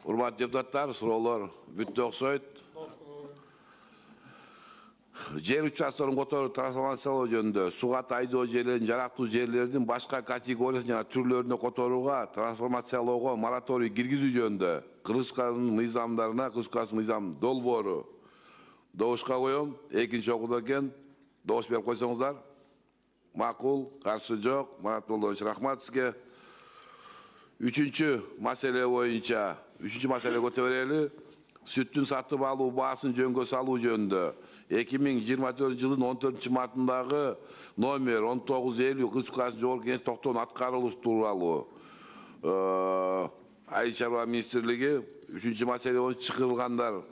Урматтуу депутаттар, суроолор бүттү окшойт. Жер участкаларын которуу трансформациялоо жөнүндө суга тайдоо жерлерин жарактуу жерлердин башка категориясын жана түрлөрүнө которууга трансформациялоого мораторий киргизүү жөнүндө Кыргызстандын мыйзамдарына Кыргызстандын мыйзам долбоору добушка коем. Экинчи окууда экен. Добуш берип койсоңуздар. Макул, каршы жок. Марат Молдонович, рахмат сизге. Үчүнчү маселе боюнча көтөрө берели. Сүттүн сатып алуу баасын жөнгө салуу жөнүндө 2024 жылдын 14 мартындагы номер 1950 Кыргызстан Жогорку Кеңеш токтоонун аткарылышы тууралуу Айыл чарба министрлиги 3-чү маселе боюнча чакырылгандар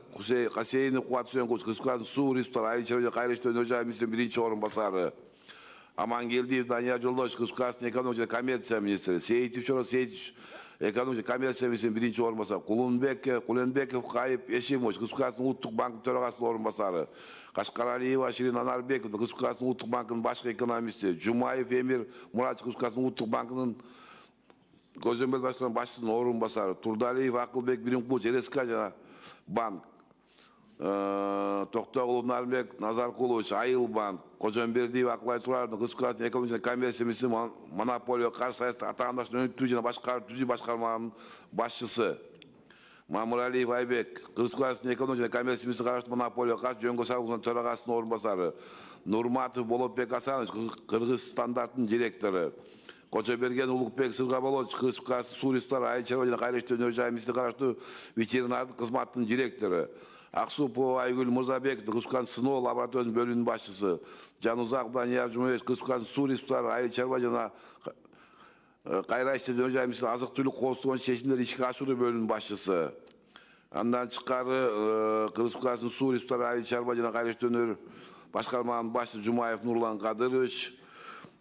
Касейинов Кубат Үсөнгулович Кыргызстан суу ресурстары айыл чарба кайра иштөө өнөр жай министринин биринчи орун басары, Амангелдиев Данияр Жолдошевич Кыргызстан экономика жана коммерция министри, Сейитов Чоро Сейитович экономика коммерция министринин биринчи орун басары, Куленбеков Кайып Эшимович Кыргызстан улуттук банк төрагасынын орун басары, Кашкаралиева Ширин Анарбеков Кыргызстан улуттук банкынын башкы экономисти, Жумаев Эмир Мурат Кыргызстан улуттук банкынын көзөмөл башкарма башчысынын орун басары, Турдалиев Акылбек Биримкулович РСК жана банк, Токтогулов Нарбек Назаркулович Айыл банк, Кожомбердиев Акылай Турардын Кыргызстан экономика жана коммерция министринин монополия каршы саясат атаандашын өнүктүү жана түзүү башкарманын башчысы, Мамыралиев Айбек Кыргызстан экономика жана коммерция министринин караштуу монополия каршы жөнгө салуунун төрагасынын орун басары, Нурматов Болотбек Асанович Кыргыз стандарттын директору, Кочоберген Улукбек Сыргаболович Кыргызстан суу ресурстары айыл чарба жана кайра иштөө өнөр жай министринин караштуу ветеринардык кызматтын директору, Аксупова Айгүл Мырзабеков Кыргызстан сыноо лабораториясынын бөлүмүнүн башчысы, Жанузак Данияр Жумабек Кыргызстан суу ресурстары айыл чарба жана кайра иштөө өнөр жай министринин азык түлүк коопсуздугу боюнча чечимдерди ишке ашыруу бөлүмүнүн башчысы. Андан тышкары Кыргызстан суу ресурстары айыл чарба жана кайра иштөө өнөр башкарманын башчысы Жумаев Нурлан Кадырович,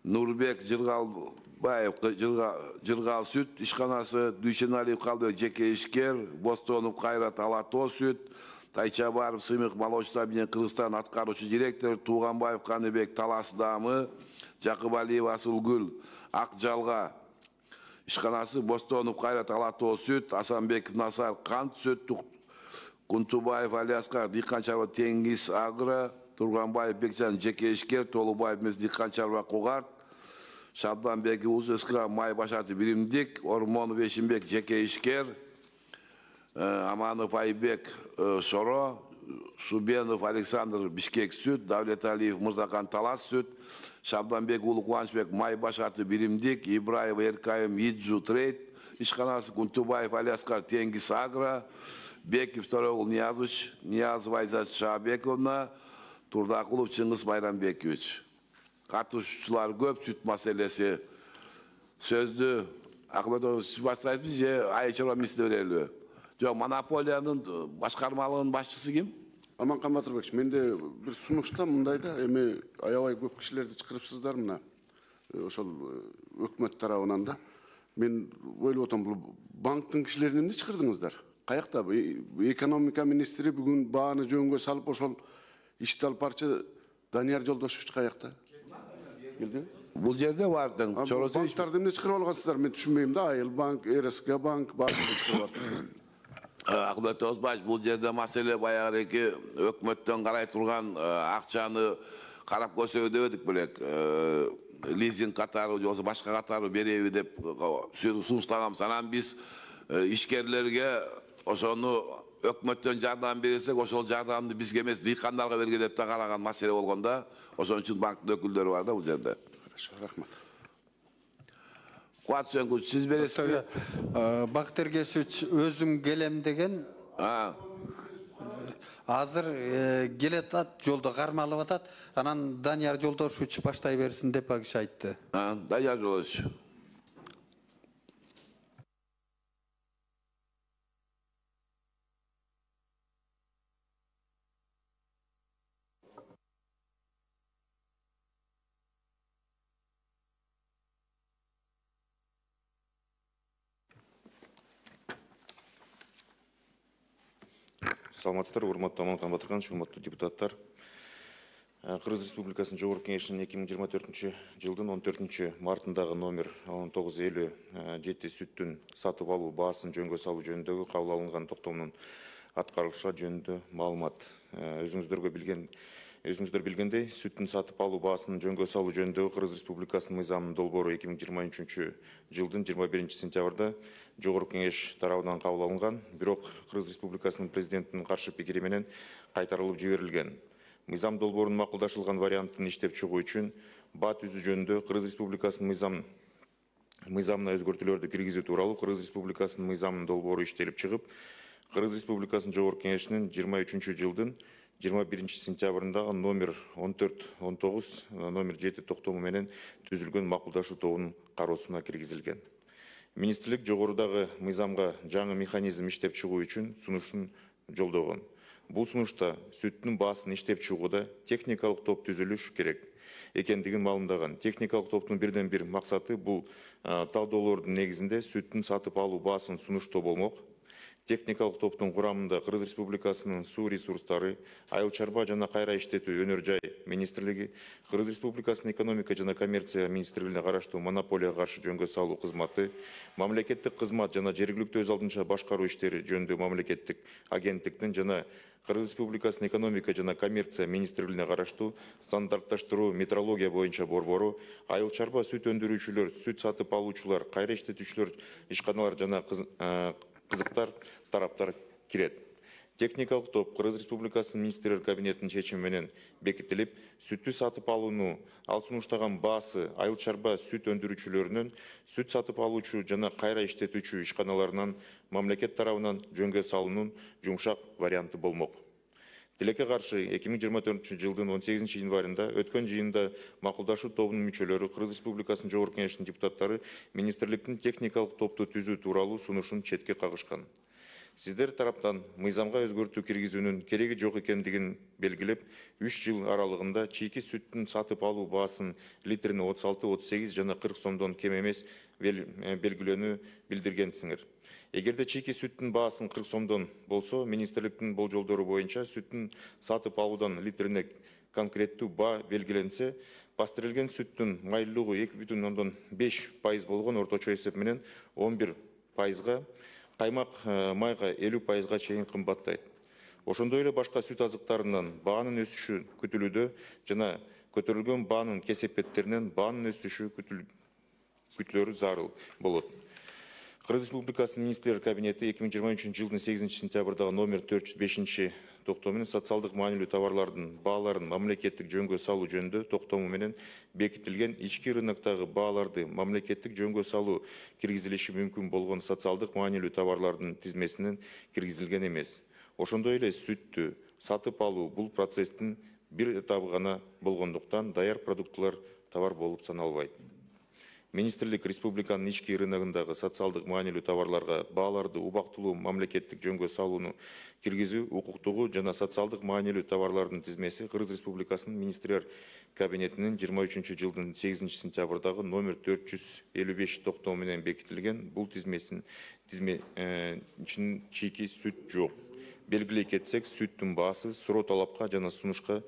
Нурбек Жыргалбаев Жыргал сүт ишканасы, Дүйшеналиев Калбек жеке ишкер, Бостонов Кайрат Алато сүт, Тайчабаров Сымык молочный объединение Кыргызстан аткаруучу директор, Тууганбаев Каныбек Талас дамы, Жакыбалиев Асылгүл Ак Жалга ишканасы, Бостонов Кайрат Алато сүт, Асанбеков Насар кант сүт, Кунтубаев Алиаскар дыйкан чарба Теңиз Агро, Турганбаев Бекжан жеке ишкер, Толубаев Мез дыйкан чарба Кугарт, Шабданбек УЗСК май башаты биримдик, Ормонов Эшимбек жеке ишкер, Аманов Айбек Шоро, Шубенов Александр Бишкек сүт, Давлеталиев Мырзакан Талас сүт, Шабданбек Улу Кубанычбек май башаты биримдик, Ибраев Эркайым Иджу трейд ишканасы, Кунтубаев Алиаскар Теңиз Агро, Беков Торогул Ниязов Айзат Шабековна, Турдакулов Чыңгыз Байрамбекович. Катышуучулар көп сүт маселеси. Сөздү Акылбек сиз баштайсызбы же айыл чарба министри берели? Жок, монополиянын башкармалыгынын башчысы ким? Аманкан Батырбекович, менде бир сунушта мындай да, эми аябай көп кишилерди чакырыпсыздар мына. Ошол өкмөт тарабынан да. Мен ойлоп атам, бул банктын кишилерин эмне чакырдыңыздар? Каякта экономика министри бүгүн бааны жөнгө салып ошол ишти алып барчы Данияр Жолдошевич каякта? Келди? Бул жерде бардың. Банктарды эмне чакырып алгансыздар? Мен түшүнбөйм да. Айыл банк, РСК банк баарын чакырып алып. Акылбек Озбаев, бул жерде маселе баягы эки өкмөттөн карай турган акчаны карап көрсөбү дебедик белек. Лизинг катары же болбосо башка катары береби деп сунуштаганбыз. Анан биз ишкерлерге ошону өкмөттөн жардам берсек, ошол жардамды бизге эмес дыйкандарга берге деп да караган маселе болгондо, ошон үчүн банктын өкүлдөрү бар да бул жерде. Хорошо, рахмат. Кубат Үсөнгулович, сиз бересизби? Бактыр Кесич өзүм келем деген. Азыр келет ат, жолдо кармалып атат. Анан Данияр Жолдошевич баштай берсин деп ал киши айтты. Данияр Жолдошевич. Саламатсыздар, урматтуу Аманкан Батырганович, урматтуу депутаттар. Кыргыз Республикасынын Жогорку Кеңешинин 2024 жылдын 14 мартындагы номер 1957 сүттүн сатып алуу баасын жөнгө салуу жөнүндөгү кабыл алынган токтомунун аткарылышы жөнүндө маалымат. Өзүңүздөр билгендей, сүттүн сатып алуу баасын жөнгө салуу жөнүндөгү Кыргыз Республикасынын мыйзамынын долбоору 2023 жылдын 21 сентябрда Жогорку Кеңеш тарабынан кабыл алынган, бирок Кыргыз Республикасынын президентинин каршы пикири менен кайтарылып жиберилген. Мыйзам долбоорунун макулдашылган вариантын иштеп чыгуу үчүн баа түзүү жөнүндө Кыргыз Республикасынын мыйзамына өзгөртүүлөрдү киргизүү тууралуу Кыргыз Республикасынын мыйзамынын долбоору иштелип чыгып, Кыргыз Республикасынын Жогорку Кеңешинин 23 жылдын 21 сентябрындагы номер 1419 номер 7 токтому менен түзүлгөн макулдашуу тобунун кароосуна киргизилген. Министрлик жогорудагы мыйзамга жаңы механизм иштеп чыгуу үчүн сунушун жолдогон. Бул сунушта сүттүн баасын иштеп чыгууда техникалык топ түзүлүш керек экендигин маалымдаган. Техникалык топтун бирден бир максаты бул талдоолордун негизинде сүттүн сатып алуу баасын сунуштоо болмок. Техникалык топтун курамында Кыргыз Республикасынын суу ресурстары, айыл чарба жана кайра иштетүү өнөр жай министрлиги, Кыргыз Республикасынын экономика жана коммерция министрлигине караштуу монополияга каршы жөнгө салуу кызматы, мамлекеттик кызмат жана жергиликтүү өз алдынча башкаруу иштери жөнүндө мамлекеттик агенттиктин жана Кыргыз Республикасынын экономика жана коммерция министрлигине караштуу стандартташтыруу метрология боюнча борбору, айыл чарба сүт өндүрүүчүлөр, сүт сатып алуучулар, кайра иштетүүчүлөр, ишканалар жана кызыктар тараптар кирет. Техникалык топ Кыргыз Республикасынын министрлер кабинетинин чечими менен бекитилип, сүттү сатып алууну ал сунуштаган баасы айыл чарба сүт өндүрүүчүлөрүнөн, сүт сатып алуучу жана кайра иштетүүчү ишканаларынан мамлекет тарабынан жөнгө салуунун жумшак варианты болмок. Тилекке каршы 2024 жылдын 18 январында өткөн жыйында макулдашуу тобунун мүчөлөрү Кыргыз Республикасынын Жогорку Кеңешинин депутаттары министрликтин техникалык топту түзүү тууралуу сунушун четке кагышкан. Сиздер тараптан мыйзамга өзгөртүү киргизүүнүн кереги жок экендигин белгилеп, 3 жыл аралыгында чийки сүттүн сатып алуу баасын литрине 36, 38 жана 40 сомдон кем эмес белгилөөнү билдиргенсиңер. Эгерде чийки сүттүн баасын 40 сомдон болсо, министрликтин болжолдору боюнча сүттүн сатып алуудан литрине конкреттүү баа белгиленсе, пастерелген сүттүн майлуулугу 2,5% болгон орточо эсеп менен 11%, каймак майга 50% чейин кымбаттайт. Ошондой эле башка сүт азыктарынан баанын өсүшү күтүлүүдө жана көтөрүлгөн баанын кесепеттеринен баанын өсүшү күтүлөрү зарыл болот. Кыргыз Республикасынын министрлер кабинети 2023 жылдын 8 сентябрдагы номер 405 токтому менен социалдык маанилүү товарлардын бааларын мамлекеттик жөнгө салуу жөнүндө токтому менен бекитилген ички рыноктогу бааларды мамлекеттик жөнгө салуу киргизилиши мүмкүн болгон социалдык маанилүү товарлардын тизмесинен киргизилген эмес. Ошондой эле сүттү сатып алуу бул процесстин бир этабы гана болгондуктан даяр продуктылар товар болуп саналбайт. Министрлик республиканын ички рыногундагы социалдык маанилүү товарларга бааларды убактылуу мамлекеттик жөнгө салууну киргизүү укуктугу жана социалдык маанилүү товарлардын тизмеси Кыргыз Республикасынын министрлер кабинетинин 23 жылдын 8 сентябрдагы номер 455 токтому менен бекитилген. Бул тизме чийки сүт жок. Белгилей кетсек, сүттүн баасы суроо талапка жана сунушка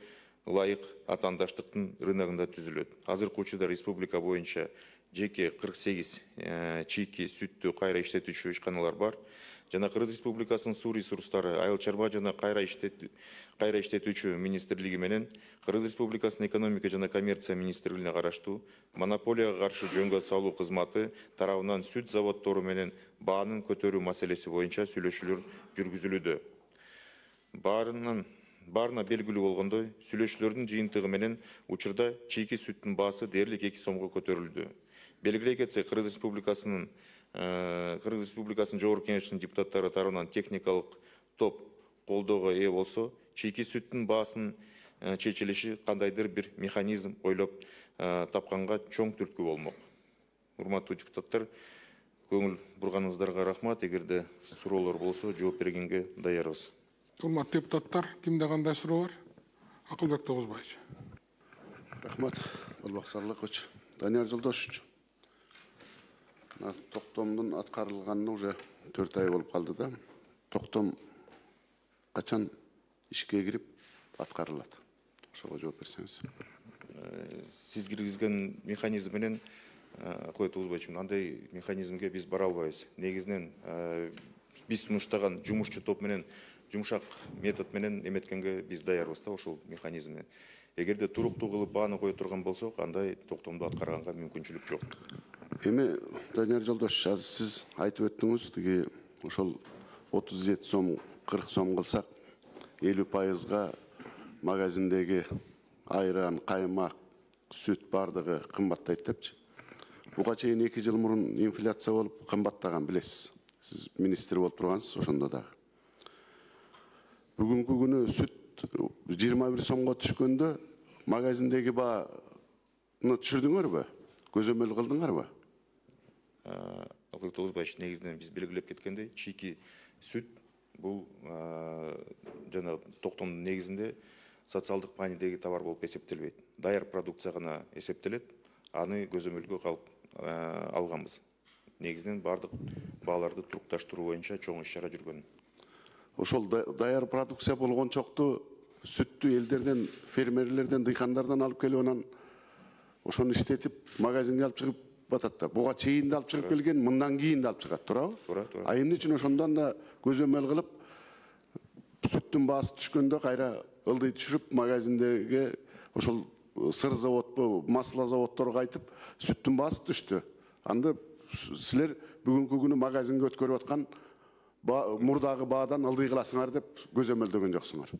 ылайык атаандаштыктын рыногунда түзүлөт. Азыркы учурда республика боюнча жеке 48 чийки сүттү кайра иштетүүчү ишканалар бар. Жана Кыргыз Республикасынын суу ресурстары, айыл чарба жана кайра иштетүүчү министрлиги менен Кыргыз Республикасынын экономика жана коммерция министрлигине караштуу монополияга каршы жөнгө салуу кызматы тарабынан сүт заводдору менен баанын көтөрүү маселеси боюнча сүйлөшүүлөр жүргүзүлүүдө. Баарына белгилүү болгондой, сүйлөшүүлөрдүн жыйынтыгы менен учурда чийки сүттүн баасы дээрлик 2 сомго көтөрүлдү. Белгилей кетсек, Кыргыз Республикасынын Жогорку Кеңешинин депутаттары тарабынан техникалык топ колдоого ээ болсо, чийки сүттүн баасын чечилиши кандайдыр бир механизм ойлоп тапканга чоң түрткү болмок. Урматтуу депутаттар, көңүл бурганыңыздарга рахмат. Эгерде суроолор болсо, жооп бергенге даярбыз. Урматтуу депутаттар, кимде кандай суроо бар? Акылбек Тогузбаевич. Рахмат, Албак Сарлыкович. Данияр Жолдошевич. Токтомдун аткарылганына уже 4 ай болуп калды да. Токтом качан ишке кирип аткарылат? ошого жооп берсеңиз. Сиз киргизген механизм менен Акылбек Тогузбаевич, андай механизмге биз бара албайбыз. Негизинен биз сунуштаган жумушчу топ менен жумшак метод менен эметкенге биз даярбыз да ошол механизмди. Эгерде туруктуу кылып бааны кое турган болсок, андай токтомду аткарганга мүмкүнчүлүк жок. Эми Данияр Жолдошевич, азыр сиз айтып өттүңүз, тиги ошол 37 сом 40 сом кылсак 50%га магазиндеги айран, каймак, сүт бардыгы кымбаттайт депчи. Буга чейин 2 жыл мурун инфляция болуп кымбаттаган билесиз. Сиз министр болуп тургансыз ошондо дагы. Бүгүнкү күнү сүт 21 сомго түшкөндө магазиндеги бааны түшүрдүңөрбү? Көзөмөл кылдыңарбы? Акылбек Тогузбаевич, негизинен биз белгилеп кеткендей, чийки сүт бул жана токтомдун негизинде социалдык маанидеги товар болуп эсептелбейт. Даяр продукция гана эсептелет. Аны көзөмөлгө алганбыз. Негизинен бардык бааларды турукташтыруу боюнча чоң иш-чара жүргөн. Ошол даяр продукция болгончокту сүттү элдерден, фермерлерден, дыйкандардан алып келип анан ошону иштетип магазинге алып чыгып батат да. Буга чейин да алып чыгып келген, мындан кийин да алып чыгат, туурабы? Туура. А эмне үчүн ошондон да көзөмөл кылып сүттүн баасы түшкөндө кайра ылдый түшүрүп магазиндеги ошол сыр заводпу, масло заводдорго айтып, сүттүн баасы түштү. Анда силер бүгүнкү күнү магазинге өткөрүп аткан мурдагы баадан ылдый кыласыңар деп көзөмөлдөгөн жоксуңар.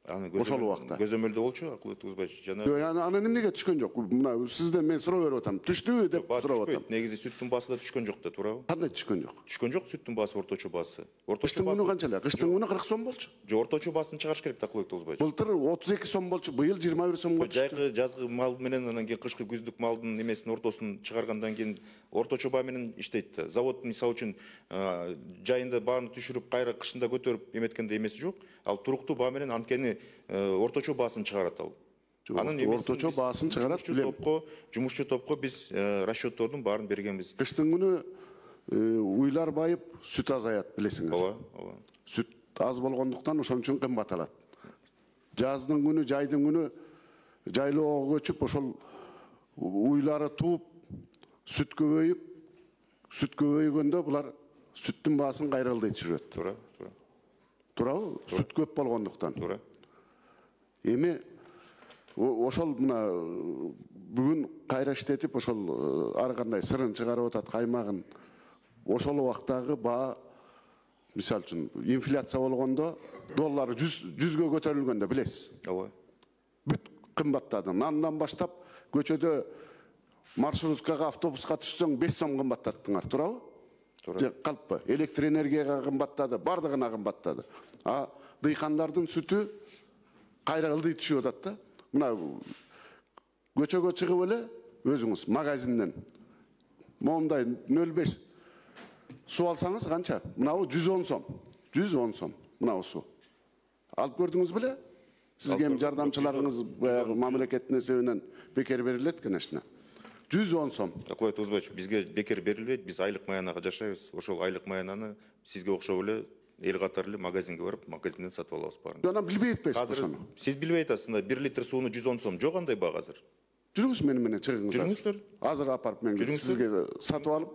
Ошол убакта Көзөмөлдө болчу Акылбек Тогузбаевич, жана анан эмнеге түшкөн жок? Мына сизден мен суроо берип атам. Түштүбү деп сурап атам. Негизи сүттүн баасы да түшкөн жок да, туурабы? Кандай түшкөн жок? Түшкөн жок сүттүн баасы, орточо баасы. Кыштын күнү канча эле? Кыштын күнү 40 сом болчу. Жок, орточо баасын чыгарыш керек да, Акылбек Тогузбаевич. Былтыр 32 сом болчу, быйыл 21 сомго түштү. Жайкы жазгы мал менен анан кийин кышкы күздүк малдын эмесин ортосун чыгаргандан кийин орточо баа менен иштейт да. Завод мисалы үчүн жайында бааны түшүрүп, кайра кышында көтөрүп эметкенде эмеси жок. Ал туруктуу баа менен анткени орточо баасын чыгарат ал. Анын орточо баасын чыгарат билем. Жумушчу топко биз расчеттордун баарын бергенбиз. Кыштын күнү уйлар байып, сүт азаят, билесиңер. Ооба. Сүт аз болгондуктан ошон үчүн кымбаталат. Жаздын күнү, жайдын күнү жайлоого көчүп, ошол уйлары тууп, сүт көбөйгөндө булар сүттүн баасын кайра ылдый түшүрөт. Туура. Туурабы? Сүт көп болгондуктан. Туура. Эми ошол мына бүгүн кайра иштетип, ошол ар кандай сырын чыгарып атат, каймагын. Ошол убактагы баа, мисалы үчүн, инфляция болгондо доллар 100гө көтөрүлгөндө билесиз. Ооба. Бүт кымбаттады. Нандан баштап көчөдө маршруткага, автобуска түшсөң 5 сом кымбаттаттыңар, туурабы? Туура. Калппы? Электр энергияга кымбаттады, бардыгына кымбаттады. А дыйкандардын сүтү кайра ылдый түшүп атат да. Мына көчөгө чыгып эле өзүңүз магазинден моундай 0,5 суу алсаңыз канча? Мынабы 110 сом. 110 сом. Мынабы суу. Алып көрдүңүз беле? Сизге жардамчыларыңыз баягы мамлекеттин эсебинен бекер берилет, конечно. 110 сом. Акылбек Тогузбаевич, бизге бекер берилбейт, биз айлык маянага жашайбыз. Ошол айлык маянаны сизге окшоп эле эл катары эле магазинге барып, магазинден сатып алабыз баарын. Анан билбей атпайсызбы ошону? Сиз билбей атасыз, мына 1 литр сууну 110 сом. Жок андай баа азыр. Жүрүңүз менен чыгыңыз. Жүрүңүздөр. Азыр апарып мен сизге сатып алып,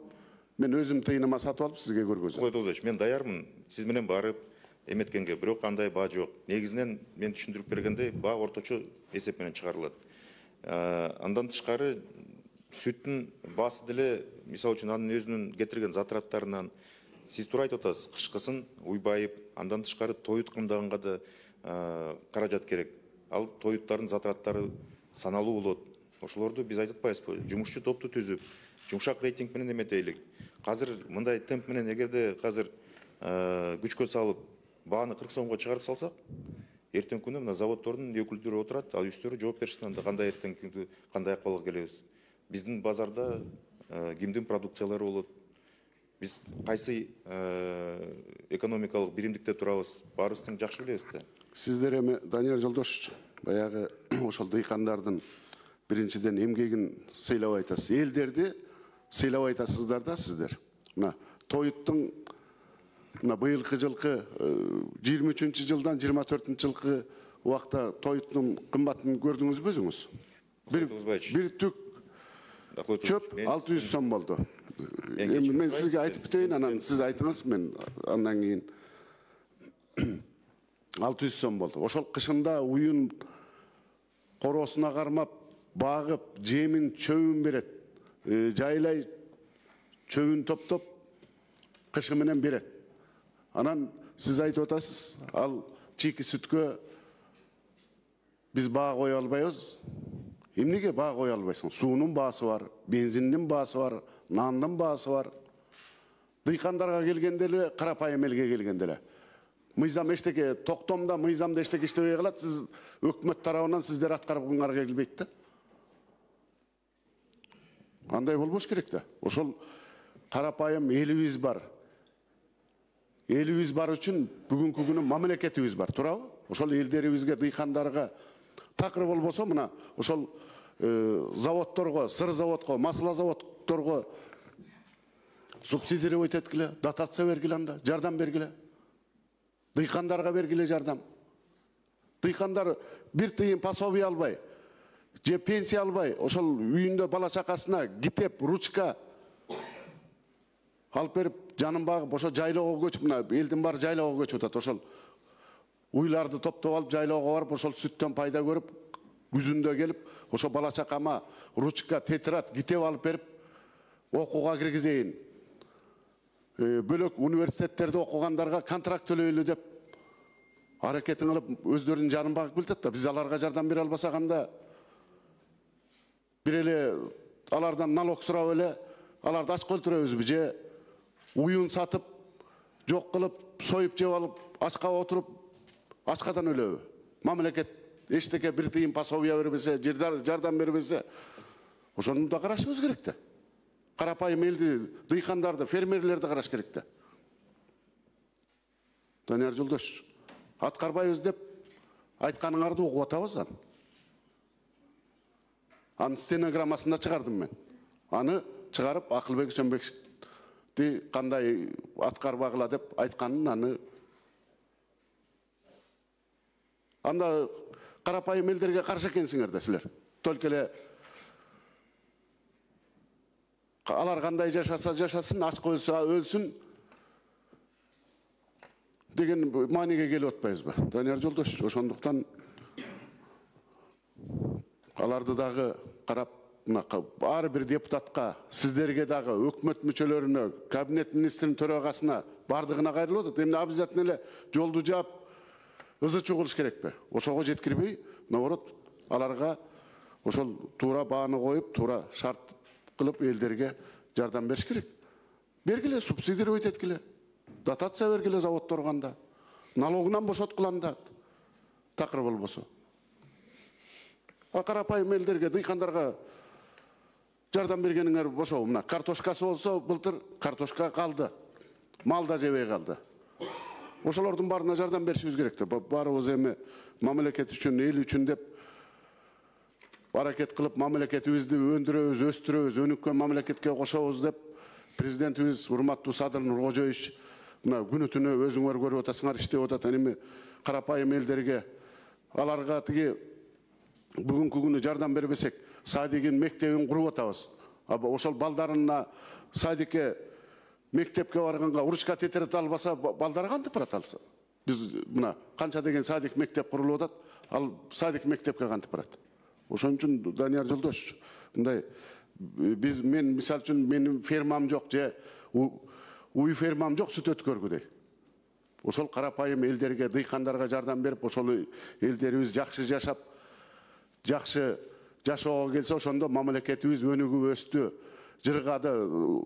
мен өзүм тыйыныма сатып алып сизге көргөзөм. Акылбек Тогузбаевич, мен даярмын сиз менен барып эметкенге, бирок андай баа жок. Негизинен мен түшүндүрүп бергендей, баа орточо эсеп менен чыгарылат. Андан тышкары сүттүн баасы деле, мисалы үчүн анын өзүнүн кетирген затраттарынан, сиз туура айтып атасыз, кышкысын уйбайып, андан тышкары тоют кымдаганга да каражат керек. Ал тоюттардын затраттары саналуу болот. Ошолорду биз айтып атпайбызбы? Жумушчу топту түзүп, жумшак рейтинг менен эметейлик. Азыр мындай темп менен эгерде азыр күчкө салып, бааны 40 сомго чыгарып салсак, эртең күнү мына заводдордун өкүлдөрү отурат, ал үстөрү жооп беришsin анда кандай эртең күнү кандай акыбалга келебиз. Биздин базарда кимдин продукциялары болот? Биз кайсы экономикалык биримдикте турабыз? Баарыбыз тең жакшы билебиз да. Сиздер эми Данияр Жолдошевич, баягы ошол дыйкандардын биринчиден эмгегин сыйлап айтасыз. Элдерди сыйлап айтасыздар да сиздер. Мына тоюттун мына быйылкы жылкы 23-жылдан 24-жылкы убакта тоюттун кымбатын көрдүңүзбү өзүңүз? Bir tük çöp 600 som oldu. Men sizge aytıp biteyim, anan siz aytыңыз, men andan keyin 600 som oldu. Oşol kışında uyun korosuna karmap, bağıp, jemin çöğün beret. Jaylay çöğün top kışı menen beret. Anan siz aytıp otasız, al çiki sütkö biz bağ koy albayız. Emnege bağ koy albaysın? Suunun baası var, benzinin baası var, nandın baası var. Dıykandarga gelgendele, karapayım elge gelgendele. Mıyzam eşteke, toktomda mıyzamda eşteke iştebey kalat, siz ökmöt tarafından sizler atkarıp bunlarga gelbeytti. Anday bolboş керек de. Oşol karapayım elimiz var. Elimiz var üçün bugünkü günü mamleketimiz var. Turabı? Oşol elderimizge, dıykandarga takır bolboso mına oşol заводторго, сыр заводго, масла заводторго субсидировать эткиле, дотация бергиле анда, жардам бергиле. Дыйкандарга бергиле жардам. Дыйкандар бир тыйын пособие албай, же пенсия албай, ошол үйүндө бала чакасына китеп, ручка алып берип, жанын багып, ошо жайлоого көчүп, мына элдин баары жайлоого көчүп атат. Ошол уйларды топтоп алып, жайлоого барып, ошол сүттөн пайда көрүп, күзүндө келип, ошо бала чакама ручка, тетрадь, китеп алып берип, окууга киргизейин. Бөлөк университеттерде окугандарга контракт төлөйлү деп аракетин кылып, өздөрүнүн жанын багып келатат да. Биз аларга жардам бере албасак анда бир эле алардан налог сурап эле аларды ачка өлтүрөбүзбү же уюн сатып, жок кылып, союп жеп алып, ачка отуруп, ачкадан өлөбү? Мамлекет эчтеке бир тыйын пособие бербесе, жардам бербесе, ошону да карашыбыз керек да. Карапайым элди, дыйкандарды, фермерлерди караш керек да. Данияр Жолдошович, аткарбайбыз деп айтканыңарды угуп атабыз аны. Анын стенограммасында чыгардым мен. Аны чыгарып, Акылбек Сөнбекти кандай аткарбагыла деп айтканын аны. Анда карапайым элдерге каршы экенсиңер да силер. Только эле алар кандай жашаса жашасын, ачка өлсө өлсүн деген мааниге келип атпайбызбы? Данияр Жолдошович, ошондуктан аларды дагы карап, ар бир депутатка, сиздерге дагы, өкмөт мүчөлөрүнө, кабинет министринин төрагасына бардыгына кайрылып атат. Эмне обязательно эле жолду жаап ызы-чуу кылыш керекпи? Ошого жеткирбей, наоборот, аларга ошол туура бааны коюп, туура шарт кылып элдерге жардам бериш керек. Бергиле, субсидировать эткиле, дотация бергиле заводторго анда, налогунан бошоткула анда, такыр болбосо. Карапайым элдерге, дыйкандарга жардам бергениңер бошобу? Мына картошкасы болсо, былтыр картошка калды, мал да жебей калды. Ошолордун баарына жардам беришибиз керек да. Баарыбыз эми мамлекет үчүн, эл үчүн деп аракет кылып, мамлекетибизди өндүрөбүз, өстүрөбүз, өнүккөн мамлекетке кошобуз деп президентибиз урматтуу Садыр Нуркожоевич мына күнү түнү өзүңөр көрүп атасыңар, иштеп атат. Эми карапайым элдерге, аларга тиги бүгүнкү күнү жардам бербесек, садигин, мектебин куруп атабыз. Ошол балдарына садикке, мектепке барганга ручка, тетрадь албаса, балдары кантип барат алса? Биз мына канча деген садик, мектеп курулуп атат, ал садик, мектепке кантип барат? Ошон үчүн Данияр Жолдошович, мындай мен мисал үчүн менин фермам жок, же уй фермам жок, сүт өткөргүдөй. Ошол карапайым элдерге, дыйкандарга жардам берип, ошол элдерибиз жакшы жашап, жакшы жашоого келсе, ошондо мамлекетибиз өнүгүп өстү, жыргады,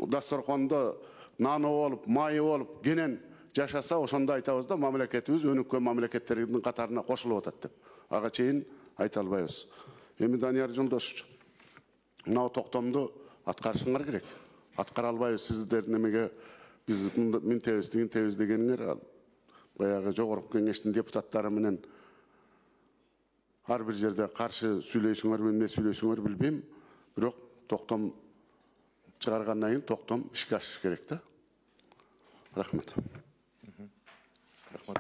дасторкондо наны болуп, майы болуп, кенен жашаса, ошондо айтабыз да, мамлекетибиз өнүккөн мамлекеттердин катарына кошулуп атат деп. Ага чейин айта албайбыз. Эми Данияр Жолдошович, мына токтомду аткарышыңар керек. Аткара албайбыз, сиздердин эмеге биз минтебиз, тигинтебиз дегениңер, баягы жогорку кеңештин депутаттары менен ар бир жерде каршы сүйлөйсүңөр, эмне сүйлөйсүңөр билбейм, бирок токтом чыгаргандан кийин токтом ишке ашыш керек да. Рахмат. Рахмат.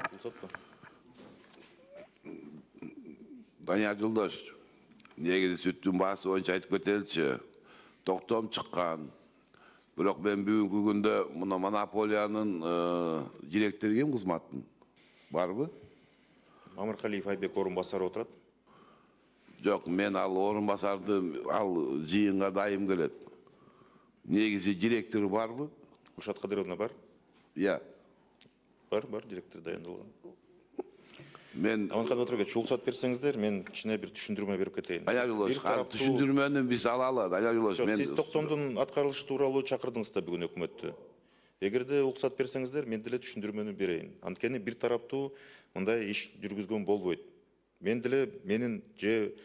Данияр Жолдош, негизи сүттүн баасы боюнча айтып кетеличи. Токтом чыккан. Бирок мен бүгүнкү күндө мына монополиянын директору ким кызматын? Барбы? Мамыркалиев Айбек орун басары отурат. Жок, мен ал орун басарды ал жыйынга дайым келет. Негизи директору барбы? Куршат Кадыровна бар. Иә. Бар, директор дайындалган. Мен Аманхан Батырбекович, уруксат берсеңиздер, мен кичине бир түшүндүрмө берип кетейин. Данияр Жолдош, түшүндүрмөнү биз алалы. Данияр Жолдош, мен Сиз токтомдун аткарылышы тууралуу чакырдыңыз да бүгүн өкмөттү. Эгерде уруксат берсеңиздер, мен деле түшүндүрмөнү берейин. Анткени бир тараптуу мындай иш жүргүзгөн болбойт. Мен деле менин же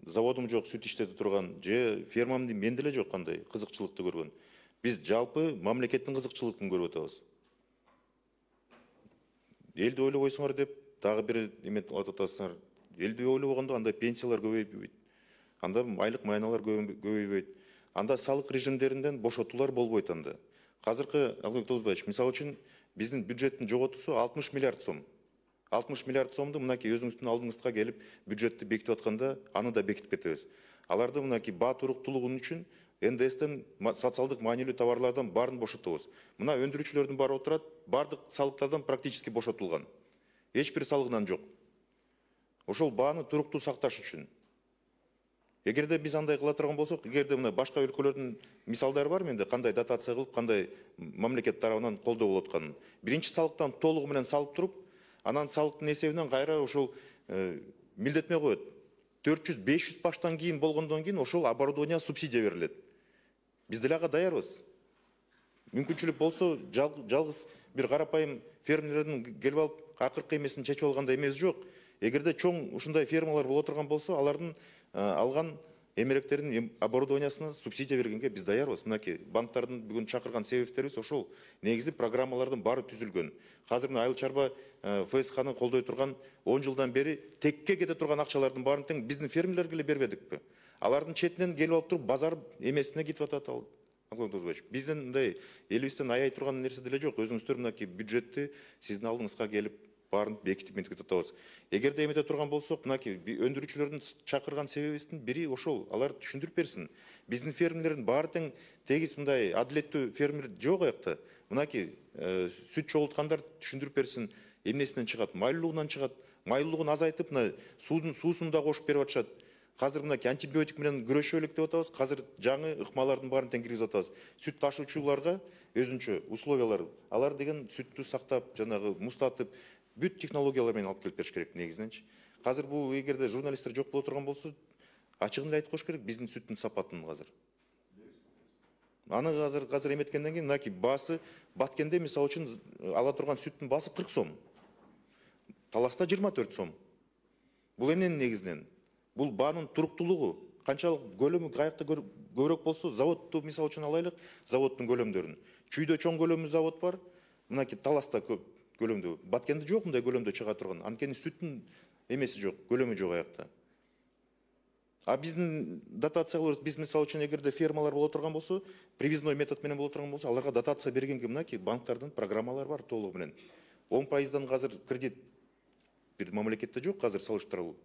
заводум жок, сүт иштетип турган, же фермамды мен деле жок кандай кызыкчылыкты көргөн. Биз жалпы мамлекеттин кызыкчылыгын көрүп атабыз. Элди ойлобойсуңар деп дагы бир эме атып атасыңар. Элди ойлобогондо анда пенсиялар көбөйбөйт. Анда айлык майналар көбөйбөйт. Анда салык режимдеринен бошотуулар болбойт анда. Азыркы Албек Тогузбаевич, мисалы үчүн биздин бюджеттин жоготуусу 60 миллиард сом. 60 миллиард сомду мынакей өзүңүздүн алдыңызга келип бюджетти бекитип атканда аны да бекитип кетебиз. Аларды мынакей баа туруктуулугу үчүн НДСтен социалдык маанилүү товарлардан баарын бошотобуз. Мына өндүрүүчүлөрдүн баары отурат, баардык салыктардан практически бошотулган. Эч бир салыгынан жок. Ошол бааны туруктуу сакташ үчүн. Эгерде биз андай кыла турган болсок, эгерде мына башка өлкөлөрдүн мисалдары бар менде, кандай дотация кылып, кандай мамлекет тарабынан колдоо болуп атканын. Биринчи салыктан толугу менен салып туруп, анан салыктын эсебинен кайра ошол милдетме коет. 400-500 баштан кийин болгондон кийин ошол оборудование субсидия берилет. Биз деле ага даярбыз. Мүмкүнчүлүк болсо, жалгыз бир карапайым фермерлердин келип алып акыркы эмесин чечип алгандай эмес жок. Эгерде чоң ушундай фермалар боло турган болсо, алардын алган эмеректердин оборудованиясына субсидия бергенге биз даярбыз. Мынакей банктардын бүгүн чакырган себептерибиз ошол. Негизи программалардын баары түзүлгөн. Азыр мына айыл чарба ФСХны колдой турган 10 жылдан бери текке кете турган акчалардын баарын тең биздин фермерлерге эле бербедикпи? Алардын четинен келип алып туруп базар эмесине кетип атат ал. Бизден мындай элибизден аяй турган нерсе деле жок. Өзүңүздөр мынакей бюджетти сиздин алдыңызга келип баарын бекитип ментип атабыз. Эгерде эмете турган болсок, мынакей өндүрүүчүлөрдүн чакырган себебибиздин бири ошол. Алар түшүндүрүп берсин. Биздин фермерлердин баары тең тегиз мындай адилеттүү фермер жок аякта. Мынакей сүт чогулткандар түшүндүрүп берсин. Эмнесинен чыгат? Майлуулугунан чыгат. Майлуулугун азайтып, мына суусун да кошуп берип атышат. Азыр мынакей антибиотик менен күрөшөлүк деп атабыз. Азыр жаңы ыкмалардын баарын тең киргизип атабыз. Сүт ташуучуларга өзүнчө условиялар, алар деген сүттү сактап, жанагы муздатып, бүт технологиялар менен алып келип бериш керек негизиненчи. Азыр бул эгерде журналисттер жок боло турган болсо, ачыгын эле айтып коюш керек биздин сүттүн сапатын азыр. Аны азыр эметкенден кийин мынакей баасы Баткенде мисалы үчүн ала турган сүттүн баасы 40 сом. Таласта 24 сом. Бул эмненин негизинен? Бул баанын туруктуулугу. Канчалык көлөмү каякта көбүрөөк болсо, заводду мисалы үчүн алайлык, заводдун көлөмдөрүн. Чүйдө чоң көлөмдүү завод бар, мынакей Таласта көп көлөмдүү. Баткенде жок мындай көлөмдө чыга турган. Анткени сүттүн эмеси жок, көлөмү жок аякта. А биздин дотацияларыбыз, биз мисалы үчүн эгерде фермалар боло турган болсо, привизной метод менен боло турган болсо, аларга дотация бергенге мынакей банктардын программалары бар толугу менен. 10%дан азыр кредит бир мамлекетте жок азыр салыштырылуу.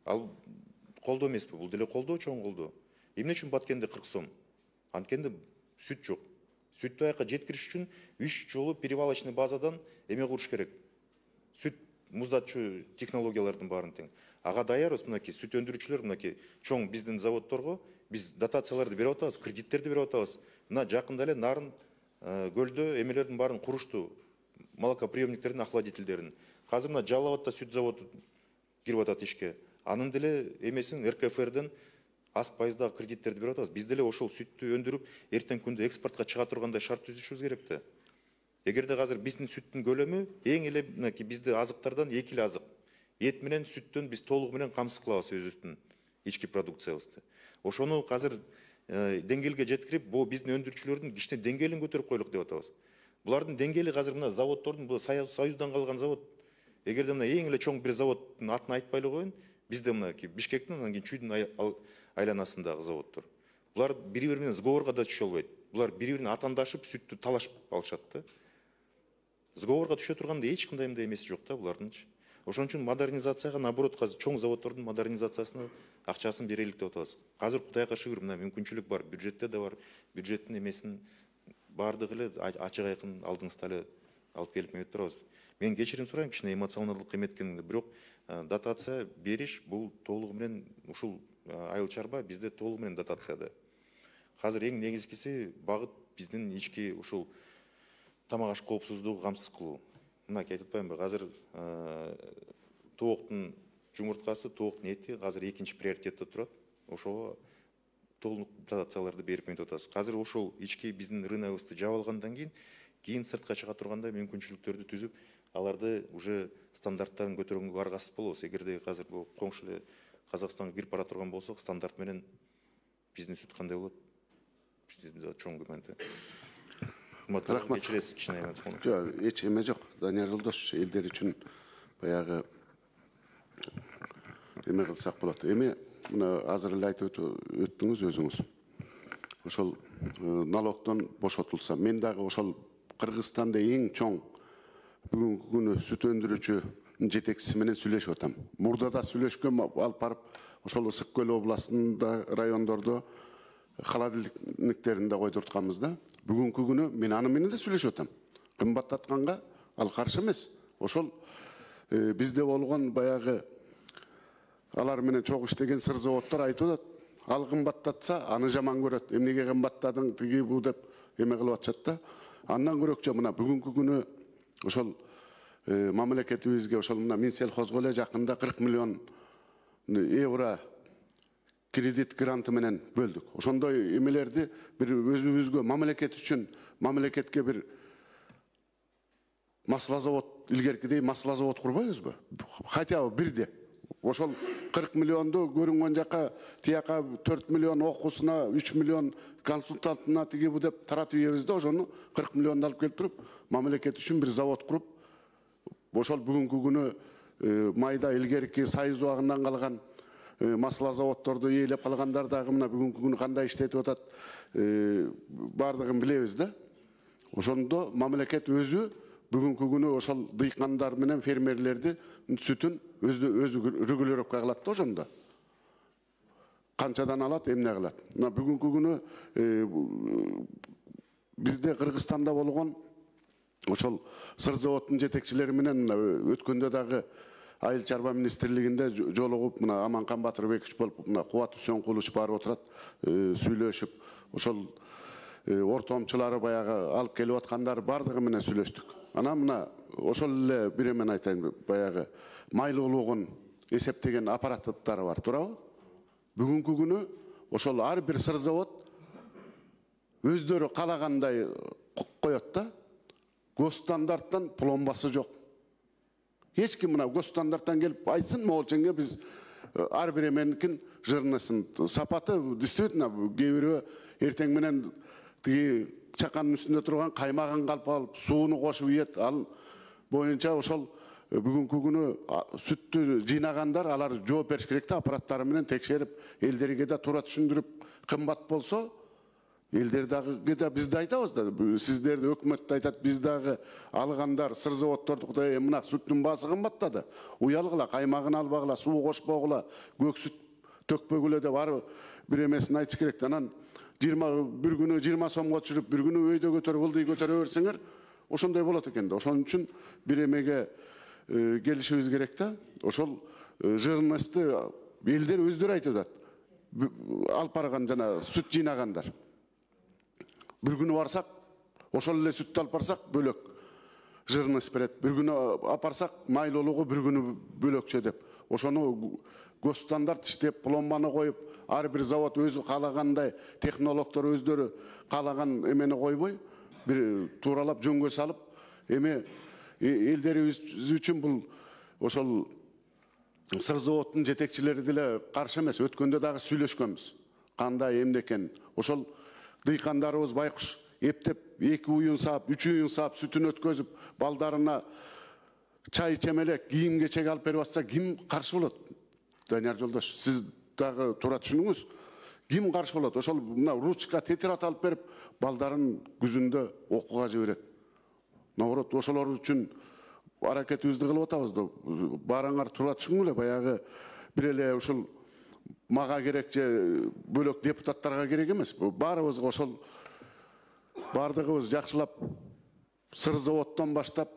Ал колдоо эмеспи? Бул деле колдоо, чоң колдоо. Эмне үчүн Баткенде 40 сом? Анткенде сүт жок. Сүттү аяка жеткириш үчүн 3 жолу перевалочный базадан эме куруш керек. Сүт муздатчу технологиялардын баарын тең. Ага даярбыз мынакей сүт өндүрүүчүлөр мынакей чоң биздин заводдорго биз дотацияларды берип атабыз, кредиттерди берип атабыз. Мына жакында эле Нарын көлдө эмелердин баарын курушту. Молокоприемниктердин, охладительдерин. Азыр мына Жалал Абадта сүт заводу кирип атат ишке. Анын деле эмесин РКФРден аз пайыздагы кредиттерди берип атабыз. Биз деле ошол сүттү өндүрүп, эртең күндө экспортко чыга тургандай шарт түзүшүбүз керек да. Эгерде азыр биздин сүттүн көлөмү эң эле мынакей бизде азыктардан 2 эле азык. Эт менен сүттөн биз толугу менен камсыз кылабыз өзүбүздүн ички продукциябызды. Ошону азыр деңгээлге жеткирип, бул биздин өндүрүүчүлөрдүн кичине деңгээлин көтөрүп койлук деп атабыз. Булардын деңгээли азыр мына заводдордун, бул Союздан калган завод. Эгерде мына эң эле чоң бир заводдун атын айтпай эле коеюн, бизде мына Бишкектин, анан кийин Чүйдүн айланасындагы заводдор. Булар бири-бири менен сговорго да түшө албайт. Булар бири-бирине атандашып, сүттү талашып алышат да. Сговорго түшө турганда эч кандай эмеси жок да булардынчы. Ошон үчүн модернизацияга, наоборот, азыр чоң заводдордун модернизациясына акчасын берелик деп атабыз. Азыр Кудайга шүгүр, мына мүмкүнчүлүк бар, бюджетте да бар, бюджеттин эмесин баардыгы эле ачык айкын алдыңызда эле алып келип мен турабыз. Мен кечирим сурайм, кичине эмоционалдык эметкенимде, бирок дотация бериш бул толугу менен ушул айыл чарба бизде толугу менен дотацияда. Азыр эң негизгиси багыт биздин ички ушул тамак аш коопсуздугу камсыз кылуу. Мына айтып атпаймынбы, азыр тооктун жумурткасы, тооктун эти азыр экинчи приоритетте турат. Ошого толук дотацияларды берип менеп атабыз. Азыр ошол ички биздин рыногубузду жаап алгандан кийин сыртка чыга турганда мүмкүнчүлүктөрдү түзүп, аларды уже стандарттарын көтөргөнгө аргасыз болобуз. Эгерде азыр бул коңшу эле Казакстанга кирип бара турган болсок, стандарт менен биздин сүт кандай болот? Бизде чоң күмөндө. Рахмат. Кечиресиз, кичине эмоционалдык. Жок, эч эме жок. Данияр Жолдошевич, элдер үчүн баягы эме кылсак болот. Эми мына азыр эле айтып өттүңүз өзүңүз. Ошол налогдон бошотулса, мен дагы ошол Кыргызстанда эң чоң бүгүнкү күнү сүт өндүрүүчү жетекчиси менен сүйлөшүп атам. Мурда да сүйлөшкөм, алып барып ошол Ысык көл областында райондордо холодильниктеринде койдуртканбыз да. Бүгүнкү күнү мен аны менен да сүйлөшүп атам. Кымбаттатканга ал каршы эмес. Ошол бизде болгон баягы алар менен чогуу иштеген сыр заводдор айтып атат. Ал кымбаттатса, аны жаман көрөт. Эмнеге кымбаттадың, тиги бу деп эме кылып атышат да. Андан көрөкчө мына бүгүнкү күнү ошол мамлекетибизге ошол мына Минсельхозго эле жакында 40 миллион евро кредит гранты менен бөлдүк. Ошондой эмелерди бир өзүбүзгө мамлекет үчүн мамлекетке бир масла завод, илгеркидей масла завод курбайбызбы? Хотя бы бирде. Ошол 40 миллионду көрүнгөн жака, тияка 4 миллион окуусуна, 3 миллион консультантына тиги бу деп таратып ийебиз да, ошону 40 миллионду алып келип туруп, мамлекет үчүн бир завод куруп, ошол бүгүнкү күнү майда илгерки Союз убагынан калган масла заводдорду ээлеп калгандар дагы мына бүгүнкү күнү кандай иштетип атат, бардыгын билебиз да. Ошондо мамлекет өзү бүгүнкү күнү ошол дыйкандар менен фермерлерди сүтүн өзү регулировка кылат да ошондо. Канчадан алат, эмне кылат. Мына бүгүнкү күнү бизде Кыргызстанда болгон ошол сыр заводдун жетекчилери менен өткөндө дагы айыл чарба министрлигинде жолугуп, мына Аманкан Батырбекович болуп, мына Кубат Үсөнкулович барып отурат, сүйлөшүп, ошол ортомчулары баягы алып келип аткандар бардыгы менен сүйлөштүк. Анан мына ошол эле бир эмен айтайын, баягы майлуулугун эсептеген аппараттары бар, туурабы? Бүгүнкү күнү ошол ар бир сыр завод өздөрү калагандай коет да. Госстандарттан пломбасы жок. Эч ким мына госстандарттан келип айтсын, Моолченге биз ар бир эменикин жырнысын. Сапаты действительно кээ бирөө эртең менен тиги чаканын үстүндө турган каймагын калп алып, сууну кошуп ийет. Ал боюнча ошол бүгүнкү күнү сүттү жыйнагандар, алар жооп бериш керек да, аппараттары менен текшерип, элдерге да туура түшүндүрүп, кымбат болсо элдер дагы биз да айтабыз да, сиздерди өкмөт да айтат, биз дагы алгандар сыр заводдорду Кудай мына сүттүн баасы кымбаттады. Уялгыла, каймагын албагыла, суу кошпогула, көк сүт төкпөгүлө деп ар бир эмесин айтыш керек. Анан 20 бир күнү 20 сомго түшүрүп, бир күнү өйдө көтөрүп, ылдый көтөрө берсеңер, ошондой болот экен да. Ошон үчүн бир эмеге келишибиз керек да. Ошол жырнысты элдер өздөрү айтып атат. Алып барган жана сүт жыйнагандар. Bir günü varsak, ошол эле сүттү алып барсак бөлөк жырныс берет. Bir günü апарсак майлуулугу bir günü бөлөкчө деп. Ошону госстандарт иштеп, пломбаны коюп, ар бир завод өзү каалагандай, технологдор өздөрү каалаган эмени койбой, бир тууралап жөнгө салып, эми элдерибиз үчүн бул ошол сыр заводдун жетекчилери деле каршы эмес. Өткөндө дагы сүйлөшкөнбүз. Кандай эмне экен. Ошол дыйкандарыбыз байкуш эптеп 2 уюн саап, 3 уюн саап сүтүн өткөзүп, балдарына чай чемелек, кийим кечек алып берип атса, ким каршы болот? Данияр Жолдош, сиз дагы туура түшүнүңүз. Ким каршы болот? Ошол мына ручка, тетират алып берип, балдарын күзүндө окууга жиберет. Наоборот, ошолор үчүн аракетибизди кылып атабыз да. Баарыңар тура түшүнгүлө, баягы бир эле ушул мага керек же бөлөк депутаттарга керек эмес. Баарыбызга ошол бардыгыбыз жакшылап сыр заводдон баштап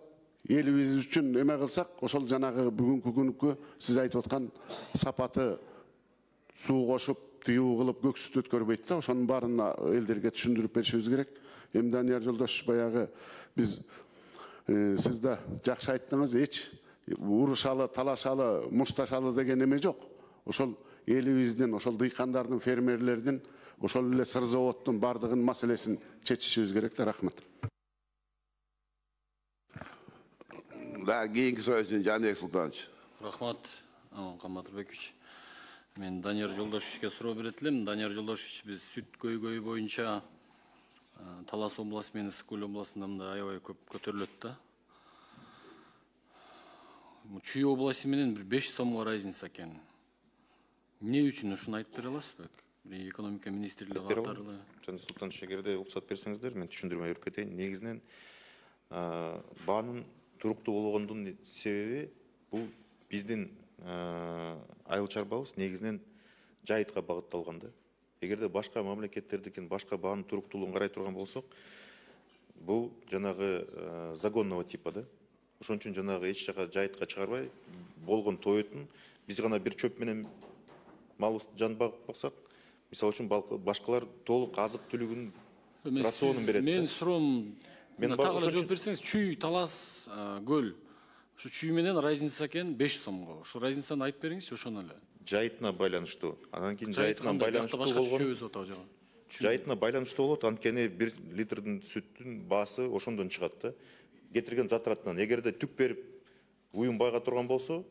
элибиз үчүн эме кылсак, ошол жанагы бүгүнкү күнкү сиз айтып аткан сапаты суу кошуп, тыюу кылып көк сүт өткөрбөйт да. Ошонун баарын элдерге түшүндүрүп беришибиз керек. Эми Данияр жолдош баягы биз сиз да жакшы айттыңыз, эч урушалы, талашалы, мушташалы деген эме жок. Ошол элибиздин, ошол дыйкандардын, фермерлердин, ошол эле сыр заводдун бардыгын маселесин чечишибиз керек да. Рахмат. Да, кийинки суроо үчүн Жаныбек Султанович. Рахмат, Аманкан Батырбекович. Мен Данияр Жолдошевичке суроо берет элем. Данияр Жолдошевич, биз сүт көйгөйү боюнча Талас областы менен Ысык көл областында мындай аябай көп көтөрүлөт да. Чүй областы менен бир 5 сомго разница экен. Эмне үчүн ушуну айтып бере аласызбы? Экономика министрлиги катары. Жаныбек Султанович, эгерде уруксат берсеңиздер, мен түшүндүрмө берип кетейин. Негизинен баанын туруктуу болгондун себеби бул биздин айыл чарбабыз негизинен жайытка багытталган да. Эгерде башка мамлекеттердикин башка баанын туруктуулугун карай турган болсок, бул жанагы загонного типа да. Ошон үчүн жанагы эч жака жайытка чыгарбай болгон тоетун биз гана бир чөп менен малыбызды жан багып баксак, мисалы үчүн башкалар толук азык түлүгүн рационун берет. Мен суроом, так эле жооп берсеңиз, чүй, талас, көл. Ушу чүй менен разница экен 5 сомго. Ушу разницаны айтып бериңизчи, ошону эле. Жайытына байланыштуу. Анан кийин жайытына байланыштуу болгон. Жайытына байланыштуу болот, анткени 1 литрдин сүттүн баасы ошондон чыгат да. Кетирген затратынан. Эгерде түк берип уюм байга турган болсо,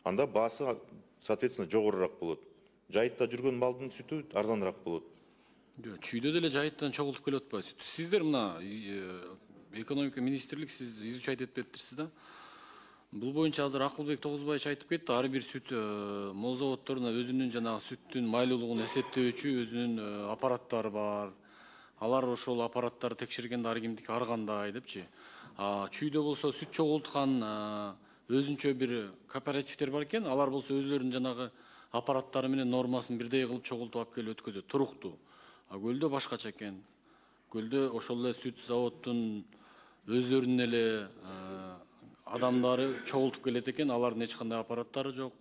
анда баасы соответственно жогорураак болот. Жайытта жүргөн малдын сүтү арзаныраак болот. Чүйдө деле жайыттан чогултуп келип атпайбы сүт? Сиздер мына экономика министрлик, сиз изучать этип бериптирсиз да. Бул боюнча азыр Акылбек Тогузбаевич айтып кетти, ар бир сүт мол заводдорунда өзүнүн жанагы сүттүн майлуулугун эсептөөчү өзүнүн аппараттары бар. Алар ошол аппараттарды текшергенде ар кимдики ар кандай депчи. Чүйдө болсо сүт чогулткан өзүнчө бир кооперативдер бар экен, алар болсо өзлөрүнүн жанагы аппараттары менен нормасын бирдей кылып чогултуп алып келип өткөзөт, туруктуу. Көлдө башкача экен. Көлдө ошол эле сүт заводдун өзлөрүнүн эле адамдары чогултуп келет экен, алардын эч кандай аппараттары жок.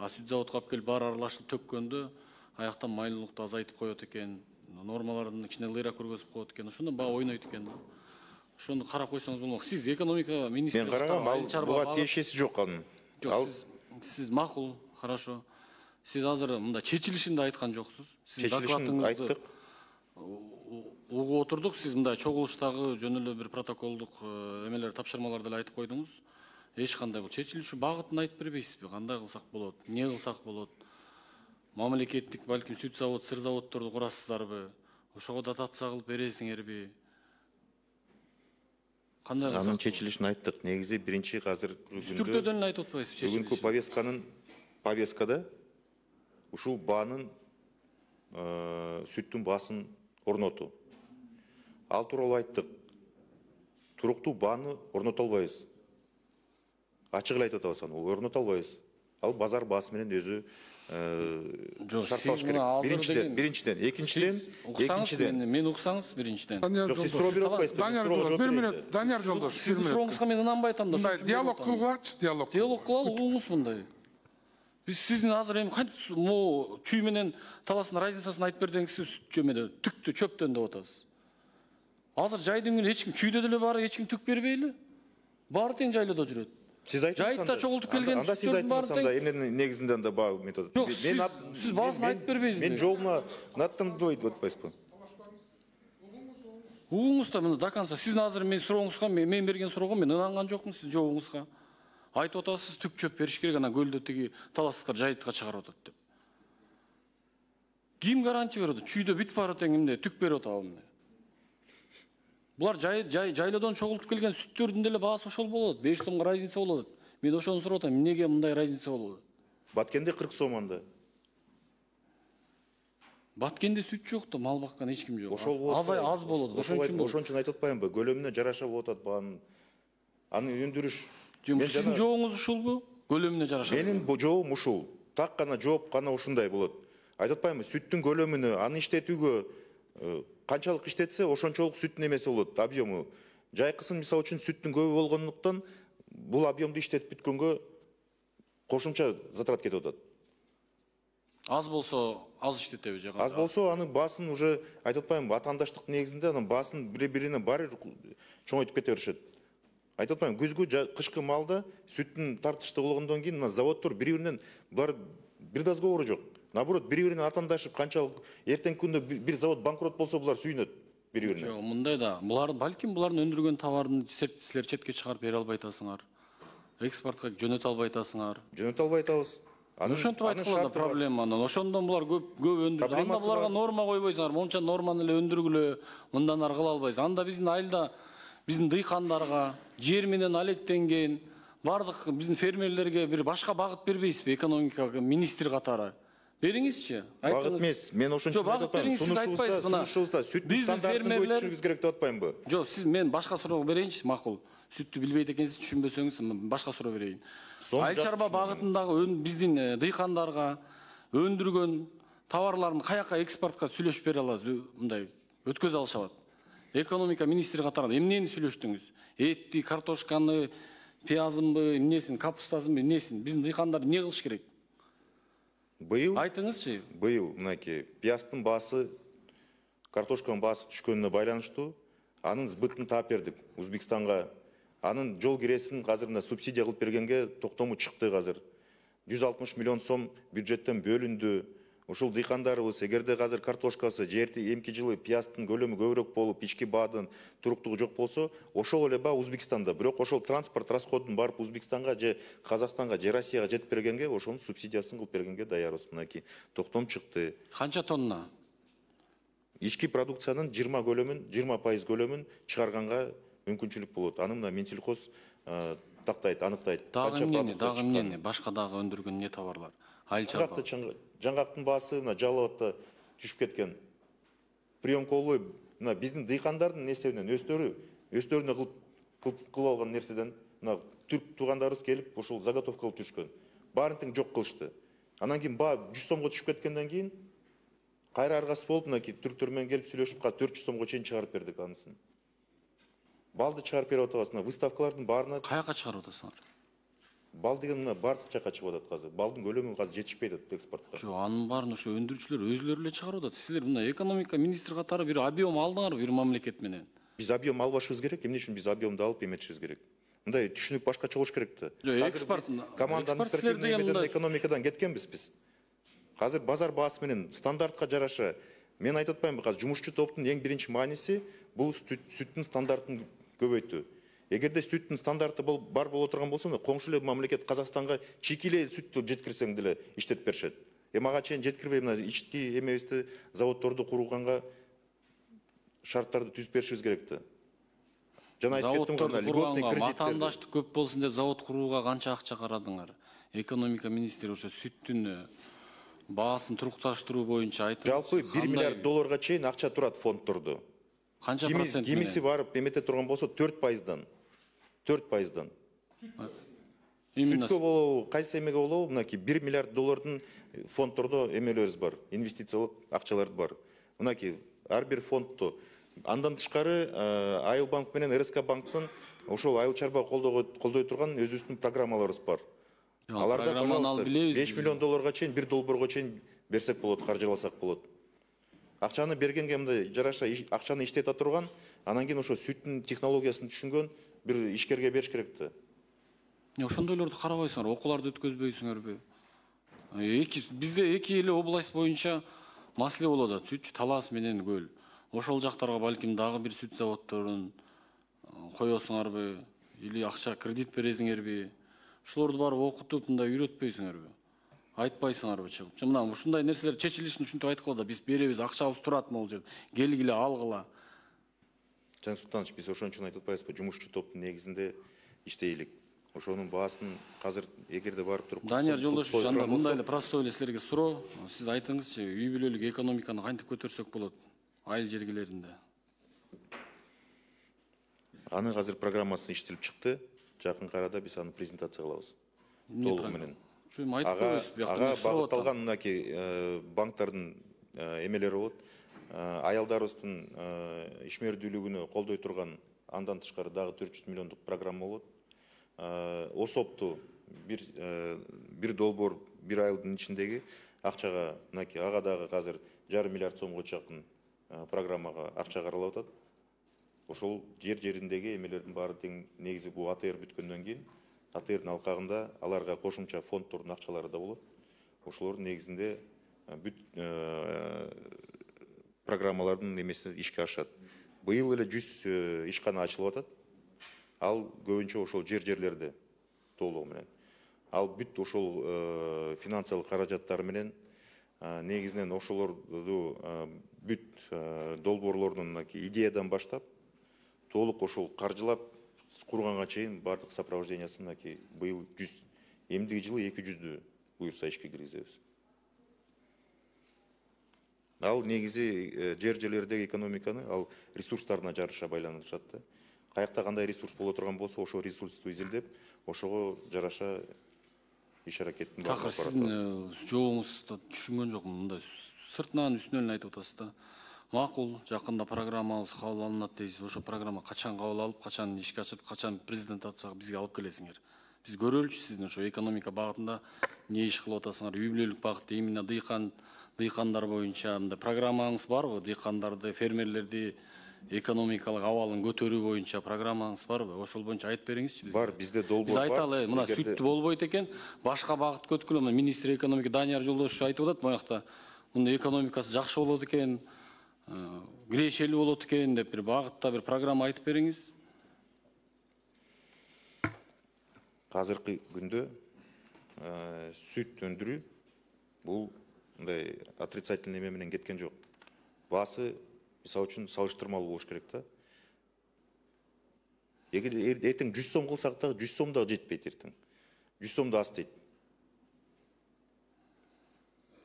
Сүт заводко алып келип баары аралашып төккөндө аяктан майлуулукту азайтып коет экен, нормаларын кичине ылыйраак көргөзүп коет экен. Ошондо баа ойнойт экен. Ошону карап койсоңуз болмок. Сиз экономика министри. Мен карагам, буга тиешеси жок анын. Жок, сиз макул, хорошо. Сиз азыр мында чечилишин да айткан жоксуз. Сиз докладыңызды айттык. Угуп отурдук. Сиз мындай чогулуштагы жөн эле бир протоколдук эмелер, тапшырмаларды эле айтып койдуңуз. Эч кандай бул чечилишүү багытын айтып бербейсизби? Кандай кылсак болот? Эмне кылсак болот? Мамлекеттик балким сүт завод, сыр заводдорду курасыздарбы? Ошого дотация кылып бересиңерби? Кандай кылсак? Анын чечилишин айттык. Негизи биринчи азыр түрдөн эле айтып атпайсызбы чечилишин? Бүгүнкү повесткада ушул баанын сүттүн баасын орнотуу. Ал тууралуу айттык. Туруктуу бааны орното албайбыз. Ачык эле айтып атабыз, орното албайбыз. Ал базар баасы менен өзү шартталыш керек. Биринчиден, экинчиден. Мен уксаңыз биринчиден. Жок, сиз суроо берип атпайсызбы? Данияр Жолдош, бир минут. Данияр Жолдош, Сиздин сурооңузга мен ынанбай атам да. Мындай диалог кылгылачы, диалог. Диалог кылалы, угуңуз мындай. Биз сиздин азыр эми кантип могу чүй менен таластын разницасын айтып бердиңиз, сиз жөмөдө түктү чөптөн деп атасыз. Азыр жайдын күнү эч ким чүйдө деле баары эч ким түк бербейли. Баары тең жайлоодо жүрөт. Сиз айтыңыз, жайытта чогултуп келген анда сиз айтыңыз, анда эмненин негизинде анда баа метод. Жок, сиз баасын айтып бербейсизби? Мен жолуна наттандырбайт деп атпайсызбы? Угуңуз да мына до конца. Сиздин азыр мен сурооңузга, мен берген суроого мен ынанган жокмун сиздин жообуңузга. Айтып атасыз, түк чөп бериш керек, анан көлдө тиги таластыктар жайытка чыгарып атат деп. Ким гарантия берет? Чүйдө бүт баары тең эмне түк берип атабы эмне? Булар жайлоодон чогултуп келген сүттөрдүн деле баасы ошол болот. 5 сомго разница болот. Мен ошону сурап атам, эмнеге мындай разница болот? Баткенде 40 сом анда. Баткенде сүт жок да, мал баккан эч ким жок. Ошол болот. Аз болот. Ошон үчүн Ошон үчүн айтып атпаймынбы? Көлөмүнө жараша болуп атат баанын. Аны өндүрүш Сиздин жообуңуз ушулбу? Көлөмүнө жараша. Менин жообум ушул. Так гана жооп гана ушундай болот. Айтып атпаймынбы, сүттүн көлөмүнө, аны иштетүүгө канчалык иштетсе, ошончолук сүттүн эмеси болот, объему. Жайкысын мисалы үчүн сүттүн көбү болгондуктан бул объемду иштетип бүткөнгө кошумча затрат кетип атат. Аз болсо аз иштетеби же? Аз болсо анын баасын уже айтып атпаймынбы, атаандаштык негизинде анын баасын бири-бирине баары чоңойтуп кете беришет. Айтып атпаймынбы, күзгү, кышкы малда сүттүн тартыштуу болгондон кийин мына заводдор бири-биринен булар бир да сговору жок. Наоборот, бири-бирине атаандашып, канчалык эртеңки күндө бир завод банкрот болсо булар сүйүнөт бири-бирине. Жок, мындай да. Балким булардын өндүргөн товарын силер четке чыгарып бере албай атасыңар. Экспортко жөнөтө албай атасыңар. Жөнөтө албай атабыз. Ошентип айткыла да проблеманы. Ошондон булар көп өндүрүп. Анда буларга норма койбойсуңар. Монча норманы эле өндүргүлө, мындан ары кыла албайсыз. Анда биздин айылда биздин дыйкандарга жер менен алектенген бардык биздин фермерлерге бир башка багыт бербейсизби? Экономика министри катары. Бериңизчи. Багыт эмес, мен ошон үчүн айтып атпаймынбы. Сунушубузда сүттүн стандартын көтөрүшүбүз керек деп атпаймынбы? Жок, сиз мен башка суроо берейинчи, макул. Сүттү билбейт экенсиз, түшүнбөсөңүз башка суроо берейин. Айыл чарба багытындагы биздин дыйкандарга өндүргөн товарларын каяка экспортко сүйлөшүп бере аласыз? Мындай өткөзө алышабат. Экономика министри катары эмнени сүйлөштүңүз? Этти, картошканы, пиязынбы, эмнесин, капустасынбы, эмнесин? Биздин дыйкандар эмне кылыш керек? Быйыл айтыңызчы. Быйыл мынакей пияздын баасы, картошканын баасы түшкөнүнө байланыштуу анын сбытын таап бердик Өзбекстанга. Анын жол киресин азыр мына субсидия кылып бергенге токтому чыкты азыр. 160 миллион сом бюджеттен бөлүндү. Ушул дыйкандарыбыз эгерде азыр картошкасы эмки жылы пияздын көлөмү көбүрөөк болуп, ички баадын туруктугу жок болсо, ошол эле баа Өзбекстанда. Бирок ошол транспорт расходун барып Өзбекстанга же Казакстанга же Россияга жетип бергенге, ошонун субсидиясын кылып бергенге даярбыз. Мынакей токтом чыкты. Канча тонна? Ички продукциянын 20% көлөмүн чыгарганга мүмкүнчүлүк болот. Аны мына Минсельхоз тактайт, аныктайт. Дагы эмне? Башка дагы өндүргөн эмне товарлар? Айыл чарба. Жаңгактын баасы мына Жалал Абадта түшүп кеткен. Приемка болбой, мына биздин дыйкандардын несебинен өстөрүнө кылып алган нерседен мына түрк туугандарыбыз келип ошол заготовка кылып түшкөн. Баарын тең жок кылышты. Анан кийин баа 100 сомго түшүп кеткенден кийин кайра аргасы болуп мынакей түрктөр менен келип сүйлөшүп 400 сомго чейин чыгарып бердик анысын. Балды чыгарып берип атабыз. Выставкалардын баарына каяка чыгарып атасыңар? Бал деген мына бардык жака чыгып атат азыр. Балдын көлөмү азыр жетишпейт экспортко. Жок, анын баарын ошо өндүрүүчүлөр өзүлөрү эле чыгарып атат. Силер мына экономика министри катары бир объем алдыңарбы бир мамлекет менен? Биз объем албашыбыз керек. Эмне үчүн биз объемду алып эметишибиз керек? Мындай түшүнүк башкача болуш керек да. Экспорт команда административный эмеден экономикадан кеткенбиз биз. Азыр базар баасы менен стандартка жараша мен айтып атпаймынбы, азыр жумушчу топтун эң биринчи мааниси бул сүттүн стандартын көбөйтүү. Эгерде сүттүн стандарты бар боло турган болсо, коңшу эле мамлекет Казакстанга чийки эле сүттү жеткирсең деле иштетип беришет. Ага чейин жеткирбей мына ички эмебизди заводдорду курганга шарттарды түзүп беришибиз керек да. Жана айтып кеттим го, льготный кредит. Атаандаштык көп болсун деп завод курууга канча акча карадыңар? Экономика министри ошо сүттүн баасын турукташтыруу боюнча айтыңыз. Жалпы 1 миллиард долларга чейин акча турат фонддордо. Канча процент? Кимиси барып эмете турган болсо 4%. 4%. Сүткө болобу, кайсы эмеге болобу, мынакей 1 миллиард доллардын фонддордо эмелерибиз бар, инвестициялык акчалар бар. Мынакей ар бир фонддо. Андан тышкары Айыл банк менен РСК банктын ошол айыл чарба колдой турган өзүбүздүн программаларыбыз бар. Аларда, пожалуйста, 5 миллион долларга чейин, 1 долбоорго чейин берсек болот, каржыласак болот. Акчаны бергенге мындай жараша акчаны иштете турган, анан кийин ошо сүттүн технологиясын түшүнгөн бир ишкерге бериш керек да. Ошондойлорду карабайсыңар, окууларды өткөзбөйсүңөрбү? Бизде эки эле область боюнча маселе болуп атат. Сүтчү Талас менен Көл. Ошол жактарга балким дагы бир сүт заводдорун коесуңарбы? Или акча кредит бересиңерби? Ушулорду барып окутуп, мындай үйрөтпөйсүңөрбү? Айтпайсыңарбы чыгып? Мына ушундай нерселер чечилишин ушинтип айткыла да, биз беребиз, акчабыз турат могул жер. Келгиле, алгыла. Жан Султанович, биз ошон үчүн айтып атпайбызбы, жумушчу топтун негизинде иштейлик. Ошонун баасын азыр эгерде барып туруп Данияр Жолдошевич, анда мындай эле простой эле силерге суроо. Сиз айтыңызчы, үй бүлөлүк экономиканы кантип көтөрсөк болот айыл жергилеринде? Аны азыр программасы иштелип чыкты. жакынкы арада биз аны презентация кылабыз. Толугу менен. Ага багытталган мынакей банктардын эмелери болот. Аялдарыбыздын ишмердүүлүгүнө колдой турган андан тышкары дагы 400 миллиондук программа болот. Осопту бир долбоор бир айдын ичиндеги акчага мынакей ага дагы азыр 1,5 миллиард сомго жакын программага акча каралып атат. Ошол жериндеги эмелердин баары тең негизи бул АТР бүткөндөн кийин АТРдин алкагында аларга кошумча фонддордун акчалары да болот. Ошолордун негизинде бүт программалардын эмеси ишке ашат. Быйыл эле 100 ишкана ачылып атат. Ал көбүнчө ошол жерлерде толугу менен. Ал бүт ошол финансылык каражаттары менен негизинен ошолорду бүт долбоорлордун идеядан баштап толук ошол каржылап курганга чейин бардык сопровождениясын быйыл 100, эмдиги жылы 200дү буюрса ишке киргизебиз. Ал негизи жерлердеги экономиканы ал ресурстарына жараша байланышат да. Каякта кандай ресурс боло турган болсо, ошол ресурсту изилдеп, ошого жараша иш аракеттин Такыр сиздин жообуңузду түшүнгөн жокмун. Мындай сыртынан үстүнөн айтып атасыз да. Макул, жакында программабыз кабыл алынат дейсиз. Ошо программа качан кабыл алып, качан ишке ашып, качан презентацияга бизге алып келесиңер. Биз көрөлүчү сиздин ошо экономика багытында эмне иш кылып атасыңар? Үй бүлөлүк багытта именно дыйкандар боюнча мындай программаңыз барбы? Дыйкандарды, фермерлерди экономикалык абалын көтөрүү боюнча программаңыз барбы? Ошол боюнча айтып бериңизчи бизге. Бар, бизде долбоор Биз бар. айталы, мына сүттү болбойт экен, башка багыт көткүлө, министр экономика Данияр Жолдошев айтып атат, моякта мунун экономикасы жакшы болот экен, кирешелүү болот экен деп бир багытта бир программа айтып бериңиз. Азыркы күндө сүт өндүрүү бул мындай отрицательный эме менен кеткен жок. Баасы мисалы үчүн салыштырмалуу болуш керек да. Эгер эртең 100 сом кылсак да 100 сом да жетпейт эртең. 100 сом да аз дейт.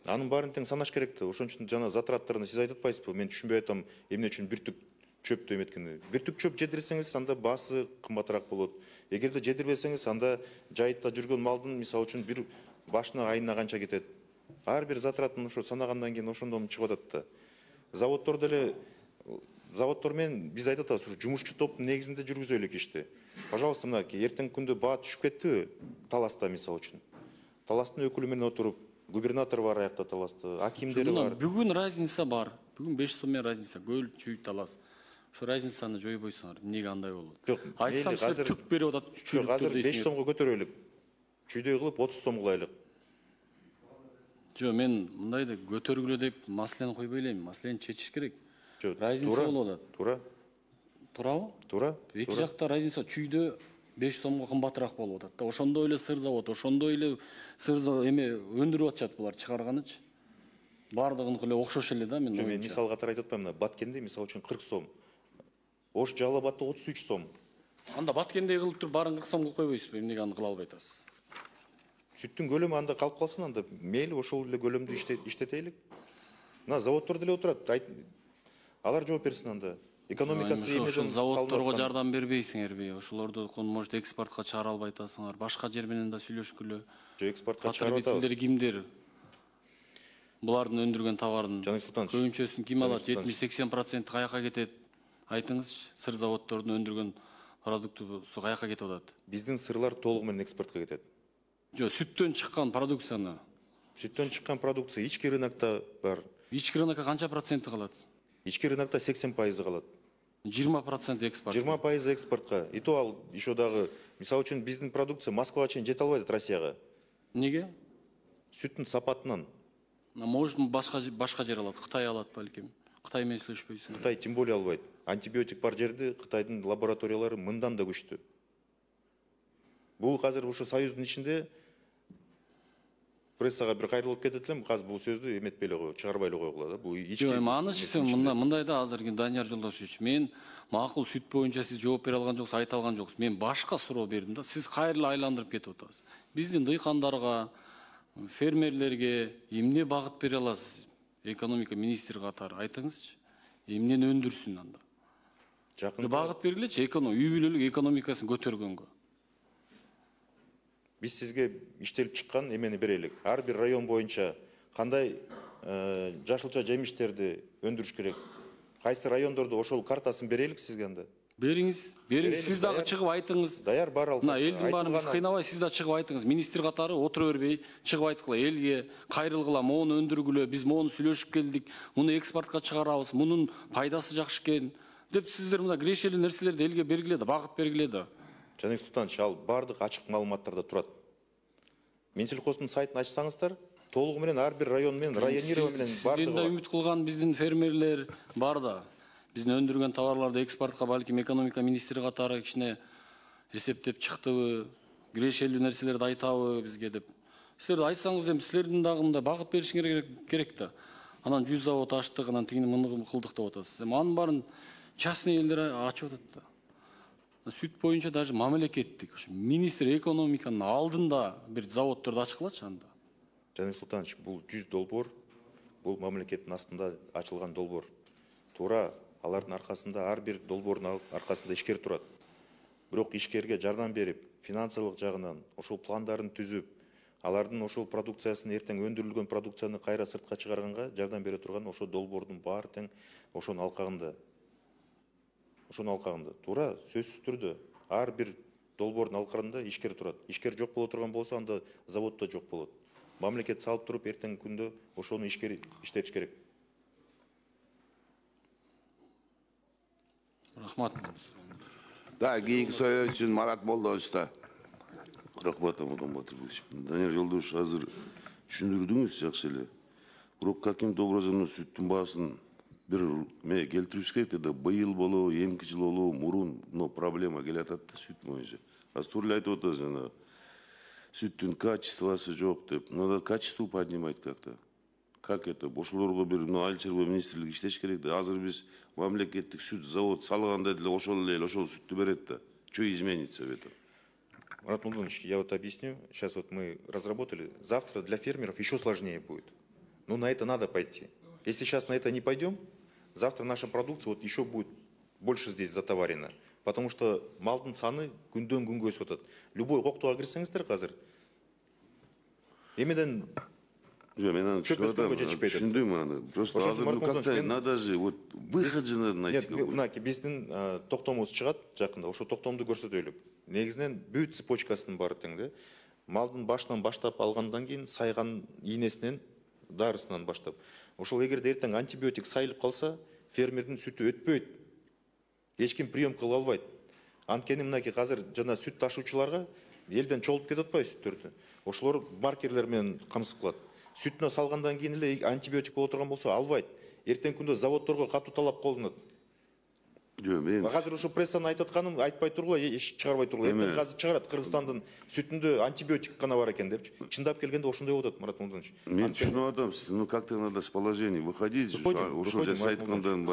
Анын баарын тең санаш керек да. Ошон үчүн жана затраттарына сиз айтып атпайсызбы? Мен түшүнбөй атам, эмне үчүн бир түк чөптү эметкени. Бир түк чөп жедирсеңиз, анда баасы кымбатыраак болот. Эгерде жедирбесеңиз, анда жайытта жүргөн малдын мисалы үчүн бир башына айына канча кетет. Ар бир затратын ошо санагандан кийин ошондон чыгып атат да. Заводдор деле заводдор менен биз айтып атабыз, жумушчу топтун негизинде жүргүзөлүк ишти. Пожалуйста, мына эртең күндө баа түшүп кеттиби? Таласта мисалы үчүн. Таластын өкүлү менен отуруп, губернатор бар аякта таласты, акимдери бар. Бүгүн разница бар. Бүгүн 5 сом менен разница. Көл, чүй, талас. Ошо разницаны жойбойсуңар. Эмнеге андай болот? Жок, айтсам силер түк берип атат. Жок, азыр 5 сомго көтөрөлүк. Чүйдөй кылып 30 сом кылайлык. Жок, мен мындай деп көтөргүлө деп маселени койбой элем. Маселени чечиш керек. Разница болуп атат. Туура. Туурабы? Туура. Эки жакта разница чүйдө 5 сомго кымбатыраак болуп атат да. Ошондой эле сыр завод, ошондой эле сыр эме өндүрүп атышат булар чыгарганычы. Бардыгыныкы эле окшош эле да, мен ойымча. Мен мисал катары айтып атпаймын, Баткенде мисалы үчүн 40 сом. Ош Жалал-Абадта 33 сом. Анда Баткендей кылып туруп баарын 40 сом кылып койбойсузбу? Эмнеге аны кыла албай атасыз? Сүттүн көлөмү анда калып калсын, анда мейли ошол эле көлөмдү иштетелик. Мына заводдор деле отурат. Алар жооп берсин анда. Экономикасы эмеден заводдорго жардам бербейсиңерби? Ошолорду может экспортко чыгара албай атасыңар. Башка жер менен да сүйлөшкүлө. Жок, экспортко чыгарып атабыз. Потребителдер кимдер? Булардын өндүргөн товарынын Жаныбек Султанович, көбүнчөсүн ким алат? 70-80% каяка кетет? Айтыңызчы, сыр заводдордун өндүргөн продуктусу каяка кетип атат? Биздин сырлар толугу менен экспортко кетет. Жок, сүттөн чыккан продукцияны. Сүттөн чыккан продукция ички рынокто бар. Ички рынокко канча проценти калат? Ички рынокто 80% калат. 20% экспорт. 20% экспортко. И то ал еще дагы, мисалы үчүн биздин продукция Москвага чейин жете албайт Россияга. Неге? Сүттүн сапатынан. Может, башка жер алат, Кытай алат балким. Кытай менен сүйлөшпөйсүң. Кытай тем более албайт. Антибиотик бар жерде Кытайдын лабораториялары мындан да күчтүү. Бул азыр ушу союздун ичинде прессага бир кайрылып кетет элем, азыр бул сөздү эметпей эле чыгарбай эле койгула да. Бул ички. Жок, эми мындай да азыр Данияр Жолдошевич, мен макул сүт боюнча сиз жооп бере алган жоксуз, айта алган жоксуз. Мен башка суроо бердим да. Сиз кайра эле айландырып кетип атасыз. Биздин дыйкандарга, фермерлерге эмне багыт бере аласыз? Экономика министри катары айтыңызчы. Эмнени өндүрсүн анда? Багыт бергилечи, үй бүлөлүк экономикасын көтөргөнгө. Биз сизге иштелип чыккан эмени берелик. Ар бир район боюнча кандай жашылча жемиштерди өндүрүш керек, кайсы райондордо ошол картасын берелик сизге анда. Бериңиз, сиз дагы чыгып айтыңыз. Даяр бар ал. Мына элдин баарын биз кыйнабай, сиз да чыгып айтыңыз. Министр катары отура бербей, чыгып айткыла элге, кайрылгыла, моуну өндүргүлө, биз моуну сүйлөшүп келдик, муну экспортко чыгарабыз, мунун пайдасы жакшы экен деп сиздер мына кирешелүү нерселерди элге бергиле да, багыт бергиле да. Жаник Султанович, ал бардык ачык маалыматтарда турат. Минсельхоздун сайтын ачсаңыздар, толугу менен ар бир район менен, районирование менен бардыгы бар. Үмүт кылган биздин фермерлер бар да. Биздин өндүргөн товарларды экспортко балким экономика министри катары кичине эсептеп чыктыбы, кирешелүү нерселерди айтабы бизге деп. Силер айтсаңыз эми силердин дагы мындай багыт беришиңер керек да. Анан 100 завод ачтык, анан тигини муну кылдык деп атасыз. Эми анын баарын частный элдер ачып атат да. Сүт боюнча даже мамлекеттик, министр экономиканын алдында бир заводдорду ачкылачы анда. Жаник Султанович, бул 100 долбоор, бул мамлекеттин астында ачылган долбоор. Туура алардын аркасында, ар бир долбоордун аркасында ишкер турат. Бирок ишкерге жардам берип, финансылык жагынан ошол пландарын түзүп, алардын ошол продукциясын эртең өндүрүлгөн продукцияны кайра сыртка чыгарганга жардам бере турган ошол долбоордун баары тең ошонун алкагында. Туура сөзсүз түрдө ар бир долбоордун алкагында ишкер турат. Ишкер жок боло турган болсо, анда завод да жок болот. Мамлекет салып туруп, эртең күндө ошону ишкер иштетиш керек. Рахмат. Да, кийинки сөйлөө үчүн Марат Молдоновичта. Рахмат, Амадан Батырбекович. Данияр Жолдош, азыр түшүндүрдүңүз жакшы эле. Бирок каким-то образом сүттүн баасын бир келтириш керек да, быйыл болобу, эмки жыл болобу, мурун проблема келатат да сүт боюнча. Азыр туура айтып атасыз, жана сүттүн качествосы жок деп. Надо качество поднимать как-то. Как это? Ошолорго бир айыл чарба министрлиги иштеш керек да. Азыр биз мамлекеттик сүт завод салганда деле ошол сүттү берет да. Что изменится в этом? Марат Молдонович, я вот объясню. Сейчас вот мы разработали. Завтра для фермеров еще сложнее будет. Но на это надо пойти. Если сейчас на это не пойдем, завтра наша продукция вот еще будет больше здесь затоварена. Потому что малдын саны күндөн күнгө өсүп атат. Любой коктуга кирсеңиздер азыр. Эмеден түшүндүм аны. Просто азыр как-то надо же вот выход же надо найти. Мынакей биздин токтомубуз чыгат жакында. Ошо токтомду көрсөтөлүк. Негизинен бүт цепочкасынын баары тең да. Малдын башынан баштап алгандан кийин сайган ийнесинен дарысынан баштап. Ошол эгерде эртең антибиотик сайылып калса, фермердин сүтү өтпөйт. Эч ким прием кыла албайт. Анткени мынакей азыр жана сүт ташуучуларга элден чогулуп кетип атпайбы сүттөрдү. Ошолор маркерлер менен камсыз кылат. Сүтүнө салгандан кийин эле антибиотик боло турган болсо албайт. Эртең күндө заводдорго катуу талап колдонот. Жок, мен азыр ошо прессаны айтып атканым айтпай тургула, эч чыгарбай тургула. Эртең азыр чыгарат Кыргызстандын сүтүндө антибиотик гана бар экен депчи. Чындап келгенде ошондой болуп атат, Марат Молдонович. Мен түшүнүп атам, как-то надо с положения выходить. Ошол жерде айткандан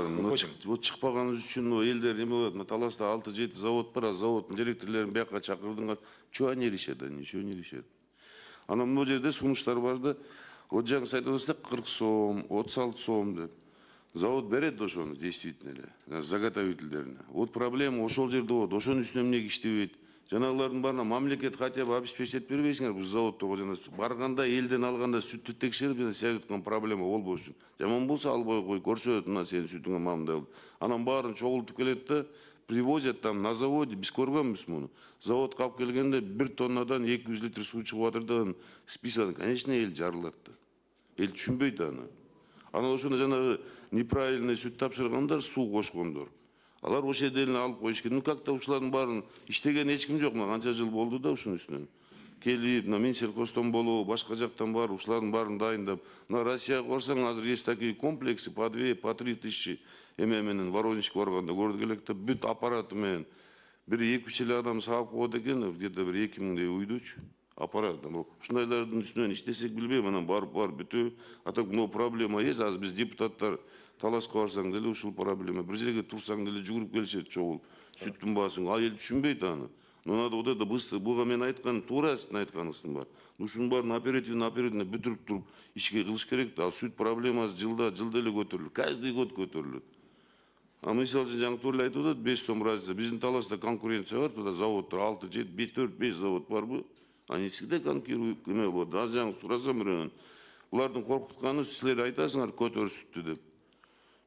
вот чыкпаганыбыз үчүн элдер эме болот. Таласта 6-7 завод бар, заводдун директорлорун бияка чакырдыңар. Чего они решат? Ничего не решат. Анан могу жерде сунуштар бар да, вот жаңы айтып атасыздар 40 сом, 36 сом деп. Завод берет ошону действительно эле, заготовительдерине. Вот проблема ошол жерде болот, ошонун үстүнө эмне иштебейт. Жанагылардын баарына мамлекет хотя бы обеспечить бербейсиңер, бул заводдорго жана барганда элден алганда сүттү текшерип жана сиз айткан проблема болбош үчүн. Жаман болсо албай кой, көрсөт мына сенин сүтүңө мамындай болду. Анан баарын чогултуп келет да, привозят там на заводе, биз көргөнбүз муну. Заводко алып келгенде 1 тоннадан 200 литр суу чыгып атыр да, список, конечно, эл жарылат да. Эл түшүнбөйт аны. Анан ошондо жанагы неправильный сүт тапшыргандар, суу кошкондор. Алар ошол жерде эле алып коюш керек. Как-то ушулардын баарын иштеген эч ким жок. Канча жыл болду да ушунун үстүнөн. Келип, Минсельхоздон болобу, башка жактан бар, ушулардын баарын дайындап. Мына Россияга барсаң, азыр есть такие комплексы по 2, по 3 тысячи эме менен Воронежке барганда көрдүк элек да, бүт аппараты менен бир 2-3 эле адам саап коет экен, где-то бир 2000 уйдучу. Аппарат. Ушундайлардын үстүнөн иштесек билбейм, анан барып бүтө. А так много проблема есть. Азыр биз депутаттар талашка барсаң деле ушул проблема. Бир жерге турсаң деле жүгүрүп келишет чогул. Сүттүн баасын. Ал эл түшүнбөйт аны. Но надо вот это быстро. Буга мен айткан туура сиздин айтканыңыздын бар. Ушунун баарын оперативно бүтүрүп туруп ишке кылыш керек да. Ал сүт проблемасы жылда эле көтөрүлөт. Каждый год көтөрүлөт. А мисалы үчүн жаңы туура айтып атат, 5 сом разница. Биздин таласта конкуренция бар, туда заводдор 6, 7, 4, 5 завод барбы? Они всегда конкурируют, вот, аз жаңы сурасам біреуінен. Бұлардың қорқытқаны сіздер айтасыңар көтөр сүтті деп.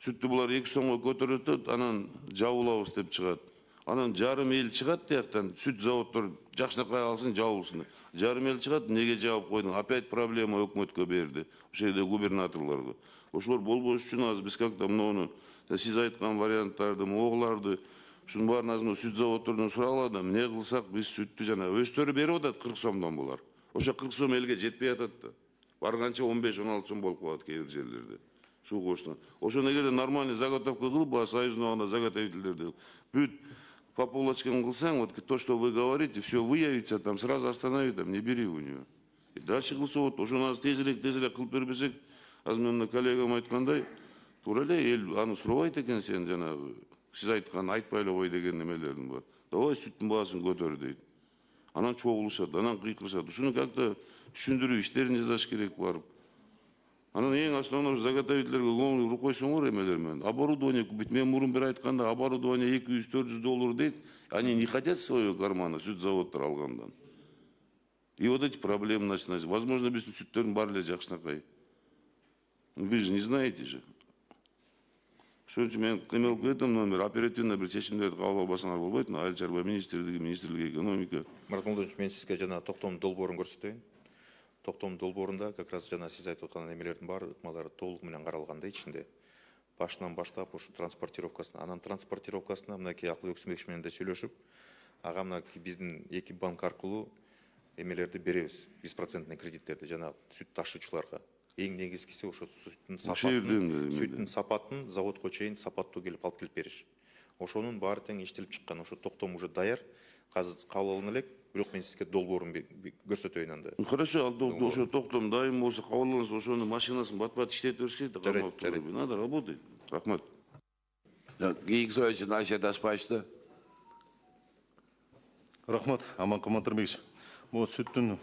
Сүтті бұлар 2 сомға көтереді, анан жабылабыз деп шығады. Анан жарым ел шығады дияқтан, сүт заводтар жақшынақай алсын, жабылсын. Жарым ел шығады, неге жауап қойдың? Опять проблема өкмөткө берді. Ошол жерде губернаторларга. Ошолор болбош үчүн аз биз как-то мынуну сиз айткан варианттарды, огларды, ушунун баарын азыр сүт заводтордон суралады, эмне кылсак биз сүттү жана өздөрү берип атат 40 сомдон булар. Ошо 40 сом элге жетпей атат да. Барганча 15-16 сом болуп калат кээ бир жерлерде. Суу коштон. Ошону эгерде нормальный заготовка кылып, союзный заготовительдерди бүт по полочкам кылсаң, вот то, что вы говорите, все выявится, там сразу остановит, там не бери у нее. И дальше кылса вот, ошо нас тезирээк кылып бербесек, азыр мына коллегам айткандай, туура эле эл аны сурабайт экен сен жанагы сиз айткан айтпай эле кой деген немелердин бар. Давай сүттүн баасын көтөр дейт. Анан чогулушат, анан кыйкырышат. Ушуну как-то түшүндүрүү иштерин жасаш керек барып. Анан эң основной заготовительдерге көңүл буруп койсоңор эмелер менен. Оборудование купить. Мен мурун бир айтканда оборудование 200-400 доллар дейт. Они не хотят своего кармана сүт заводтор алгандан. И вот эти проблемы начинаются. Возможно, биздин сүттөрдүн баары эле жакшынакай. Вы же не знаете же. Ошон үчүн мен кыймылып кетем, номер оперативно бир чечимдерди кабыл албасаңар болбойт. Айыл чарба министрлиги экономика. Мурат Молдонович, мен сизге жана токтомдун долбоорун көрсөтөйүн. Токтомдун долбоорунда как раз жана сиз айтып аткан эмелердин баары ыкмалары толук менен каралган да ичинде. Башынан баштап ушу транспортировкасына, анан транспортировкасына мынакей Акылбек Сумбекович менен да сүйлөшүп, ага мынакей биздин 2 банк аркылуу эмелерди беребиз, 100% кредиттерди жана сүт ташуучуларга. Эң негизгиси ошо сүттүн сапатын заводко чейин сапаттуу келип алып келип бериш. Ошонун баары тең иштелип чыккан. Ошо токтом уже даяр. Азыр кабыл алына элек, бирок мен сизге долбоорун көрсөтөйүн анда. Хорошо, ал ошо токтом дайым болсо кабыл алынса, ошонун машинасын бат-бат иштетип бериш керек да. Надо работать. Рахмат. Кийинки суроочу Насия Таспаевич. Рахмат, Аман Каматырбекович. Бул сүттүн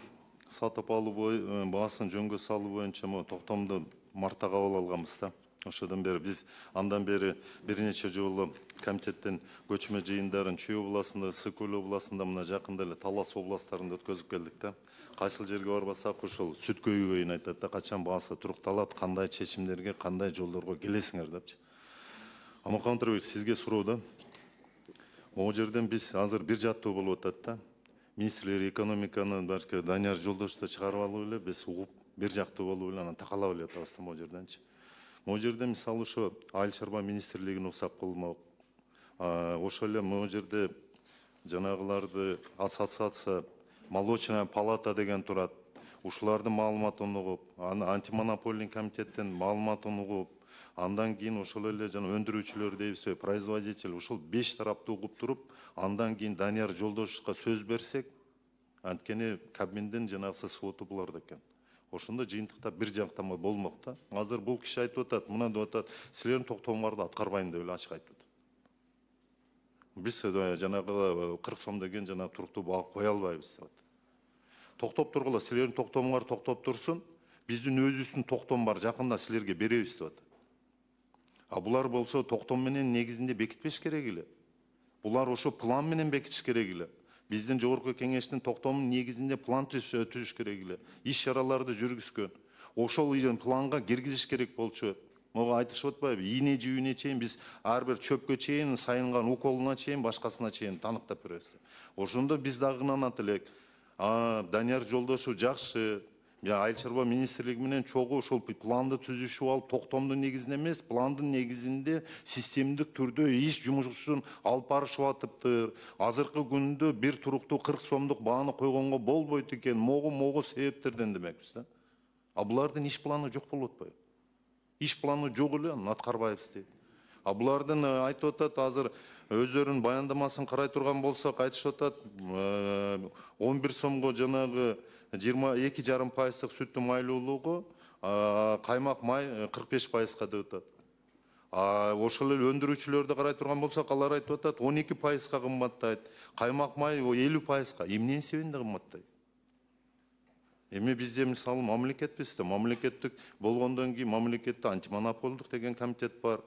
сатып алуу баасын жөнгө салуу боюнча токтомду мартта кабыл алганбыз да. Ошодон бери биз андан бери бир нече жолу комитеттин көчмө жыйындарын Чүй областында, Сыкөл областында, мына жакында эле Талас областарында өткөзүп келдик да. Кайсыл жерге барбасак ошол сүт көйгөйүн айтат да, качан баасы турукталат, кандай чечимдерге, кандай жолдорго келесиңер депчи. Аман Каматырбекович, сизге суроо да. Могу жерден биз азыр бир жаттуу болуп атат да. Министрлер экономиканы балки Данияр Жолдошто чыгарып алып эле биз угуп бир жактуу болуп эле анан такалап эле атабыз да могу жерденчи. Могу жерде мисалы ошо Айыл чарба министрлигин уксак кылмак. Ошол эле могу жерде жанагыларды ассоциация молочная палата деген турат. Ушулардын маалыматын угуп, антимонопольный комитеттин маалыматын угуп, андан кийин ошол эле жана өндүрүүчүлөр дейбиз, производитель, ушул 5 тараптуу угуп туруп, андан кийин Данияр Жолдошовго сөз берсек, анткени Кабминдин жанагы своту буларда экен. Ошондо жыйынтыкта бир жактама болмок да. Азыр бул киши айтып атат, мына деп атат, силердин токтомуңарды аткарбайм деп эле ачык айтып атат. Биз жанагы 40 сом деген жанагы туруктуу баа кое албайбыз деп атат. Токтоп тургула, силердин токтомуңар токтоп турсун, биздин өзүбүздүн токтом бар, жакында силерге беребиз деп атат. А булар болсо токтом менен негизинде бекитпеш керек эле. Булар ошо план менен бекитиш керек эле. Биздин жогорку кеңештин токтомунун негизинде план түзүш керек эле. Иш чараларды жүргүзгөн. Ошол планга киргизиш керек болчу. Мага айтышып атпайбы? Ийне жүүнүнө чейин биз ар бир чөпкө чейин, сайынган уколуна чейин, башкасына чейин таныктап беребиз. Ошондо биз дагы ынанат элек. Данияр Жолдошов жакшы, Айыл чарба министрлиги менен чогуу ошол планды түзүшүп алып, токтомдун негизинде эмес, пландын негизинде системдик түрдө иш жумушун алып барышып атыптыр. Азыркы күндө бир туруктуу 40 сомдук бааны койгонго болбойт экен, могу себептерден демекпиз да. А булардын иш планы жок болуп атпайбы? Иш планы жок эле, аны аткарбайбыз дейт. А булардын айтып атат, азыр өздөрүнүн баяндамасын карай турган болсок, айтышып атат, 11 сомго жанагы 22,5% сүттүн майлуулугу, каймак май 45%га деп атат. Ошол эле өндүрүүчүлөрдү карай турган болсок, алар айтып атат 12%га кымбаттайт, каймак май 50%га. Эмненин себебинде кымбаттайт? Эми бизде мисалы мамлекетпиз да, мамлекеттик болгондон кийин мамлекетте антимонополдук деген комитет бар.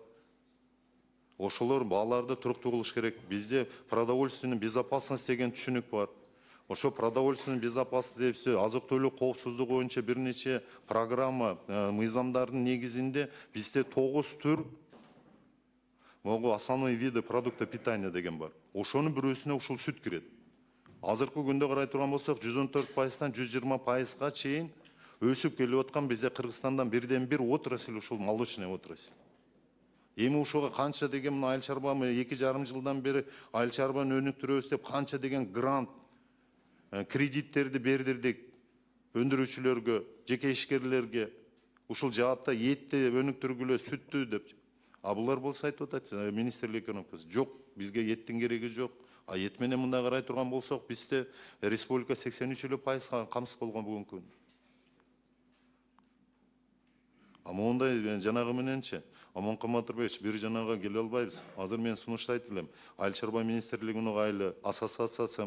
Ошолор бааларды туруктуу кылыш керек. Бизде продовольственный безопасность деген түшүнүк бар. ошо продовольственный безопасность деп азык-түлүк коопсуздугу боюнча бир нече программа мыйзамдардын негизинде бизде 9 түр могу основной виды продукта питания деген бар. Ошонун бирөөсүнө ушул сүт кирет. Азыркы күндө карай турган болсок 114%-тан 120%га чейин өсүп келип аткан бизде Кыргызстандан бирден-бир отрасль ушул молочный отрасль. Эми ушуга канча деген мына айыл чарба 2,5 жылдан бери айыл чарбаны өнүктүрөбүз деп канча деген грант кредиттерди бердирдик өндүрүүчүлөргө, жеке ишкерлерге, ушул жаатта этти өнүктүргүлө, сүттү деп. А булар болсо айтып атат, министрлик экономикасы жок, бизге эттин кереги жок. А эт менен мындай карай турган болсок, бизде республика 83% камсыз болгон бүгүнкү күндө. А мондай жанагы мененчи, Аманкан Батырбекович, бир жанага келе албайбыз. Азыр мен сунуштайт элем. Айыл чарба министрлигинин угайлы, ассоциация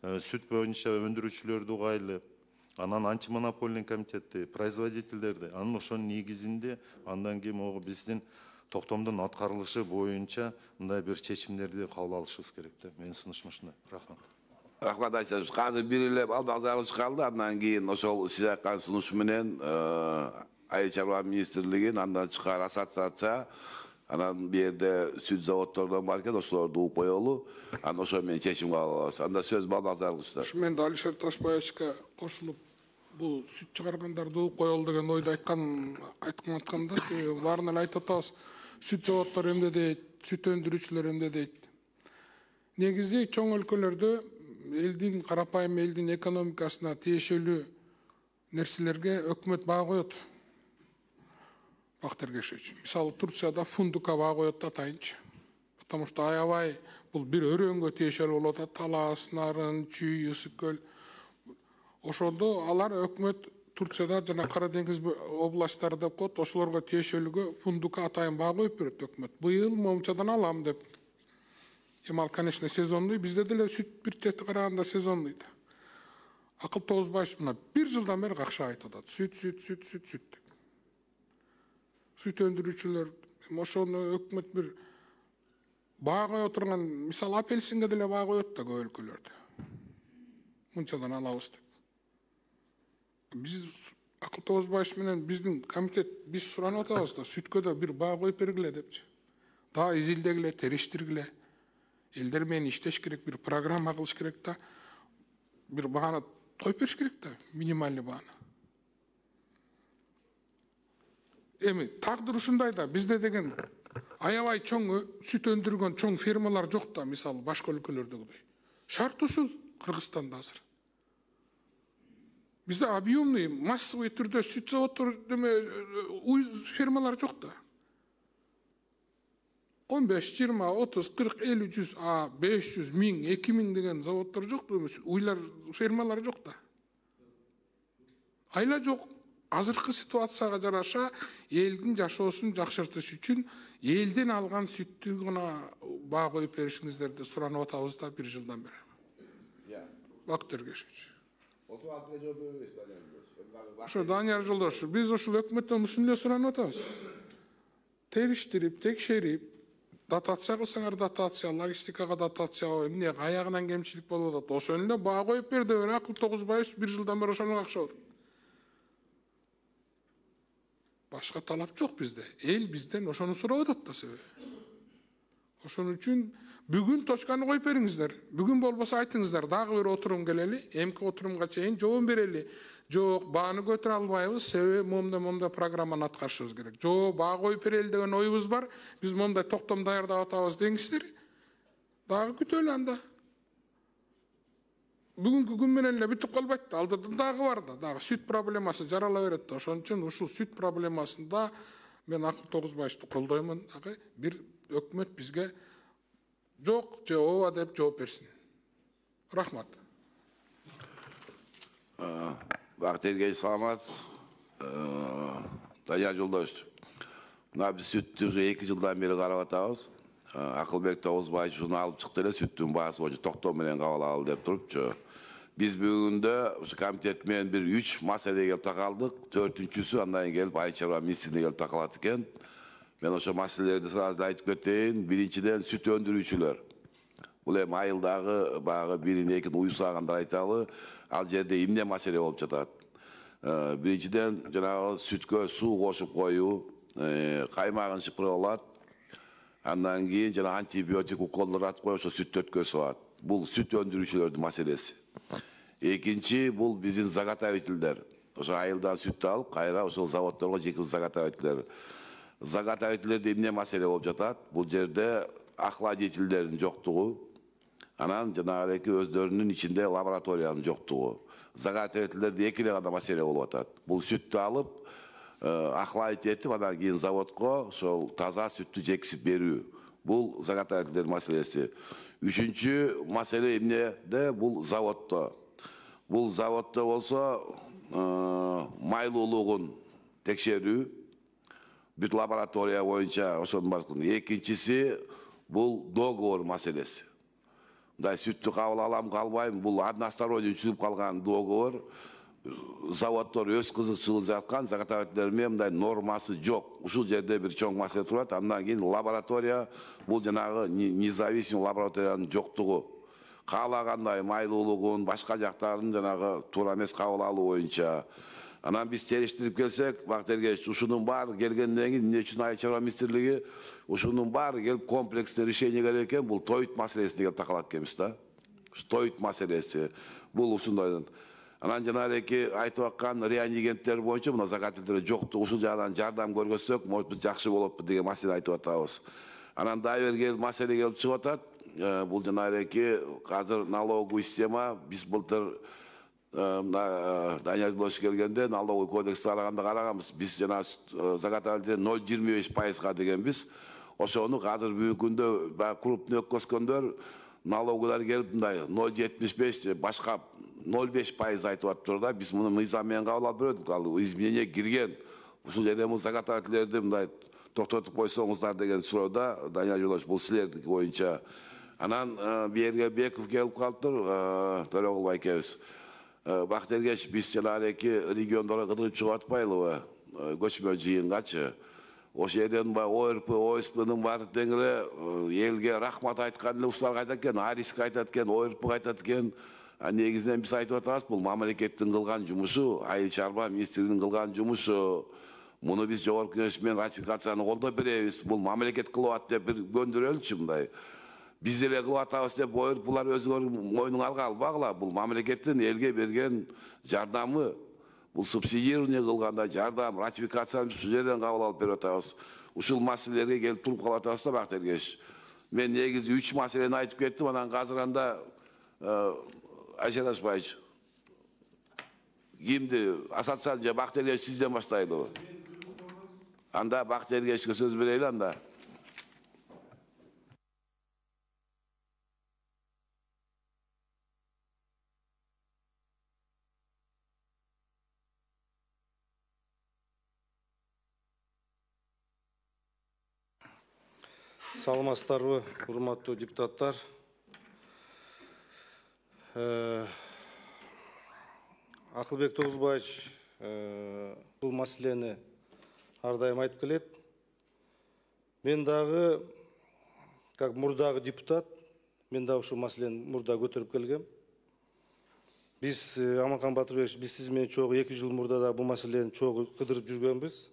сүт боюнча өндүрүүчүлөрдү угайлы, анан антимонопольный комитетти, производительдерди, анын ошонун негизинде андан кийин могу биздин токтомдун аткарылышы боюнча мындай бир чечимдерди кабыл алышыбыз керек да. Менин сунушум ушундай. Рахмат. Рахмат айтасыз. Казыр бирилеп алдагы калды, андан кийин ошол сиз айткан сунуш менен айыл чарба министрлигин андан чыккан ассоциация, анан бу жерде сүт заводдордон бар экен, ошолорду угуп коелу, анан ошо менен чечим кабыл алабыз. Анда сөз балдазарылышта. Мен да Алишер Ташбаевичке кошулуп, бул сүт чыгаргандарды угуп коелу деген ойду айтканда, баарын эле айтып атабыз. Сүт заводдору эмне дейт, сүт өндүрүүчүлөр эмне дейт. Негизи чоң өлкөлөрдө элдин, карапайым элдин экономикасына тиешелүү нерселерге өкмөт баа коет. Бак тергешүүчү. Мисалы Турцияда фундукка баа коет атайынчы. Потому что аябай бул бир өрөнгө тиешелүү болуп атат. Талас, Нарын, Чүй, Ысык көл. Ошондо алар өкмөт Турцияда жана Кара деңиз областтары деп коет, ошолорго тиешелүүгө фундукка атайын баа коюп берет өкмөт. Быйыл момчадан алам деп. Эми ал, конечно, сезондой, бизде деле сүт бюджети караганда сезондой да. Акыл Тогузбаевич мына бир жылдан бери какша айтып атат. Сүт деп. Сүт өндүрүүчүлөр, ошону өкмөт бир баа кое турган, мисалы апельсинге деле баа коет да көп өлкөлөрдө. Мынчадан алабыз деп. Биз Акыл Тогузбаевич менен биздин комитет биз суранып атабыз да, сүткө да бир баа коюп бергиле депчи. Дагы изилдегиле, териштиргиле. Элдер менен иштеш керек, бир программа кылыш керек да. Бир бааны коюп бериш керек да, минимальный бааны. Эми тагдыр ушундай да, бизде деген аябай чоң сүт өндүргөн чоң фермалар жок да, мисалы башка өлкөлөрдөгүдөй. Шарт ушул Кыргызстанда азыр. Бизде объемный, массовый түрдө сүт заводдор фермалар жок да. 15, 20, 30, 40, 50, 100, 500, 1000, 2000 деген заводдор жок да, уйлар, фермалар жок да. Айла жок. Азыркы ситуацияга жараша элдин жашоосун жакшыртыш үчүн элден алган сүттү гана баа коюп беришиңиздерди суранып атабыз да бир жылдан бери. Бак тергешүүчү. Ошо Данияр Жолдош, биз ушул өкмөттөн ушуну эле суранып атабыз. Териштирип, текшерип, дотация кылсаңар дотация, логистикага дотация, эмне аягынан кемчилик болуп атат. Ошону эле баа коюп бер деп Акыл Тогузбаевич бир жылдан бери ошону какшап атат. Башка талап жок бизде. Эл бизден ошону сурап атат да себеби. Ошон үчүн бүгүн точканы коюп бериңиздер. Бүгүн болбосо айтыңыздар, дагы бир отурум келели, эмки отурумга чейин жооп берели. Жок, бааны көтөрө албайбыз, себеби момда программаны аткарышыбыз керек. Жок, баа коюп берели деген оюбуз бар. Биз момдай токтом даярдап атабыз деңиздер. Дагы күтөлү анда. Бүгүнкү күн менен эле бүтүп калбайт да, алдыдан дагы бар да, дагы сүт проблемасы жарала берет да. Ошон үчүн ушул сүт проблемасында мен Акыл Тогузбаевичти колдоймун, дагы бир өкмөт бизге жок же ооба деп жооп берсин. Рахмат. Бак тергеш саламат. Данияр Жолдошевич. Мына биз сүттү уже 2 жылдан бери карап атабыз. Акылбек Тогузбаевич ушуну алып чыкты эле, сүттүн баасы боюнча токтом менен кабыл алалы деп турупчу. Биз бүгүндө ушу комитет менен бир 3 маселеге келип такалдык. 4-үнчүсү андан келип айыл чарба министрлигине келип такалат экен. Мен ошо маселелерди сразу айтып кетейин. Биринчиден сүт өндүрүүчүлөр. Бул эми айылдагы баягы бирин экин уюсагандар айталы, ал жерде эмне маселе болуп жатат? Биринчиден жанагы сүткө суу кошуп коюу, каймагын шыпырып алат. Андан кийин жана антибиотик уколдор атып коюп ошо сүттү өткөзүп алат. Бул сүт өндүрүүчүлөрдүн маселеси. Экинчи бул биздин заготовительдер. Ошо айылдан сүттү алып, кайра ошол заводдорго жеке заготовительдер. Заготовительдерде эмне маселе болуп жатат? Бул жерде охладительдердин жоктугу, анан жанагы өздөрүнүн ичинде лабораториянын жоктугу. Заготовительдерде эки эле гана маселе болуп атат. Бул сүттү алып, охладить этип, анан кийин заводко ошол таза сүттү жексип берүү. Бул заготовительдер маселеси. Үчүнчү маселе эмнеде? Бул заводдо. Бул заводдо болсо майлуулугун текшерүү, бүт лаборатория боюнча ошонун баардыгын. Экинчиси бул договор маселеси. Мындай сүттү кабыл алам, калбайм, бул односторонний түзүлүп калган договор. Заводдор өз кызыкчылыгын жаткан, заготовительдер менен мындай нормасы жок. Ушул жерде бир чоң маселе турат. Андан кийин лаборатория, бул жанагы независимый лабораториянын жоктугу. Каалагандай майлуулугун, башка жактарын жанагы туура эмес кабыл алуу боюнча. Анан биз териштирип келсек, Бактергеч, ушунун баары келгенден кийин эмне үчүн Айыл чарба министрлиги ушунун баары келип комплекстүү решение керек экен, бул тоют маселесине келип такалат экенбиз да. Тоют маселеси. Бул ушундай. Анан жана эки айтып аткан реагенттер боюнча мына заготовительдер жоктугу, ушул жагынан жардам көргөзсөк, может быть, жакшы болот деген маселе айтып атабыз. Анан дагы бир маселе келип чыгып атат. Бул жана эки азыр налоговый система, биз былтыр Данияр Досуш келгенде налоговый кодексти караганбыз. Биз жана заготовитель 0,25%га дегенбиз. Ошону азыр бүгүнкү күндө крупный өткөзгөндөр налоговыйлар келип мындай 0,75 башка 0,5% айтып атыптыр да. Биз муну мыйзам менен кабыл алып бердик. Ал изменение кирген. Ушул жерде бул заготовительдерди мындай токтотуп койсоңуздар деген суроодо Данияр Жолдош, бул силердики боюнча. Анан Берге Беков келип калыптыр, Төрөгул байкебиз. Бактергеч, биз жанагы эки региондорго кыдырып чыгып атпайлыбы? Көчмө жыйынгачы. Ошол жерден ОРП, ОСПнын баары тең эле элге рахмат айткан эле ушулар айтат экен, Ариске айтат экен, ОРП айтат экен. Негизинен биз айтып атабыз, бул мамлекеттин кылган жумушу, Айыл чарба министрлигинин кылган жумушу. Муну биз жогорку кеңеш менен ратификацияны колдоп беребиз. Бул мамлекет кылып атат деп бир көндүрөлүчү мындай. Биз эле кылып атабыз деп булар өзүңөр мойнуңарга албагыла. Бул мамлекеттин элге берген жардамы. Бул субсидирование кылганда жардам, ратификацияны ушул жерден кабыл алып берип атабыз. Ушул маселелерге келип туруп калып атабыз да, Бактергеч. Мен негизи 3 маселени айтып кеттим, анан азыр анда Айшат Ашбаевич, кимди ассоциация же Бактергеч сизден баштайлыбы? Анда Бактергечке сөз берели анда. Саламатсыздарбы, урматтуу депутаттар. Акылбек Тогузбаевич бул маселени ар дайым айтып келет. Мен дагы, как мурдагы депутат, мен дагы ушул маселени мурда көтөрүп келгем. Биз, Аманкан Батырбекович, биз сиз менен чогуу 2 жыл мурда да бул маселени чогуу кыдырып жүргөнбүз.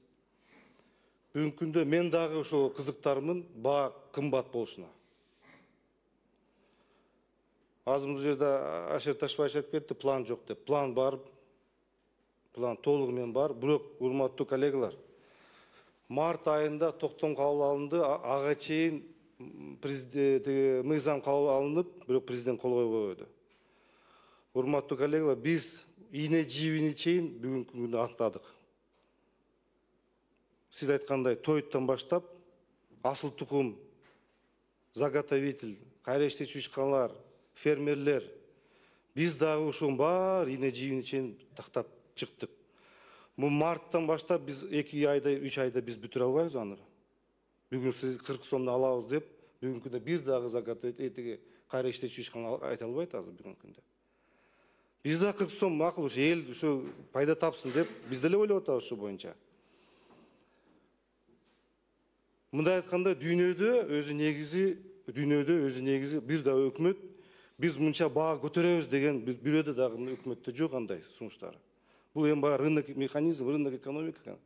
Бүгүнкү күндө мен дагы ошол кызыктармын, баа кымбат болушуна. Азыр бул жерде Айшат Ашбаевич айтып кетти, план жок деп. План бар, план толугу менен бар. Бирок, урматтуу коллегалар, март айында токтом кабыл алынды, ага чейин мыйзам кабыл алынып, бирок президент кол койбойду. Урматтуу коллегалар, биз ийне жибини чейин бүгүнкү күндө аттадык. Сиз айткандай, тоюттан баштап, асыл тукум, заготовитель, кайра иштечү ишканалар, фермерлер, биз дагы ушунун баары ийне жибини чейин тактап чыктык. Бул марттан баштап биз 2 айда, 3 айда биз бүтүрө албайбыз аны. Бүгүн сиз 40 сомдон алабыз деп, бүгүнкү күндө бир дагы заготовитель, кайра иштечү ишкана айта албайт азыр бүгүнкү күндө. Биз да 40 сом макул, ушу эл ушу пайда тапсын деп, биз деле ойлоп атабыз ушу боюнча. Мындай айтканда, дүйнөдө өзү негизи дүйнөдө өзү негизи бир да өкмөт биз мынча баа көтөрөбүз деген бирөөдө дагы өкмөттө жок андай сунуштары. Бул эми баягы рынок механизм, рынок экономика.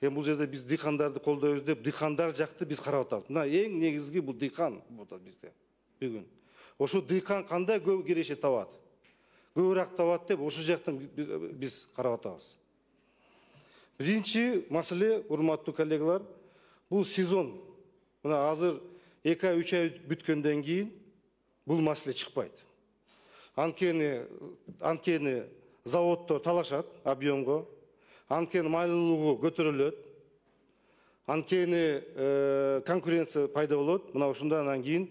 Эми бул жерде биз дыйкандарды колдойбуз деп дыйкандар жакты биз карап атабыз. Мына эң негизги бул дыйкан бизде бүгүн. Ошо дыйкан кандай көп кирешет табат, көбүрөөк табат деп ошол жактан биз карап атабыз. Биринчи маселе, урматтуу коллегалар, бул сезон. Мына азыр 2-3 ай бүткөндөн кийин бул маселе чыкпайт. Анткени заводдор талашат объемго, анткени майлуулугу көтөрүлөт, анткени конкуренция пайда болот. Мына ошондон кийин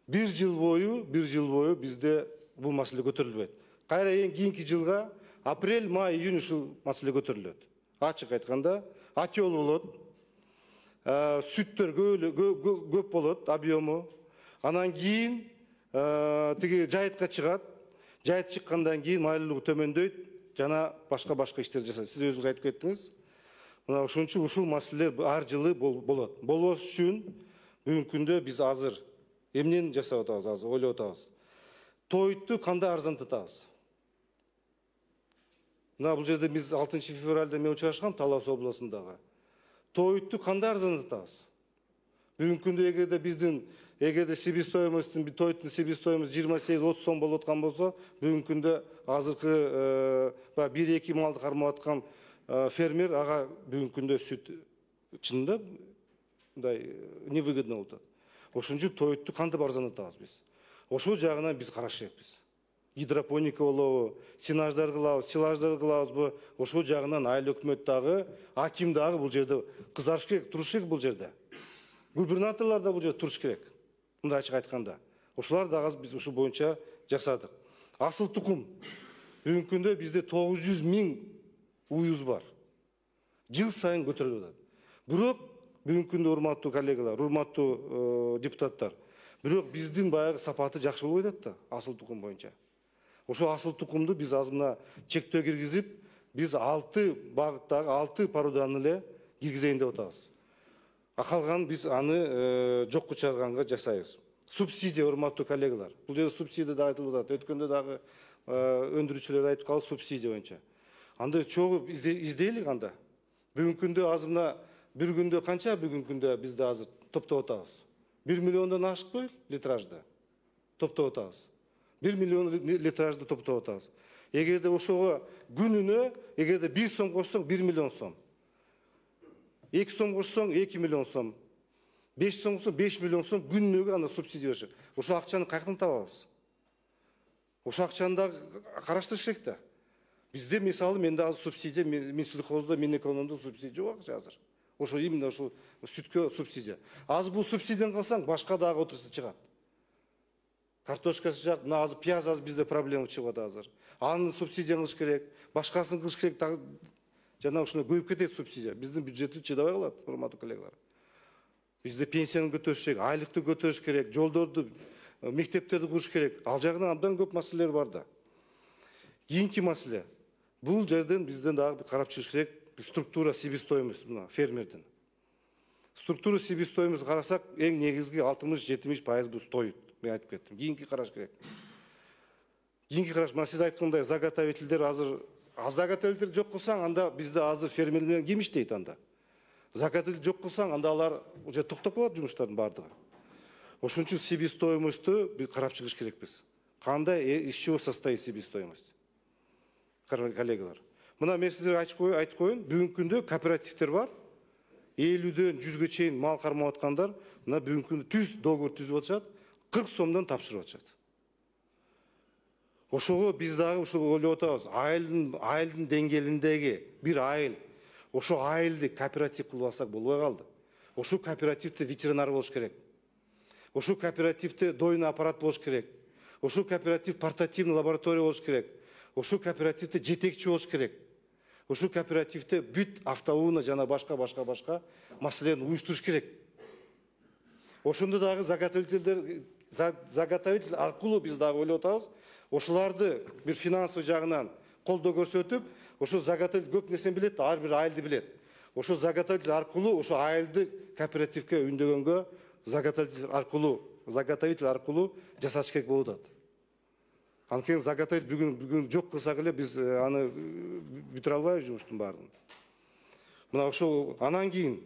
бир жыл бою бизде бул маселе көтөрүлбөйт. Кайра эң кийинки жылга апрель, май, июнь ушул маселе көтөрүлөт. Ачык айтканда, атёл болот, сүттөр көп болот, объему. Анан кийин тиги жайытка чыгат. Жайыт чыккандан кийин майлуулугу төмөндөйт, жана башка иштер жасайт. Сиз өзүңүз айтып кеттиңиз. Мына ошон үчүн ушул маселелер ар жылы болот. Болбош үчүн бүгүнкү күндө биз азыр эмнени жасап атабыз, азыр ойлоп атабыз. Тойту кандай арзандатабыз? Мына бул жерде биз 6 февралда мен учурашкам Талас областындагы. Тойту кандай арзандатабыз? Бүгүнкү күндө эгерде себестоимостун тойтун себестоимость 28-30 сом болуп аткан болсо, бүгүнкү күндө азыркы 1-2 малды кармап аткан фермер ага бүгүнкү күндө сүт чынында мындай невыгодно болуп атат. Ошон үчүн тойту кантип арзандатабыз биз? Ошол жагынан биз караш керекпиз. Гидропоника болобу, сенаждар кылабыз, силаждар кылабызбы? Ошол жагынан айыл өкмөт дагы, аким дагы бул жерде кызарыш керек, туруш керек бул жерде. Губернаторлар да бул жерде туруш керек. Мындай ачык айтканда, ошолар дагы биз ушул боюнча жасадык. Асыл тукум. Бүгүнкү күндө бизде 900 000 уюз бар. Жыл сайын көтөрүлүп атат. Бирок бүгүнкү күндө урматтуу коллегалар, урматтуу депутаттар, бирок биздин баягы сапаты жакшы болбой атат да, асыл тукум боюнча. Ошол асыл тукумду биз азыр мына чектөө киргизип, биз 6 багыттагы 6 породаны эле киргизейин деп атабыз. Калган биз аны жокко чыгарганга жасайбыз. Субсидия, урматтуу коллегалар. Бул жерде субсидия да айтылып атат. Өткөндө дагы өндүрүүчүлөр айтып калды субсидия боюнча. Анда чогуу издейлик анда. Бүгүнкү күндө азыр мына бир күндө канча бүгүнкү күндө бизде азыр топтоп атабыз? 1 миллиондон ашыкпай литражды топтоп атабыз. 1 миллион литражды топтоп атабыз. Эгерде ошого күнүнө, эгерде 1 сом кошсоң 1 миллион сом. 2 сом кошсоң 2 миллион сом. 5 сом кошсоң 5 миллион сом күнүнө ана субсидия беришет. Ошол акчаны каяктан табабыз? Ошол акчаны да караштырыш керек да. Бизде мисалы менде азыр субсидия, Минсельхоздо, Минэкономдо субсидия жок азыр. Ошо именно ошо сүткө субсидия. Азыр бул субсидияны кылсаң башка дагы отрасль чыгат. Картошкасы жак, мына азыр пияз азыр бизде проблема чыгып атат азыр. Аны субсидия кылыш керек, башкасын кылыш керек дагы. Жана ушуна көйүп кетет субсидия. Биздин бюджетти чыдабай калат, урматтуу коллегалар. Бизде пенсияны көтөрүш керек, айлыкты көтөрүш керек, жолдорду, мектептерди куруш керек. Ал жагынан абдан көп маселелер бар да. Кийинки маселе. Бул жерден бизден дагы карап чыгыш керек структура себестоимость мына фермердин. Структура себестоимость карасак, эң негизги 60-70% бул тоют. Мен айтып кеттим. Кийинки караш керек. Кийинки караш, мына сиз айткандай заготовительдер азыр заготовитель жок кылсаң, анда бизде азыр фермерлер ким иштейт анда? Заготовитель жок кылсаң, анда алар уже токтоп калат жумуштардын бардыгы. Ошон үчүн себестоимостьту биз карап чыгыш керекпиз. Кандай из чего состоит себестоимость? Коллегалар. Мына мен сиздерге айтып коеюн, бүгүнкү күндө кооперативдер бар. 50-дөн 100-гө чейин мал кармап аткандар, мына бүгүнкү күндө договор түзүп атышат, 40 сомдон тапшырып атышат. Ошого биз дагы ушул ойлоп атабыз. Айылдын деңгээлиндеги бир айыл, ошо айылды кооператив кылып алсак болбой калды. Ошол кооперативде ветеринар болуш керек. Ошол кооперативде дойный аппарат болуш керек. Ошол кооператив портативный лаборатория болуш керек. Ошол кооперативде жетекчи болуш керек. Ошол кооперативде бүт автоунаа жана башка маселени уюштуруш керек. Ошондо дагы заготовитель аркылуу биз дагы ойлоп атабыз. Ошоларды бир финансовый жагынан колдоо көрсөтүп, ошо заготовитель көп нерсени билет, ар бир айылды билет. Ошо заготовитель аркылуу ошо айылды кооперативге үндөгөнгө заготовитель аркылуу заготовитель аркылуу жасаш керек болуп атат. Анткени заготовитель бүгүн жок кылсак эле биз аны бүтүрө албайбыз жумуштун баарын. Мына ошол анан кийин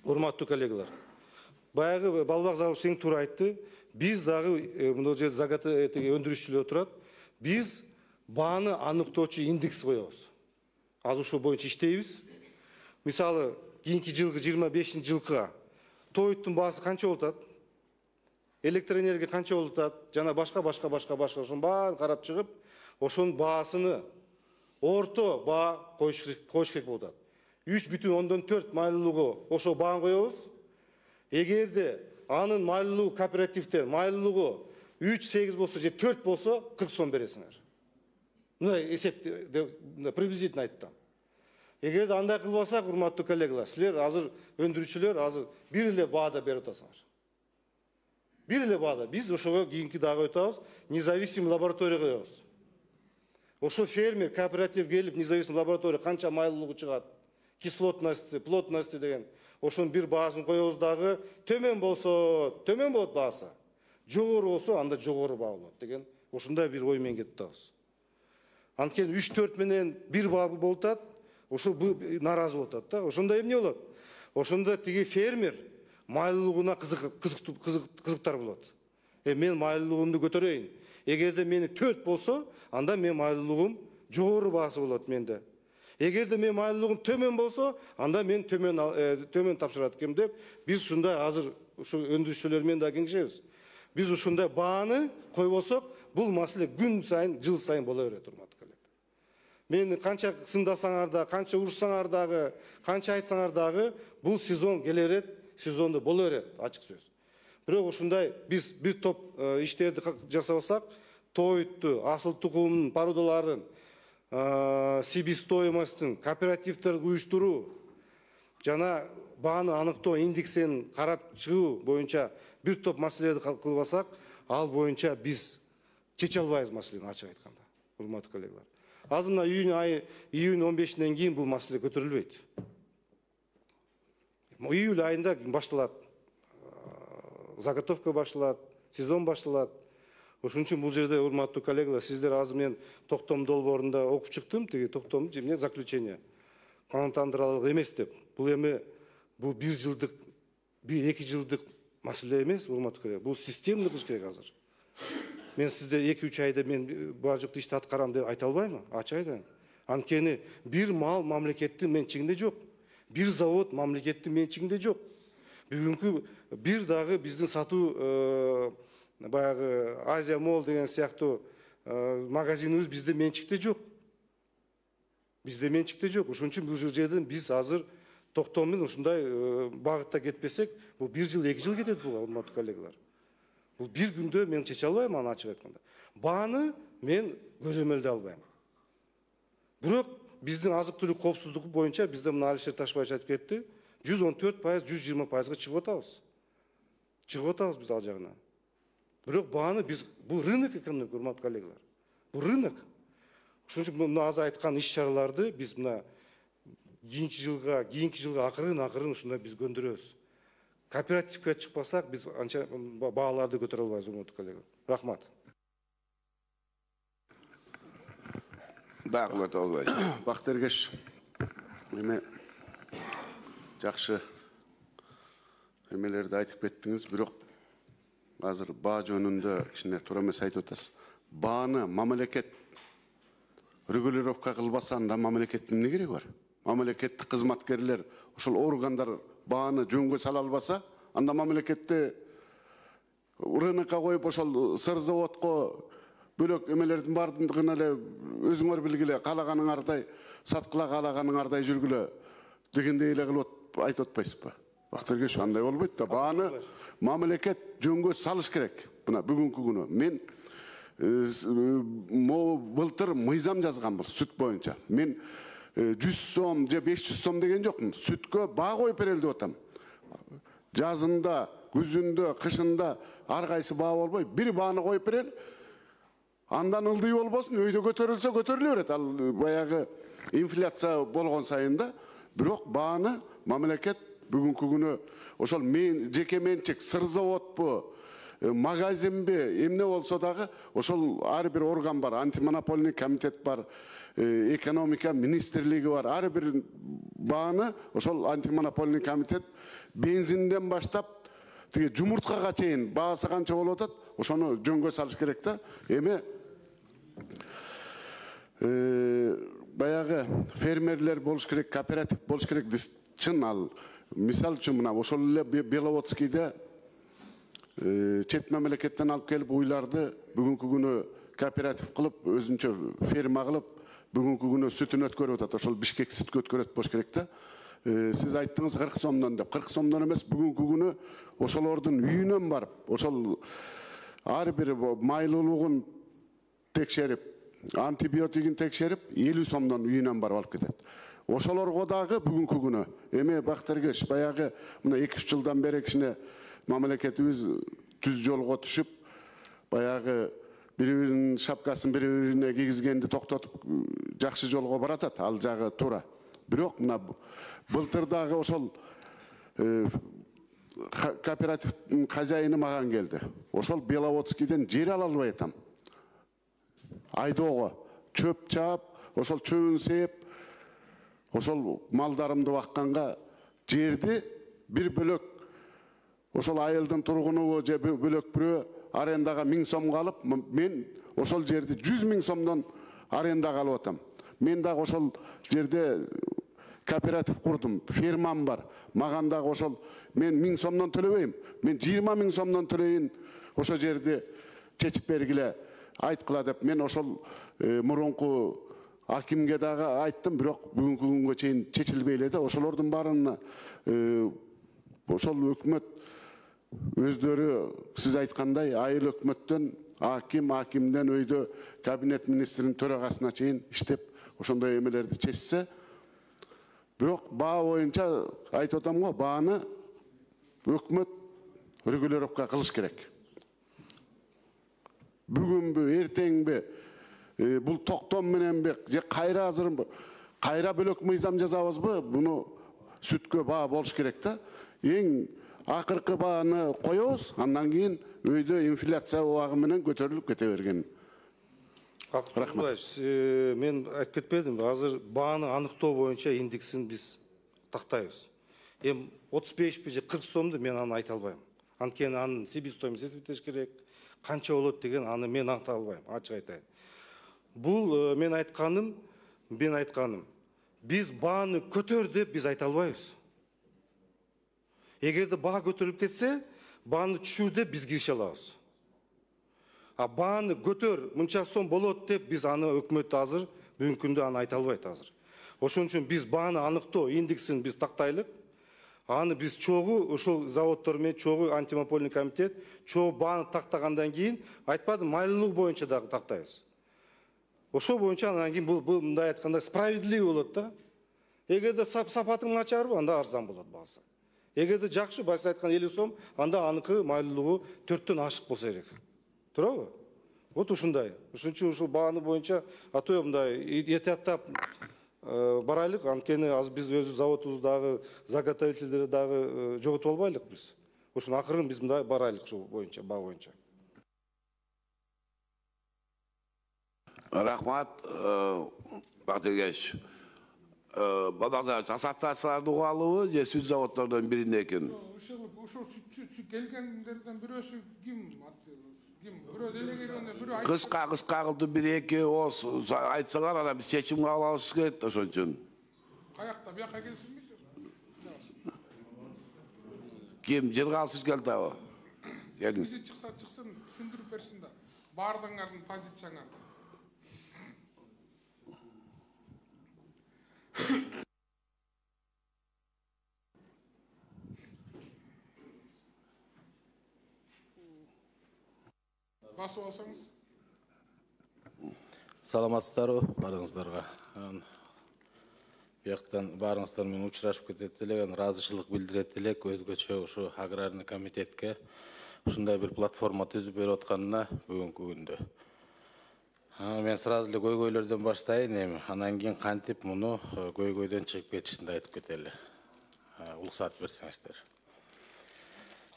урматтуу коллегалар, баягы Балбак Залышевич туура айтты. Биз дагы мына жерде өндүрүшчүлөр турат. Биз бааны аныктоочу индекс коебуз. Азыр ошол боюнча иштейбиз. Мисалы, кийинки жылгы 25-жылкыга тоюттун баасы канча болуп атат? Электроэнергия канча болуп атат? Жана башка ошонун баарын карап чыгып, ошонун баасыны орто баа коюш керек болуп атат. 3,4 майлуулугу ошол бааны коебуз. Эгерде анын майлуулугу кооперативде майлуулугу 3,8 болсо же 4 болсо 40 сом бересиңер. Мына эсепти приблизительно айттым. Эгерде андай кылбасак, урматтуу коллегалар, силер азыр өндүрүүчүлөр азыр бир эле баада берип атасыңар. Бир эле баада. Биз ошого кийинки дагы өтөбүз, независимый лаборатория коебуз. Ошо фермер, кооператив келип, независимый лаборатория канча майлуулугу чыгат, кислотности, плотности деген, ошонун бир баасын коебуз дагы, төмөн болот баасы. Жогору болсо, анда жогору баа болот деген, ошондой бир ой менен кетип атабыз. Анткени 3-4 менен бир баа болуп атат, ошол наразы болуп атат да. Ошондо эмне болот? Ошондо тиги фермер майлуулугуна кызыктар болот. Мен майлуулугумду көтөрөйүн. Эгерде мени 4 болсо, анда мен майлуулугум жогору баасы болот менде. Эгерде мен майлуулугум төмөн болсо, анда мен төмөн тапшырат экем деп, биз ушундай азыр ушу өндүрүүчүлөр менен да кеңешебиз. Биз ушундай бааны койбосок, бул маселе күн сайын, жыл сайын боло берет, урматтуу коллега. Мени канча сындасаңар да, канча урушсаңар дагы, канча айтсаңар дагы, бул сезон келе берет, сезондо боло берет, ачык сөз. Бирок ушундай биз бир топ иштерди жасабасак, тоютту, асыл тукумдун породаларын, себестоимостун, кооперативтерди уюштуруу жана бааны аныктоо индексин карап чыгуу боюнча бир топ маселелерди кылбасак, ал боюнча биз чече албайбыз маселени, ачык айтканда, урматтуу коллегалар. Азыр мына июнь 15-ден кийин бул маселе көтөрүлбөйт. Июль айында башталат, заготовка башталат, сезон башталат. Ошон үчүн бул жерде, урматтуу коллегалар, сиздер азыр мен токтом долбоорунда окуп чыктым, тиги токтом эмне заключение. Канундандырылык эмес деп. Бул эми бул 1 жылдык, 1-2 жылдык маселе эмес, урматтуу коллегалар. Бул системный кылыш керек азыр. Мен сизде 2-3 айда мен бар жок ишти аткарам деп айта албаймын, ачык айтайын. Анткени бир мал мамлекеттин менчигинде жок. Бир завод мамлекеттин менчигинде жок. Бүгүнкү бир дагы биздин сатуу баягы Азия Мол деген сыяктуу магазинибиз бизде менчикте жок. Бизде менчикте жок. Ошон үчүн бул жерден биз азыр токтом менен ушундай багытта кетпесек, бул 1 жыл, 2 жыл кетет бул, урматтуу коллегалар. Бул бир күндө мен чече албайм, аны ачык айтканда. Бааны мен көзөмөлдөй албайм. Бирок биздин азык-түлүк коопсуздугу боюнча бизде мына Алишер Ташбаевич айтып кетти, 114%, 120%га чыгып атабыз. Чыгып атабыз биз ал жагынан. Бирок бааны биз, бул рынок экономика, урматтуу коллегалар. Бул рынок. Ошон үчүн мына азыр айткан иш-чараларды биз мына кийинки жылга акырын ушундай биз көндүрөбүз. Кооперативге чыкпасак, биз анча бааларды көтөрө албайбыз, урматтуу коллегалар. Рахмат. Бактыргеш, эме жакшы эмелерди айтып кеттиңиз, бирок азыр баа жөнүндө кичине туура эмес айтып атасыз. Бааны мамлекет регулировка кылбаса, анда мамлекеттин эмне кереги бар? Мамлекеттик кызматкерлер, ошол органдар бааны жөнгө сала албаса, анда мамлекетти рынокко коюп, ошол сыр заводко бөлөк эмелердин баардыгын эле өзүңөр билгиле, каалаганыңардай саткыла, каалаганыңардай жүргүлө дегендей эле кылып айтып атпайсызбы? Бактыргеш, андай болбойт да. Бааны мамлекет жөнгө салыш керек. Мына бүгүнкү күнү мен былтыр мыйзам жазганбыз сүт боюнча. Мен 100 сом же 500 сом деген жокмун. Сүткө баа коюп берели деп атам. Жазында, күзүндө, кышында ар кайсы баа болбой, бир бааны коюп берели. Андан ылдый болбосун, өйдө көтөрүлсө көтөрүлө берет. Ал баягы инфляция болгон сайын да. Бирок бааны мамлекет бүгүнкү күнү ошол жеке менчик сыр заводпу, магазинби эмне болсо дагы ошол ар бир орган бар, антимонопольный комитет бар, экономика министрлиги бар. Ар бир бааны ошол антимонопольный комитет бензинден баштап тиги жумурткага чейин баасы канча болуп атат, ошону жөнгө салыш керек да. Эми баягы фермерлер болуш керек, кооператив болуш керек чын ал. Мисал үчүн мына ошол эле Беловодскийде чет мамлекеттен алып келип уйларды бүгүнкү күнү кооператив кылып, өзүнчө ферма кылып, бүгүнкү күнү сүтүн өткөрүп атат. Ошол Бишкек сүткө өткөрөт болуш керек да. Сиз айттыңыз 40 сомдон деп. 40 сомдон эмес, бүгүнкү күнү ошолордун үйүнөн барып, ошол ар бир майлуулугун текшерип, антибиотигин текшерип, 50 сомдон үйүнөн барып алып кетет. Ошолорго дагы бүгүнкү күнү эми Бактыргеш баягы мына 2-3 жылдан бери кичине мамлекетибиз түз жолго түшүп, баягы бири-биринин шапкасын бири-бирине кийгизгенди токтотуп жакшы жолго баратат, ал жагы туура. Бирок мына былтыр дагы ошол кооперативдин хозяйыны маган келди. Ошол Беловодскийден жер ала албай атам. Айдоого чөп чаап, ошол чөбүн сээп, ошол малдарымды бакканга жерди бир бөлөк ошол айылдын тургунубу же бөлөк бирөө арендага 1000 сомго алып, мен ошол жерди 100 000 сомдон арендага алып атам. Мен дагы ошол жерде кооператив курдум, фермам бар. Маган дагы ошол мен 1000 сомдон төлөбөйм. Мен 20 000 сомдон төлөйүн, ошол жерди чечип бергиле, айткыла деп мен ошол мурунку акимге дагы айттым, бирок бүгүнкү күнгө чейин чечилбей эле да. Ошолордун баарына ошол өкмөт өздөрү сиз айткандай айыл өкмөттөн акимден өйдө кабинет министринин төрагасына чейин иштеп ошондой эмелерди чечсе, бирок баа боюнча айтып атам го, бааны өкмөт регулировка кылыш керек. Бүгүнбү, эртеңби, бул токтом мененби, же кайра азырбы, кайра бөлөк мыйзам жазабызбы, буну сүткө баа болуш керек да. Эң акыркы бааны коебуз, андан кийин өйдө инфляция убагы менен көтөрүлүп кете берген. Рахмат. Мен айтып кетпедим, азыр бааны аныктоо боюнча индексин биз тактайбыз. Эми 35 же 40 сомду мен аны айта албайм. Анткени анын себестоимость эсептеш керек, канча болот деген аны мен айта албайм, ачык айтайын. Бул мен айтканым, биз бааны көтөр деп биз айта албайбыз. Эгерде баа көтөрүлүп кетсе, бааны түшүр деп биз киреше алабыз. А бааны көтөр, мынча сом болот деп биз аны өкмөт азыр бүгүнкү күндө аны айта албайт азыр. Ошон үчүн биз бааны аныктоо индексин биз тактайлык. Аны биз чогуу ушул заводдор менен чогуу антимонопольный комитет чогуу бааны тактагандан кийин айтпадым, майлуулук боюнча дагы тактайбыз. Ошол боюнча андан кийин бул мындай айтканда справедливый болот да. Эгерде сапаты начарбы, анда арзан болот баасы. Эгерде жакшы, башта айткан 50 сом, анда аныкы майлуулугу 4төн ашык болсо керек. Туурабы? Вот ушундай. Ошон үчүн ушул бааны боюнча атоо мындай этияттап барайлык, анткени азыр биз өзү заводубуздагы заготовительдерди дагы жоготуп албайлык биз. Ошон акырын биз мындай барайлык ушул боюнча, баа боюнча. Рахмат, Бактыргеш. Бадагда ассоциацияларды угуалыбы же сүт заводдордон бирине экен? Ошол сүт келгендерден бирөөсү ким? Бирөө делегированный, бирөө Кыска кылды, 1-2 ооз айтсаңар, анан биз чечим кабыл алабыз керек, ошон үчүн. Каякта, бияка келсинби? Ким жыргал сүт келди абы? Келиңиз. Бизи чыксын, түшүндүрүп берсин да. Баардыгыңардын позицияңарды. Басып алсаңыз. Саламатсыздарбы баарыңыздарга. Бияктан баарыңыздар менен учурашып кетет элек, ыраазычылык билдирет элек өзгөчө ушу аграрный комитетке ушундай бир платформа түзүп берип атканына бүгүнкү күндө. Мен сразу эле көйгөйлөрдөн баштайын эми, анан кийин кантип муну көйгөйдөн чыгып кетишинди айтып кетели. Уруксат берсеңиздер.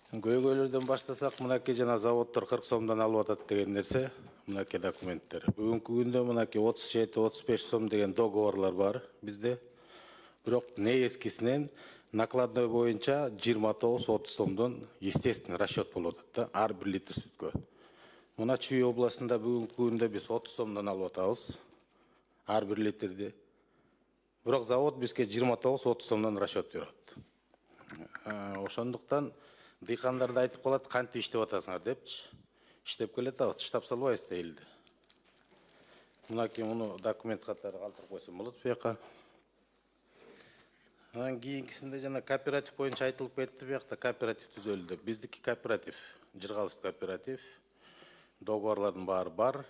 Көйгөйлөрдөн баштасак, мынакей жана заводдор 40 сомдон алып атат деген нерсе, мынакей документтер. Бүгүнкү күндө мынакей 37-35 сом деген договорлар бар бизде. Бирок негизгисинен накладной боюнча 29-30 сомдон естественный расчет болуп атат да, ар бир литр сүткө. Мына Чүй областында бүгүнкү күндө биз 30 сомдон алып атабыз ар бир литрди. Бирок завод бизге 29-30 сомдон расчет берип атат. Ошондуктан дыйкандарды айтып калат, кантип иштеп атасыңар депчи. Иштеп келатабыз, таштап салбайбыз да элди. Мынакей муну документ катары калтырып койсом болот буяка. Анан кийинкисинде жана кооператив боюнча айтылып кетти, буякта кооператив түзөлдү. Биздики кооператив, Жыргалыш кооператив, договорлардын баары бар.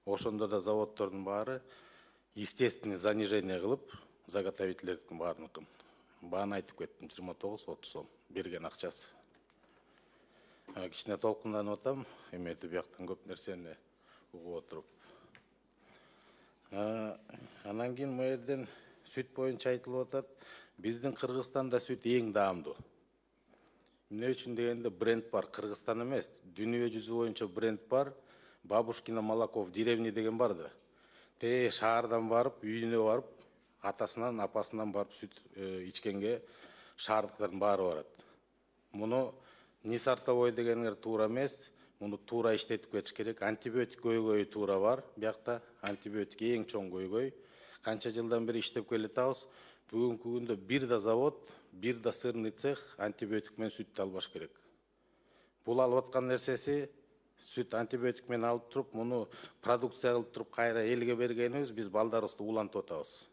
Ошондо да заводдордун баары естественный занижение кылып, заготовительдердин баарыныкын. Бааны айтып кеттим, 29-30 сом берген акчасы. Кичине толкунданып атам, эметип бияктан көп нерсени угуп отуруп. Анан кийин бу жерден сүт боюнча айтылып атат. Биздин Кыргызстанда сүт эң даамдуу. Эмне үчүн дегенде бренд бар, Кыргызстан эмес, дүйнө жүзү боюнча бренд бар. Бабушкино молоко в деревне деген бар да. Шаардан барып, үйүнө барып, атасынан, апасынан барып сүт ичкенге шаардыктардын баары барат. Муну не сортовой дегендер туура эмес, муну туура иштетип кетиш керек. Антибиотик көйгөйү туура бар, биякта антибиотик эң чоң көйгөй. Канча жылдан бери иштеп келатабыз. Бүгүнкү күндө бир да завод, бир да сырный цех антибиотик менен сүттү албаш керек. Бул алып аткан нерсеси сүт антибиотик менен алып туруп, муну продукция кылып туруп кайра элге бергенибиз, биз балдарыбызды улантып атабыз.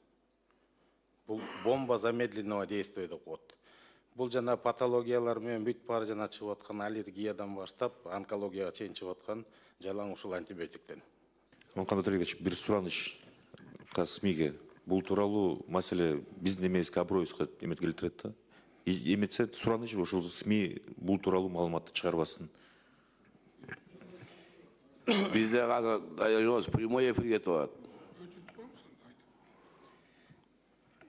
Бул бомба замедленного действия деп коет. Бул жана патологиялар менен бүт баары жана чыгып аткан аллергиядан баштап онкологияга чейин чыгып аткан жалаң ушул антибиотиктен. Мукаммед Алиевич, бир сураныч СМИге. Бул тууралуу маселе биздин эмебизге, аброюбузга эмет келтирет да. Эметсе сураныч ушул СМИ бул тууралуу маалыматты чыгарбасын. Бизде азыр прямой эфир кетип атат.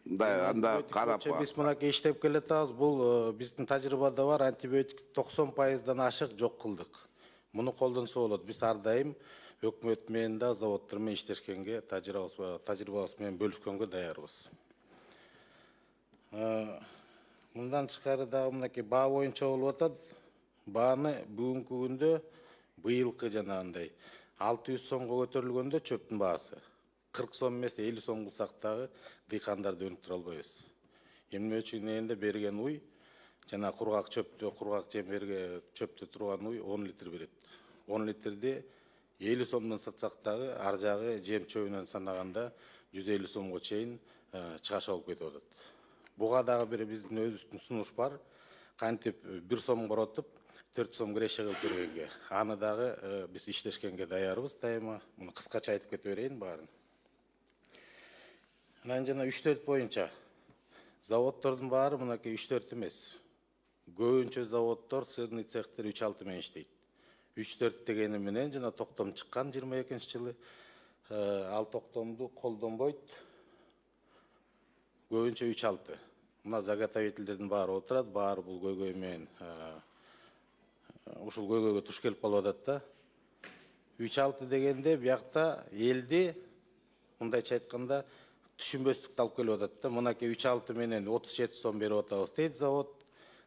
Да, анда карап. Биз мынакей иштеп келатабыз. Бул биздин тажрыйбада бар, антибиотик 90%дан ашык жок кылдык. Муну колдонсо болот. Биз ар дайым өкмөт менен да, заводдор менен иштешкенге, тажрыйбабыз менен бөлүшкөнгө даярбыз. Мындан тышкары дагы мынакей баа боюнча болуп атат. Бааны бүгүнкү күндө быйылкы жанагындай 600 сомго көтөрүлгөндө чөптүн баасы 40 сом эмес 50 сом кылсак дагы дыйкандарды өнүктүрө албайбыз. Эмне үчүн дегенде берген уй жана кургак чөптө, кургак жемерге чөптө турган уй 10 литр берет. 10 литрди 50 сомдон сатсак дагы ар жагы жем чөбүнөн санаганда 150 сомго чейин чыгаша болуп кетип атат. Буга дагы бир биздин өзүбүздүн сунуш бар. Кантип 1 сом коротуп 4 сом киреше кылып бергенге. Аны дагы биз иштешкенге даярбыз дайыма. Муну кыскача айтып кете берейин баарын. Анан жана 3-4 боюнча заводдордун баары мынакей 3-4 эмес. Көбүнчө заводдор, сырный цехтер 3-6 менен иштейт. 3-4 дегени менен жана токтом чыккан 22-жылы ал токтомду колдонбойт. Көбүнчө 3-6. Мына заготовительдердин баары отурат, баары бул көйгөй менен ушул көйгөйгө туш келип калып атат да. 3-6 дегенде биякта элди мындайча айтканда түшүнбөстүктү алып келип атат да. Мынакей 3-6 менен 37 сом берип атабыз дейт завод.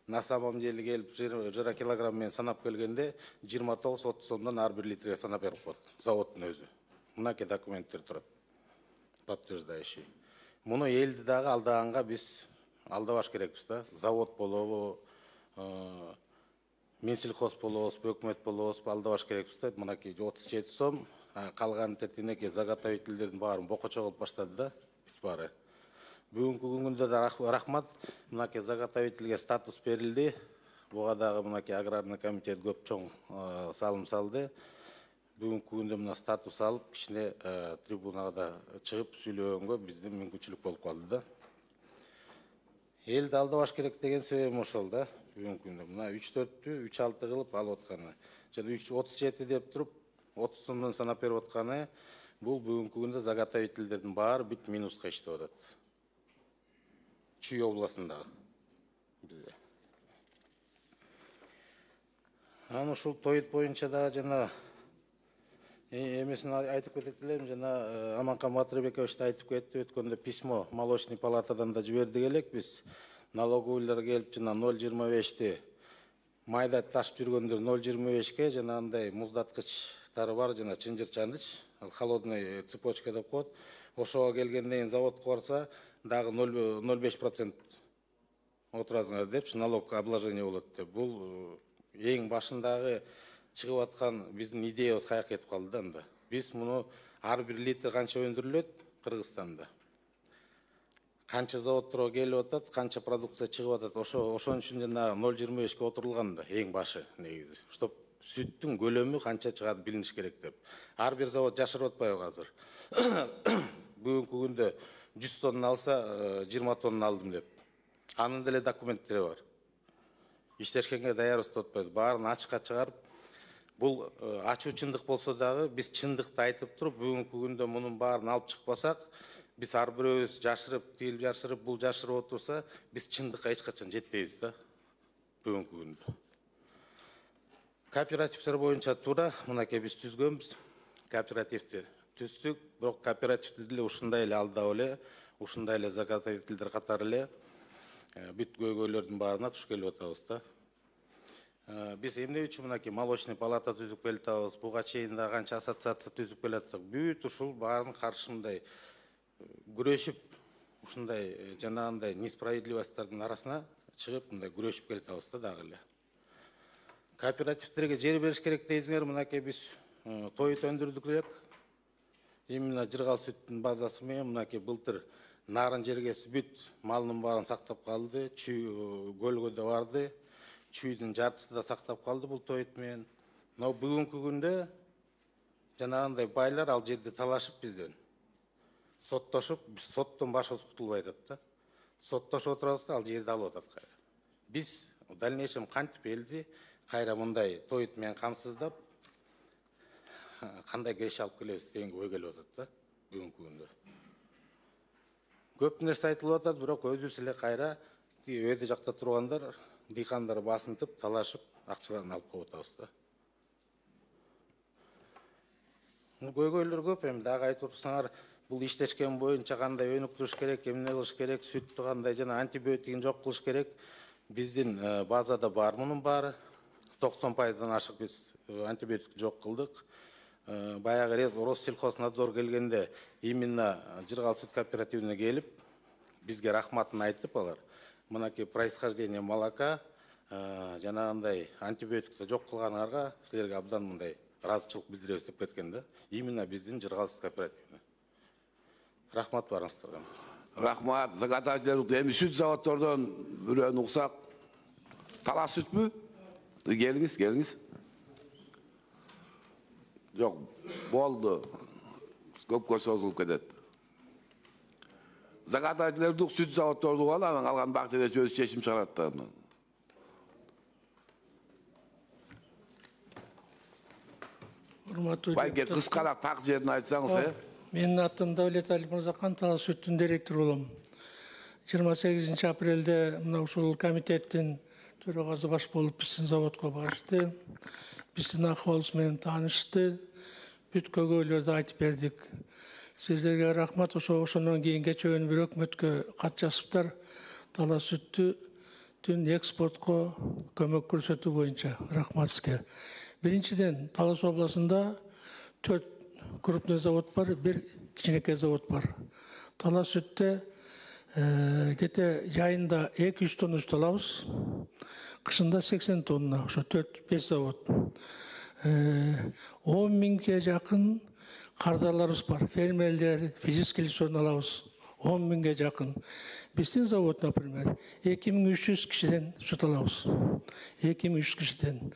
На самом деле келип жыра килограмм менен санап келгенде 29-30 сомдон ар бир литрге санап берип коет заводдун өзү. Мынакей документтер турат. Подтверждающий. Муну элди дагы алдаганга биз алдабаш керекпиз да. Завод болобу, Минсельхоз болобузбу, өкмөт болобузбу алдабаш керекпиз да. Мынакей 37 сом, калган тетинеки заготовительдердин баарын бокочо кылып баштады да. Баары. Бүгүнкү күндө да рахмат. Мынакей заготовительге статус берилди. Буга дагы мынакей аграрный комитет көп чоң салым салды. Бүгүнкү күндө мына статус алып, кичине трибунага да чыгып сүйлөгөнгө биздин мүмкүнчүлүк болуп калды да. Элди алдабаш керек деген себебим ошол да. Бүгүнкү күндө мына 3-4-тү 3-6 кылып алып атканы. Жана 37 деп туруп 30 сомдон санап берип атканы бул бүгүнкү күндө заготовительдердин баары бүт минуска иштеп атат. Чүй областындагы. Анан ушул тоют боюнча дагы жана эмесин айтып кетет элем, жана Аманкан Батырбекович да айтып кетти, өткөндө письмо молочный палатадан да жибердик элек биз. Налоговыйлар келип жана 0,25ти майда ташып жүргөндөр 0,25ке жана андай муздаткычтары бар, жана чынжырчаныч, холодный цепочка деп коет. Ошого келгенден кийин заводко барса дагы 0,5% отуразыңар депчи, налог обложение болот деп. Бул эң башындагы чыгып аткан биздин идеябыз каяка кетип калды да анда. Биз муну ар бир литр канча өндүрүлөт Кыргызстанда, канча заводторго келип атат, канча продукция чыгып атат, ошон үчүн жана 0,25ке отурулган да эң башы негизи. Чтоб сүттүн көлөмү канча чыгат билиниш керек деп. Ар бир завод жашырып атпайбы азыр? Бүгүнкү күндө 100 тонна алса 20 тонна алдым деп. Анын деле документтери бар. Иштешкенге даярбыз деп атпайбыз. Баарын ачыкка чыгарып, бул ачуу чындык болсо дагы биз чындыкты айтып туруп, бүгүнкү күндө мунун баарын алып чыкпасак, биз ар бирөөбүз жашырып, тигил жашырып, бул жашырып отурса, биз чындыкка эч качан жетпейбиз да бүгүнкү күндө. Кооперативдер боюнча туура, мынакей биз түзгөнбүз. Кооперативди түздүк, бирок кооперативди деле ушундай эле алдап эле, ушундай эле заготовительдер катары эле бүт көйгөйлөрдүн баарына туш келип атабыз да. Биз эмне үчүн мынакей молочный палата түзүп келатабыз, буга чейин да канча ассоциация түзүп келаттык. Бүт ушул баарын каршы мындай күрөшүп, ушундай жанагындай несправедливостьтардын арасына чыгып, мындай күрөшүп келатабыз да дагы эле. Кооперативдерге жер бериш керек дейсиңер, мынакей биз тоют өндүрдүк элек. Именно жыргал сүттүн базасы менен мынакей былтыр нарын жергеси бүт малынын баарын сактап калды, чүй көлгөдө барды, чүйдүн жартысы да сактап калды бул тоют менен. Но бүгүнкү күндө жанагындай байлар ал жерде талашып бизден соттошуп, соттон башкасы кутулбай атат да. Соттошуп отурабыз да ал жерди алып атат кайра. Биз в дальнейшем кантип элди кайра мындай тоют менен камсыздап кандай кеш алып келебиз дегенге ой келип атат да бүгүнкү күндө. Көп нерсе айтылып атат, бирок өзүбүз эле кайра өйдө жакта тургандар, дыйкандар басынтып, талашып, акчаларын алып коюп атабыз да. Көйгөйлөр көп, эми дагы айтып турсаңар, бул иштешкен боюнча кандай өнүктүрүш керек, эмне кылыш керек, сүттү кандай жана антибиотигин жок кылыш керек. Биздин базада бар мунун баары. 90%-дан ашык биз антибиотик жок кылдык. Баягы Россельхознадзор келгенде именно Жыргал сүт кооперативине келип, бизге рахматын айтып алар. Мынакей происхождение молока, жанагындай антибиотикти жок кылганыңарга силерге абдан мындай ыраазычылык билдиребиз деп кеткен да. Именно биздин Жыргал сүт кооперативине. Рахмат барыңыздарга. Рахмат. Заготовительдер эми сүт заводдордон бирөөнү уксак. Талас сүтпү? Келиңиз. Жок, болду. Көпкө созулуп кетет. Заготовительдерди сүт заводдорду алам, алган бактыда өз чечим чыгарат да. Урматтуу Байке кыскараак так жерин айтсаңыз, Менин атым Давлет Алиев Мырзахан, Талас сүттүн директору болом. 28 апрелде мына ушул комитеттин төрагасы баш болуп биздин заводко барышты. Биздин акыбалыбыз менен таанышты. Бүт көйгөйлөрдү айтып бердик. Сиздерге рахмат. Ошондон кийин кечээ бир өкмөткө кат жазыптар. Талас сүттүн экспортко көмөк көрсөтүү боюнча. Рахмат сизге. Биринчиден, Талас областында 4 крупный завод бар, 1 кичинекей завод бар. Талас сүттө где-то жайында 200 тонна сүт алабыз. Кышында 80 тонна, ошо 4-5 завод. 10 миңге жакын кардарларыбыз бар. Фермерлер, физический лицон алабыз. 10 миңге жакын. Биздин завод, например, 2300 кишиден сүт алабыз. 2300 кишиден.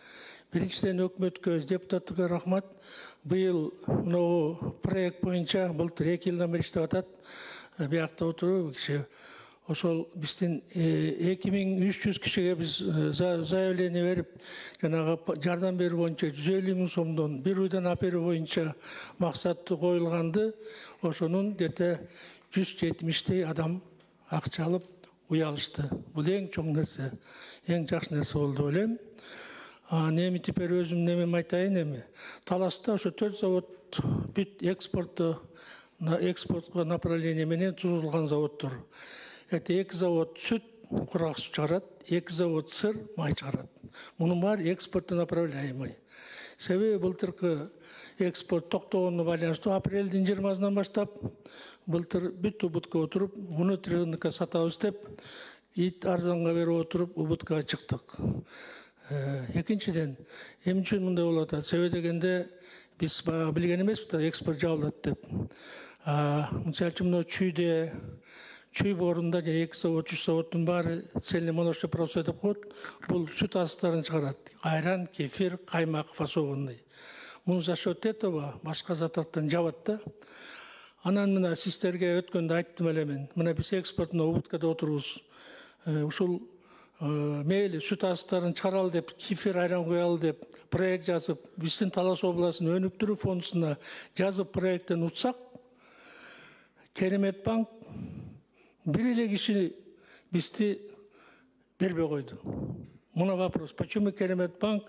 Биринчиден өкмөткө, депутаттыга рахмат. Быйыл мына проект боюнча былтыр 2 жылдан бери иштеп атат. Биякта отуруп киши ошол биздин 2300 кишиге биз заявление берип, жанагы жардам берүү боюнча 150 000 сомдон бир уйдан аперүү боюнча максаты коюлганды. Ошонун где-то 170 адам акча алып уй алышты. Бул эң чоң нерсе, эң жакшы нерсе болду деп ойлойм. Эми теперь өзүм немем айтайын эми. Таласта ошо 4 завод бүт экспортко направление менен турулган заводдор. Это 2 завод сүт, курак суу чыгарат, 2 завод сыр, май чыгарат. Мунун баары экспортто направляемый. Себеби былтыркы экспорт токтогонуна байланыштуу апрелдин 20-сынан баштап былтыр бүт убутка отуруп, внутренний рынокко сатабыз деп, ит арзанга берип отуруп убуткага чыктык. Экинчиден, эмне үчүн мындай болуп атат? Себеби дегенде биз билген эмеспиз да экспорт жабылат деп. Мисалы үчүн мына чүй боорунда 2 завод, 3 заводдун баары цельный молочный процесс деп коет. Бул сүт астарын чыгарат. Айран, кефир, каймак, фасованный. Муну за счет этого башка заттардан жабат да. Анан мына сиздерге өткөндө айттым эле мен. Мына биз экспортуна убуткада отурубуз. Ушул мейли сүт астарын чыгаралы деп, кефир, айран коялы деп проект жазып, биздин Талас областынын өнүктүрүү фондуна жазып проекттен утсак, Керемет банк бир эле киши бизди бербей койду. Мына вопрос. Почему Керемет банк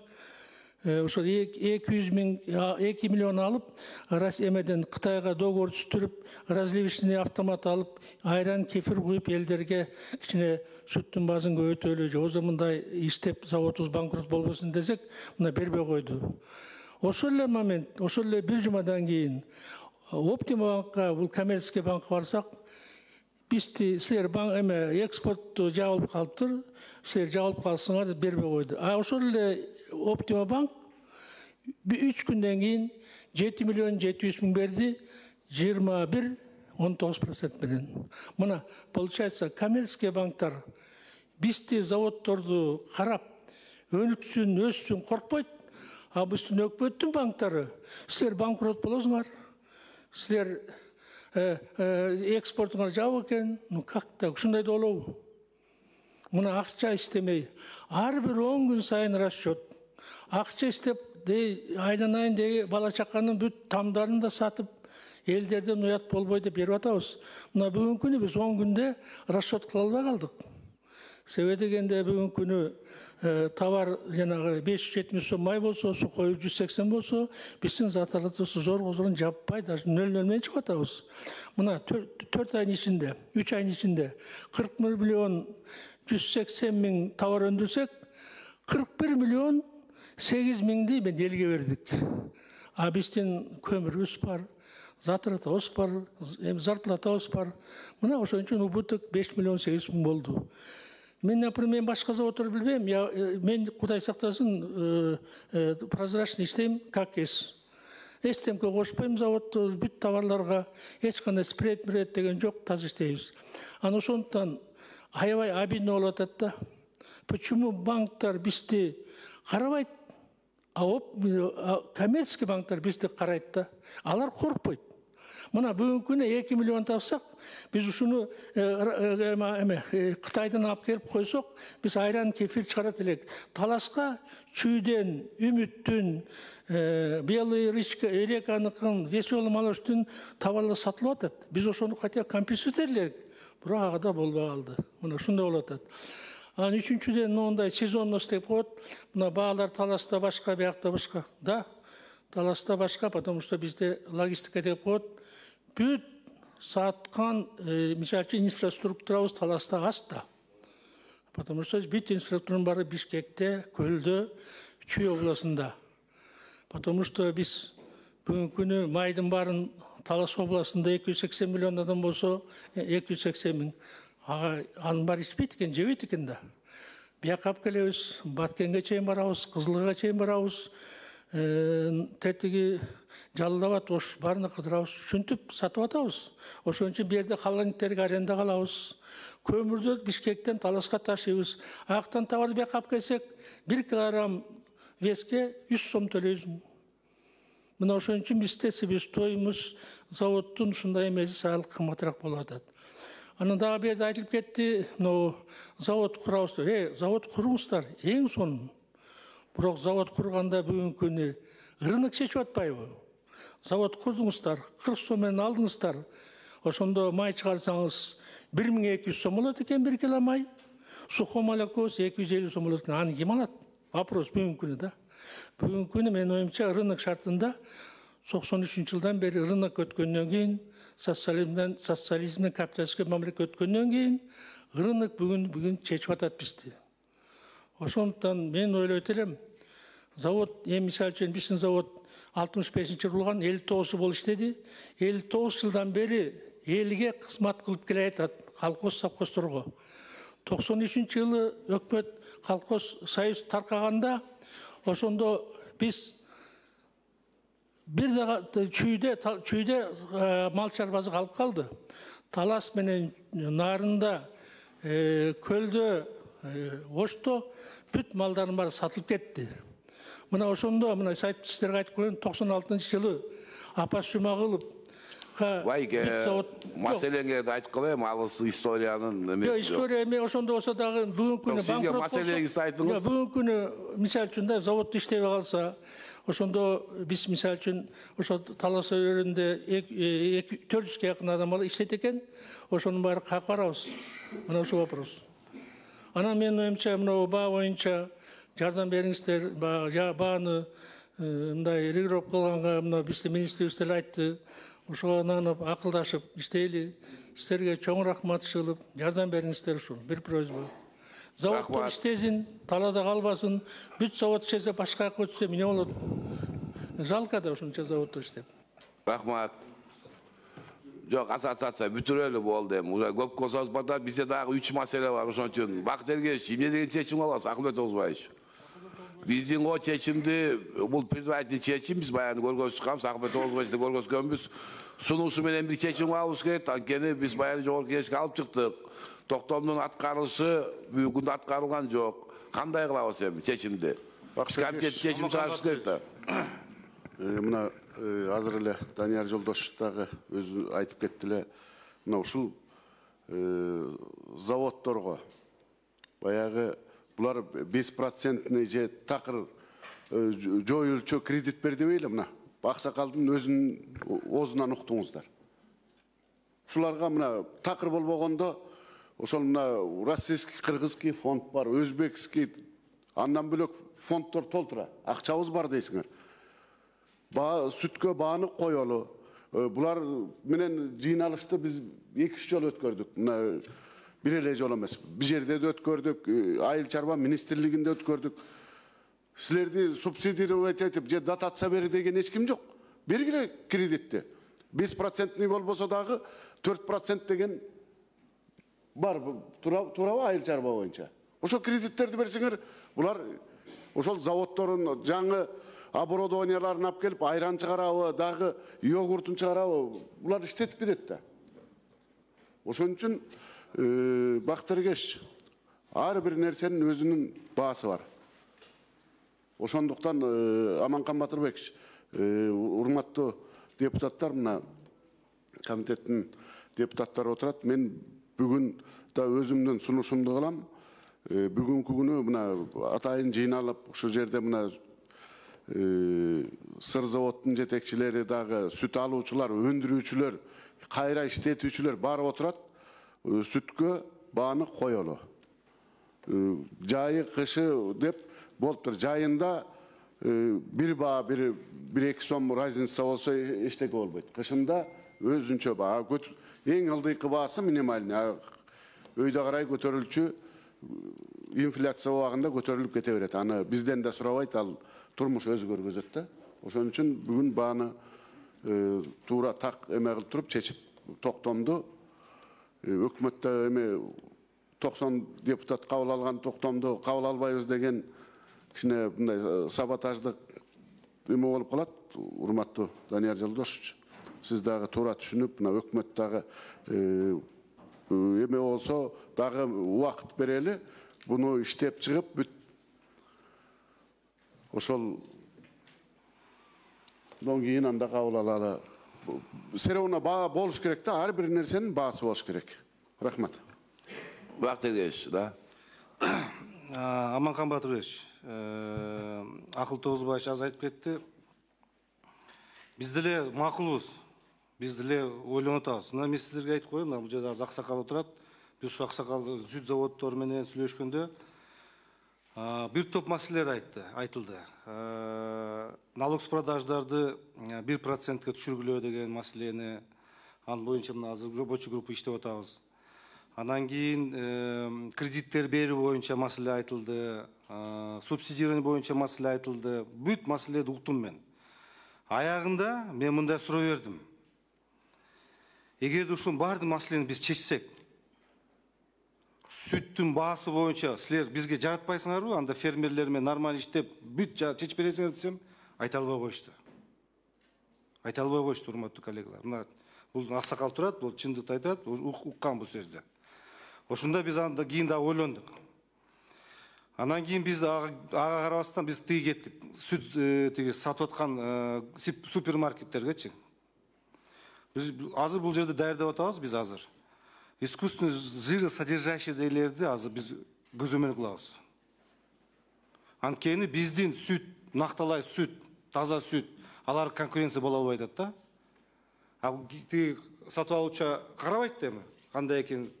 ошо 200 миллион алып, эмеден Кытайга договор түзүп, разливочный автомат алып, айран, кефир куюп элдерге кичине сүттүн базын көбөйтөлү, же озо мындай иштеп заводубуз банкрот болбосун десек, мына бербей койду. Ошол эле момент, ошол эле бир жумадан кийин Оптима банкка, бул коммерческий банкка барсак, бизди силер экспортту жабылып калыптыр, силер жабылып калсыңар деп бербей койду. Ошол эле Оптима банк 3 күндөн кийин 7 миллион 700 миң берди, 21,19% менен. Мына, получается, коммерческий банктар бизди заводдорду карап, өнүксүн, өссүн коркпойт, а биздин өкмөттүн банктары, силер банкрот болосуңар, силер экспортуңар жабык экен, ну как так, ушундай да болобу? Мына акча истемей, ар бир 10 күн сайын расчет. Акча истеп, айланайын деги бала чаканын бүт тамдарын да сатып, элдерден уят болбой деп берип атабыз. Мына бүгүнкү күнү биз 10 күндө расчет кыла албай калдык. Себеби дегенде бүгүнкү күнү товар жанагы 570 сом май болсо, суу коюу 180 болсо, биздин заталарыбыз зор козурун жаппай, даже 0 менен чыгып атабыз. Мына 4 айдын ичинде, 3 айдын ичинде 41 миллион 180 миң товар өндүрсек, 41 миллион 8 миңди мен элге бердик. А биздин көмүрүбүз бар, затыратыбыз бар, зарплатабыз бар. Мына ошон үчүн убутук 5 миллион 8 миң болду. Мен, например, башка заводдорду билбейм. Мен, Кудай сактасын, прозрачно иштейм, как есть. Эчтемке кошпойм заводду, бүт товарларга, эч кандай спред деген жок, таза иштейбиз. Анан ошондуктан аябай обидно болуп атат да. Почему банктар бизди карабайт, а коммерческий банктар бизди карайт да. Алар коркпойт. Мына бүгүнкү күнү 2 миллион тапсак, биз ушуну Кытайдан алып келип койсок, биз айран, кефир чыгарат элек. Таласка чүйдөн, Үмүттүн, Белый речка, Эреканыкын, Веселый молочтун товарлары сатылып атат. Биз ошону хотя компенсировать бирок ага да болбой калды. Мына ушундай болуп атат. Анан үчүнчүдөн мондай сезонность деп коет. Мына баалар Таласта башка, биякта башка. Да, Таласта башка, потому что бизде логистика деп коет. Бүт саткан, мисалы үчүн инфраструктурабыз Таласта аста. Потому что бүт инфраструктуранын баары Бишкекте, Көлдө, Чүй областында. Потому что биз бүгүнкү күнү майдын баарын Талас областында 280 миллион адам болсо, 280 миң. Анын баары ичпейт экен, жебейт экен да. Бияка алып келебиз, Баткенге чейин барабыз, Кызылга чейин барабыз, тетиги Жалал-Абад, Ош баарына кыдырабыз, ушинтип сатып атабыз. Ошон үчүн бу жерде холодильниктерге арендага алабыз. Көмүрдү Бишкектен Таласка ташыйбыз. Аяктан товарды бияка алып келсек, 1 килограмм веске 100 сом төлөйбүз. Мына ошон үчүн бизде себестоимость заводдун ушундай эмеси саал кымбатыраак болуп атат. Анан дагы бу жерде айтылып кетти, завод курабыз. Завод куруңуздар, эң сонун. Бирок завод курганда бүгүнкү күнү рынок чечип атпайбы? Завод курдуңуздар, 40 сом менен алдыңыздар. Ошондо май чыгарсаңыз 1200 сом болот экен 1 кило май. Сухой молоко 250 сом болот экен. Аны ким алат? вопрос бүгүнкү күнү да. Бүгүнкү күнү менин оюмча рынок шартында 93 жылдан бери рынок өткөндөн кийин, социализмден капиталистке мамлекет өткөндөн кийин рынок бүгүн чечип атат бизди. Ошондуктан мен ойлойт элем, завод, мисалы үчүн биздин завод 65-жылы курулган, 59 болуп иштеди. 59 жылдан бери элге кызмат кылып келе атат, колхоз совхоздорго. 93-жылы өкмөт колхоз союз таркаганда, ошондо биз бир дагы чүйдө мал чарбасы калып калды. Талас менен Нарында, Көлдө, Ошто бүт малдардын баары сатылып кетти. Мына ошондо мына сизлерге айтып коеюн, 96-жылы Апас Жумагуловга маселеңерди айтып калайым, алыс историянын эмес. Жок, история эме ошондо болсо дагы бүгүнкү күнү банкрот болсо. Маселеңизди айтыңыз. Бүгүнкү күнү мисалы үчүн да завод иштебей калса, ошондо биз мисалы үчүн ошо Талас өйрөндө 400 жакын адам иштейт экен, ошонун баары каяка барабыз? Мына ошол вопрос. Анан менин оюмча мына баа боюнча жардам бериңиздер, бааны мындай регулировка кылганга мына биздин министрибиз деле айтты. Ошого нанып акылдашып иштейли. Силерге чоң рахмат чыгылып, жардам бериңиздер ушул. Бир просьба. Заводдор иштесин, талада калбасын. Бүт завод иштесе башка жака өтсө эмне болот? Жалко да ушунча заводдор иштеп. Рахмат. Жок, ассоциация бүтүрөлү болду эми. Уже көп косоз бата, бизде дагы 3 маселе бар. Ошон үчүн Бакыт Эргеевич, эмне деген чечим алабыз, Акылбек Тогузбаевич? Биздин о чечимди, бул предварительный чечим, биз баягы көргөзүп чыкканбыз, Акылбек Тогузбаевичти көргөзгөнбүз. Сунушу менен бир чечим алышыбыз керек. Анткени биз баягы жогорку кеңешке алып чыктык. Токтомдун аткарылышы бүгүнкү күндө аткарылган жок. Кандай кылабыз эми чечимди? Биз комитет чечим чыгарышыбыз керек да. Мына азыр эле Данияр Жолдошев дагы өзү айтып кетти эле. Мына ушул заводдорго баягы булар 5% же такыр жоюлчу кредит берди бейли мына. Аксакалдын өзүнүн оозунан уктуңуздар. Ушуларга мына такыр болбогондо ошол мына российский, кыргызский фонд бар, өзбекский, андан бөлөк фонддор толтура. Акчабыз бар дейсиңер. Сүткө бааны коелу. Булар менен жыйналышты биз 2-3 жолу өткөрдүк. Мына бир эле жол эмес. Бир жерде да өткөрдүк, айыл чарба министрлигинде өткөрдүк. Силерди субсидировать этип, же дотация бери деген эч ким жок. Бергиле кредитти. 5% болбосо дагы 4% деген бар. Туурабы айыл чарба боюнча? Ошол кредиттерди берсеңер, булар ошол заводдордун жаңы оборудованияларын алып келип, айран чыгарабы, дагы йогуртун чыгарабы, булар иштетип кетет да. Ошон үчүн Бакыт Эргеевич, ар бир нерсенин өзүнүн баасы бар. Ошондуктан Аманкан Батырбекович, урматтуу депутаттар, мына комитеттин депутаттары отурат. Мен бүгүн да өзүмдүн сунушумду кылам. Бүгүнкү күнү мына атайын жыйналып, ушул жерде мына сыр заводдун жетекчилери дагы, сүт алуучулар, өндүрүүчүлөр, кайра иштетүүчүлөр баары отурат. Сүткө бааны коелу. Жайы, кышы деп болуптур. Жайында бир баа, 1-2 сом разница болсо эчтеке болбойт. Кышында өзүнчө баа. Эң ылдыйкы баасы минимальный. Өйдө карай көтөрүлчү, инфляция убагында көтөрүлүп кете берет. Аны бизден да сурабайт, ал турмуш өзү көргөзөт да. Ошон үчүн бүгүн бааны туура так эме кылып туруп чечип токтомду. Өкмөттө эме 90 депутат кабыл алган токтомду кабыл албайбыз деген кичине мындай саботаждык эме болуп калат. Урматтуу Данияр Жолдошевич, сиз дагы туура түшүнүп, мына өкмөт дагы эме болсо дагы убакыт берели, буну иштеп чыгып бүт ошол кийин анда кабыл алалы. Все равно баа болуш керек да, ар бир нерсенин баасы болуш керек. Рахмат. Бакыт Эргеевич, да. Аманкан Батырбекович, Акыл Тогузбаевич аз айтып кетти. Биз деле макулбуз. Биз деле ойлонуп атабыз. Мына мен сиздерге айтып коеюн, бул жерде аз аксакал отурат. Биз ушу аксакал сүт заводдору менен сүйлөшкөндө Бир топ маселелер айтылды. Налог с продаждарды 1%ке түшүргүлөө деген маселени, анын боюнча мына азыр рабочий группа иштеп атабыз. Анан кийин кредиттер берүү боюнча маселе айтылды, субсидирование боюнча маселе айтылды. Бүт маселелерди уктум мен. Аягында мен мындай суроо бердим. Эгерде ушунун баардык маселени биз чечсек, сүттүн баасы боюнча силер бизге жаратпайсыңарбы, анда фермерлер менен нормаль иштеп бүт чечип бересиңер десем, айта албай коюшту. Айта албай коюшту, урматтуу коллегалар. Мына бул аксакал турат, бул чындыкты айтат, уккан бул сөздү. Ошондо биз анда кийин да ойлондук. Анан кийин биз ага карабастан биз тиги кеттик. Сүт тиги сатып аткан супермаркеттергечи. Биз азыр бул жерде даярдап атабыз биз азыр. Искусственный жиросодержащийлерди азыр биз көзөмөл кылабыз. Анткени биздин сүт, накталай сүт, таза сүт, алар конкуренция боло албай атат да. Тиги сатып алуучу карабайт эми, кандай экен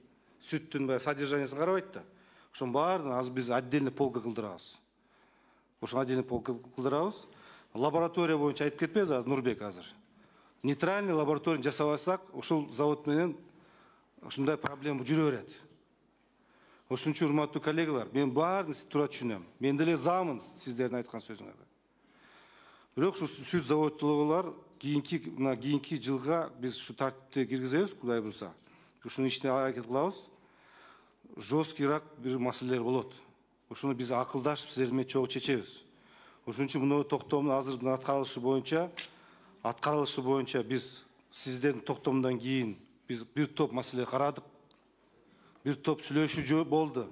сүттүн содержаниясын карабайт да. Ошонун баарын азыр биз отдельный полка кылдырабыз. Ошон отдельный полка кылдырабыз. Лаборатория боюнча айтып кетпейбиз азыр Нурбек азыр. Нейтральный лаборатория жасабасак, ушул завод менен ушундай проблема жүрө берет. Ошон үчүн урматтуу коллегалар, мен баарын туура түшүнөм. Мен деле заамын сиздердин айткан сөзүңөргө. Бирок ушу сүт заводдуулар кийинки жылга биз ушу тартипти киргизебиз, Кудай буйрса. Ушунун ишине аракет кылабыз. Жесткийраак бир маселелер болот. Ошону биз акылдашып сиздер менен чогуу чечебиз. Ошон үчүн мына токтомдун азыр аткарылышы боюнча биз сиздердин токтомдон кийин биз бир топ маселе карадык. Бир топ сүйлөшүү болду.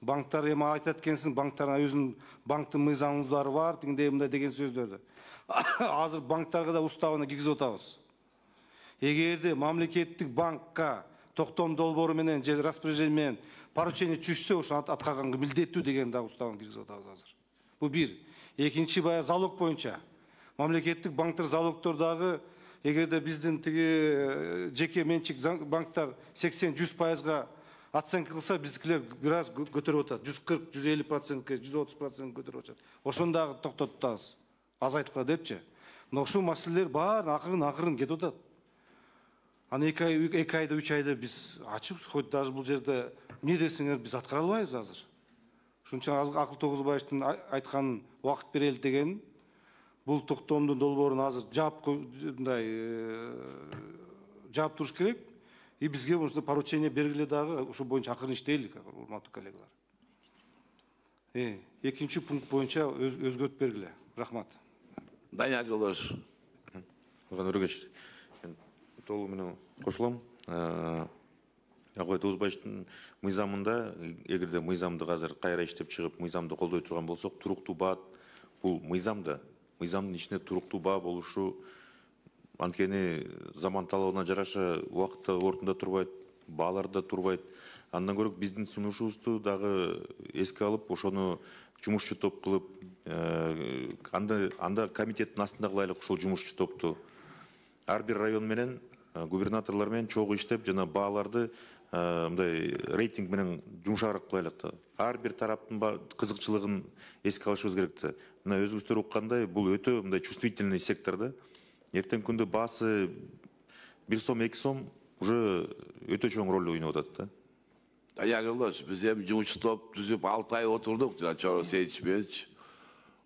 Банктар эми айтат экенсиң, банктардын өзүнүн банктын мыйзамдары бар, тигиндей мындай деген сөздөрдү. Азыр банктарга да уставына киргизип атабыз. Эгерде мамлекеттик банкка токтом долбоору менен же распоряжение менен поручение түшсө, ошо аткарганга милдеттүү деген да уставына киргизип атабыз азыр. Бул бир. Экинчи залог боюнча. Мамлекеттик банктар залогтордагы эгерде биздин тиги жеке менчик банктар 80-100%га оценка кылса, биздикилер бир аз көтөрүп атат. 140-150%, 130% көтөрүп атат. Ошондагы токтотуп атабыз. Азайткыла депчи. Мына ушул маселелер баары акырын кетип атат. Аны 2 айда 3 айда биз ачып, хоть даже бул жерде эмне десеңер биз аткара албайбыз азыр. Ошон үчүн Акыл Тогузбаевдин айтканын убакыт берели деген бул токтомдун долбоорун азыр жаап туруш керек. И бизге ушундай поручение бергиле дагы ушул боюнча акырын иштейлик, урматтуу коллегалар. Экинчи пункт боюнча өзгөртүп бергиле. Рахмат. Данияр Жолдош. Өргөч. Толугу менен кошулам. Акыл Тогузбаевдин мыйзамында, эгерде мыйзамды азыр кайра иштеп чыгып, мыйзамды колдой турган болсок, туруктуу баа бул мыйзамдын ичинде туруктуу баа болушу, анткени заман талабына жараша убакытта ордунда турбайт, баалар да турбайт. Андан көрө биздин сунушубузду дагы эске алып, ошону жумушчу топ кылып, анда комитеттин астында кылайлык ушул жумушчу топту. Ар бир район менен губернаторлор менен чогуу иштеп, жана бааларды мындай рейтинг менен жумшагыраак кылайлык да. Ар бир тараптын кызыкчылыгын эске алышыбыз керек да. Мына өзүңүздөр уккандай, бул өтө мындай чувствительный сектор да. Эртең күндө баасы 1 сом, 2 сом уже өтө чоң роль ойноп атат да. Данияр Жолдош, биз эми жумушчу топ түзүп 6 ай отурдук, жана Чоро Сейитович менен.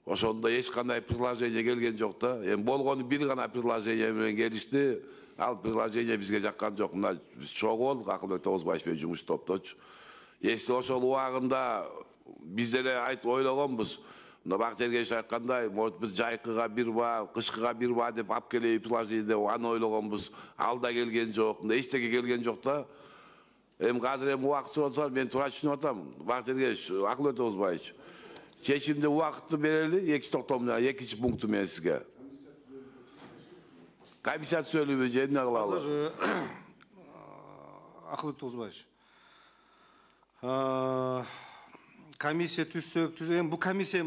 Ошондо эч кандай предложение келген жок да. Эми болгону бир гана предложение менен келишти. Ал предложение бизге жаккан жок. Мына биз чогуу болдук Акылбек Тогузбаев менен жумуш топточу. Если ошол убагында биз деле айтып ойлогонбуз. Мына Бактияргеч айткандай, может биз жайкыга бир баа, кышкыга бир баа деп алып келеби предложение деп аны ойлогонбуз. Ал да келген жок. Мына эчтеке келген жок да. Эми азыр убакыт сурасаңар мен туура түшүнүп атам. Бактияргеч, Акылбек Тогузбаевич. Чечимди убакытты берели, экинчи токтомдун экинчи пункту менен сизге. Комиссия түзөлүбү же эмне кылалы? Азыр Акылбек Тогузбаевич. Комиссия түзсөк, бул комиссия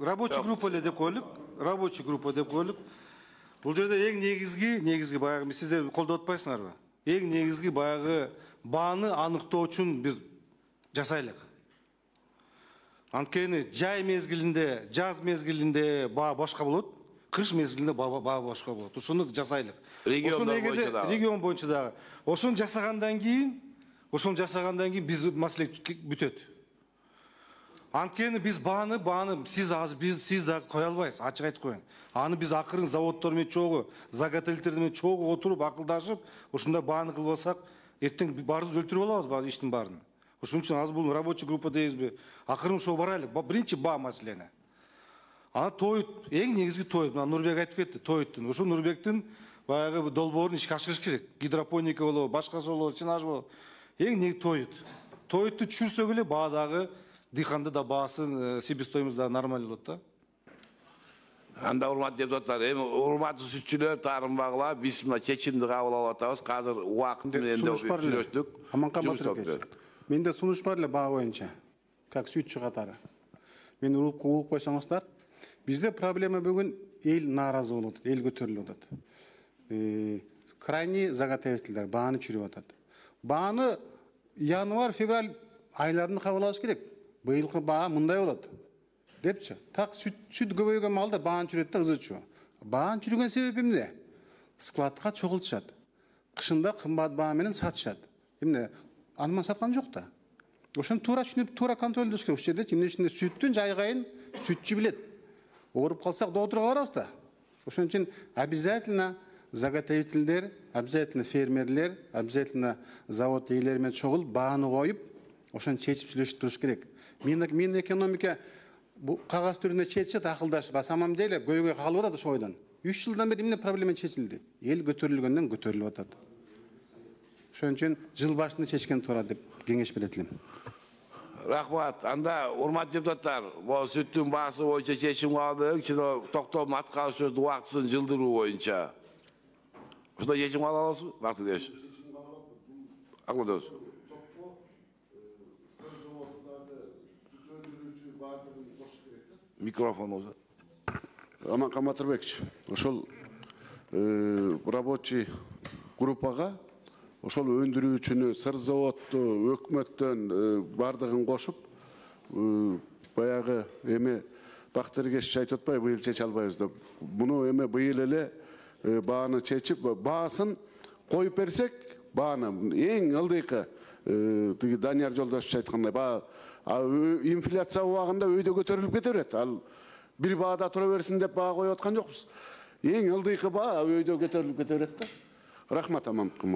рабочий группа эле деп коелук. Рабочий группа деп коелук. Бул жерде эң негизги баягы сиздер колдоп атпайсыңарбы? Эң негизги баягы бааны аныктоо үчүн бир жасайлык. Анткени жай мезгилинде, жаз мезгилинде баа башка болот, кыш мезгилинде баа башка болот. Ушуну жасайлык. Регион боюнча дагы. Ошону жасагандан кийин биз маселе бүтөт. Анткени биз бааны сиз дагы кое албайсыз, ачык айтып коеюн. Аны биз акырын заводдор менен чогуу, заготовительдер менен чогуу отуруп, акылдашып, ушундай бааны кылбасак, эртең баарыбыз өлтүрүп алабыз иштин баарын. Ошон үчүн азыр бул рабочий группа дейбизби? Акырын ошого барайлык. Биринчи баа маселени. Аны тоют, эң негизги тоют. Мына Нурбек айтып кетти, тоюттун. Ошо Нурбектин баягы долбоорун ишке ашырыш керек. Гидропоника болобу, башкасы болобу, сенаж болобу. Эң негизи тоют. Тоютту түшүрсөк эле баадагы дыйканды да баасын, себестоимость да нормаль болот да. Анда урматтуу депутаттар, эми урматтуу сүтчүлөр, тарымбагылар, биз мына чечимди кабыл алып атабыз. Азыр убакыт менен да сүйлөштүк. Аманкан Батырбекович, менде сунуш бар эле баа боюнча, как сүтчү катары. Мени уруп койсоңуздар, бизде проблема бүгүн эл нааразы болуп атат, эл көтөрүлүп атат. Крайний заготовительдер бааны чүрүп атат. Бааны январь, февраль айларында кабыл алыш керек. Быйылкы баа мындай болот депчи. Так сүт көбөйгөн малда бааны чүрөт да ызычу. Бааны чүргөн себеби эмне? Складка чогултушат. Кышында кымбат баа менен сатышат. Эмне? Анман саткан жок да. Ошону туура түшүнүп, туура контролдош керек. Ушул жерде эмне ичинде сүттүн жайгайын сүтчү билет. Ооруп калсак доотурга барабыз да. Ошон үчүн обязательно заготовительдер, обязательно фермерлер, обязательно завод ээлери менен чогулуп бааны коюп, ошону чечип сүйлөшүп туруш керек. Мин экономика бу кагаз түрүндө чечет акылдашып, а самом деле көйгөй калып атат ошол ойдон. 3 жылдан бери эмне проблема чечилди? Эл көтөрүлгөндөн көтөрүлүп атат. Ошон үчүн жыл башында чечкен туура деп кеңеш берет элем. Рахмат. Анда урматтуу депутаттар, бул сүттүн баасы боюнча чечим калдык. Токтомдун аткарышы убактысын жылдыруу боюнча. Ушундай чечим кала аласызбы? Бактыгеш. Акылдош. Микрофон olsa. Аманкан Батырбекович, ошол рабочий группага ошол өндүрүүчүнү, сыр заводду, өкмөттөн бардыгын кошуп, баягы эми Бактыргеш айтып атпайбы, быйыл чече албайбыз деп. Буну эми быйыл эле бааны чечип, баасын коюп берсек, бааны эң ылдыйкы тиги Данияр Жолдошевич айткандай, баа инфляция убагында өйдө көтөрүлүп кете берет. Ал бир баада тура берсин деп баа коюп аткан жокпуз. Эң ылдыйкы баа өйдө көтөрүлүп кете берет да. Рахмат, Аманкан.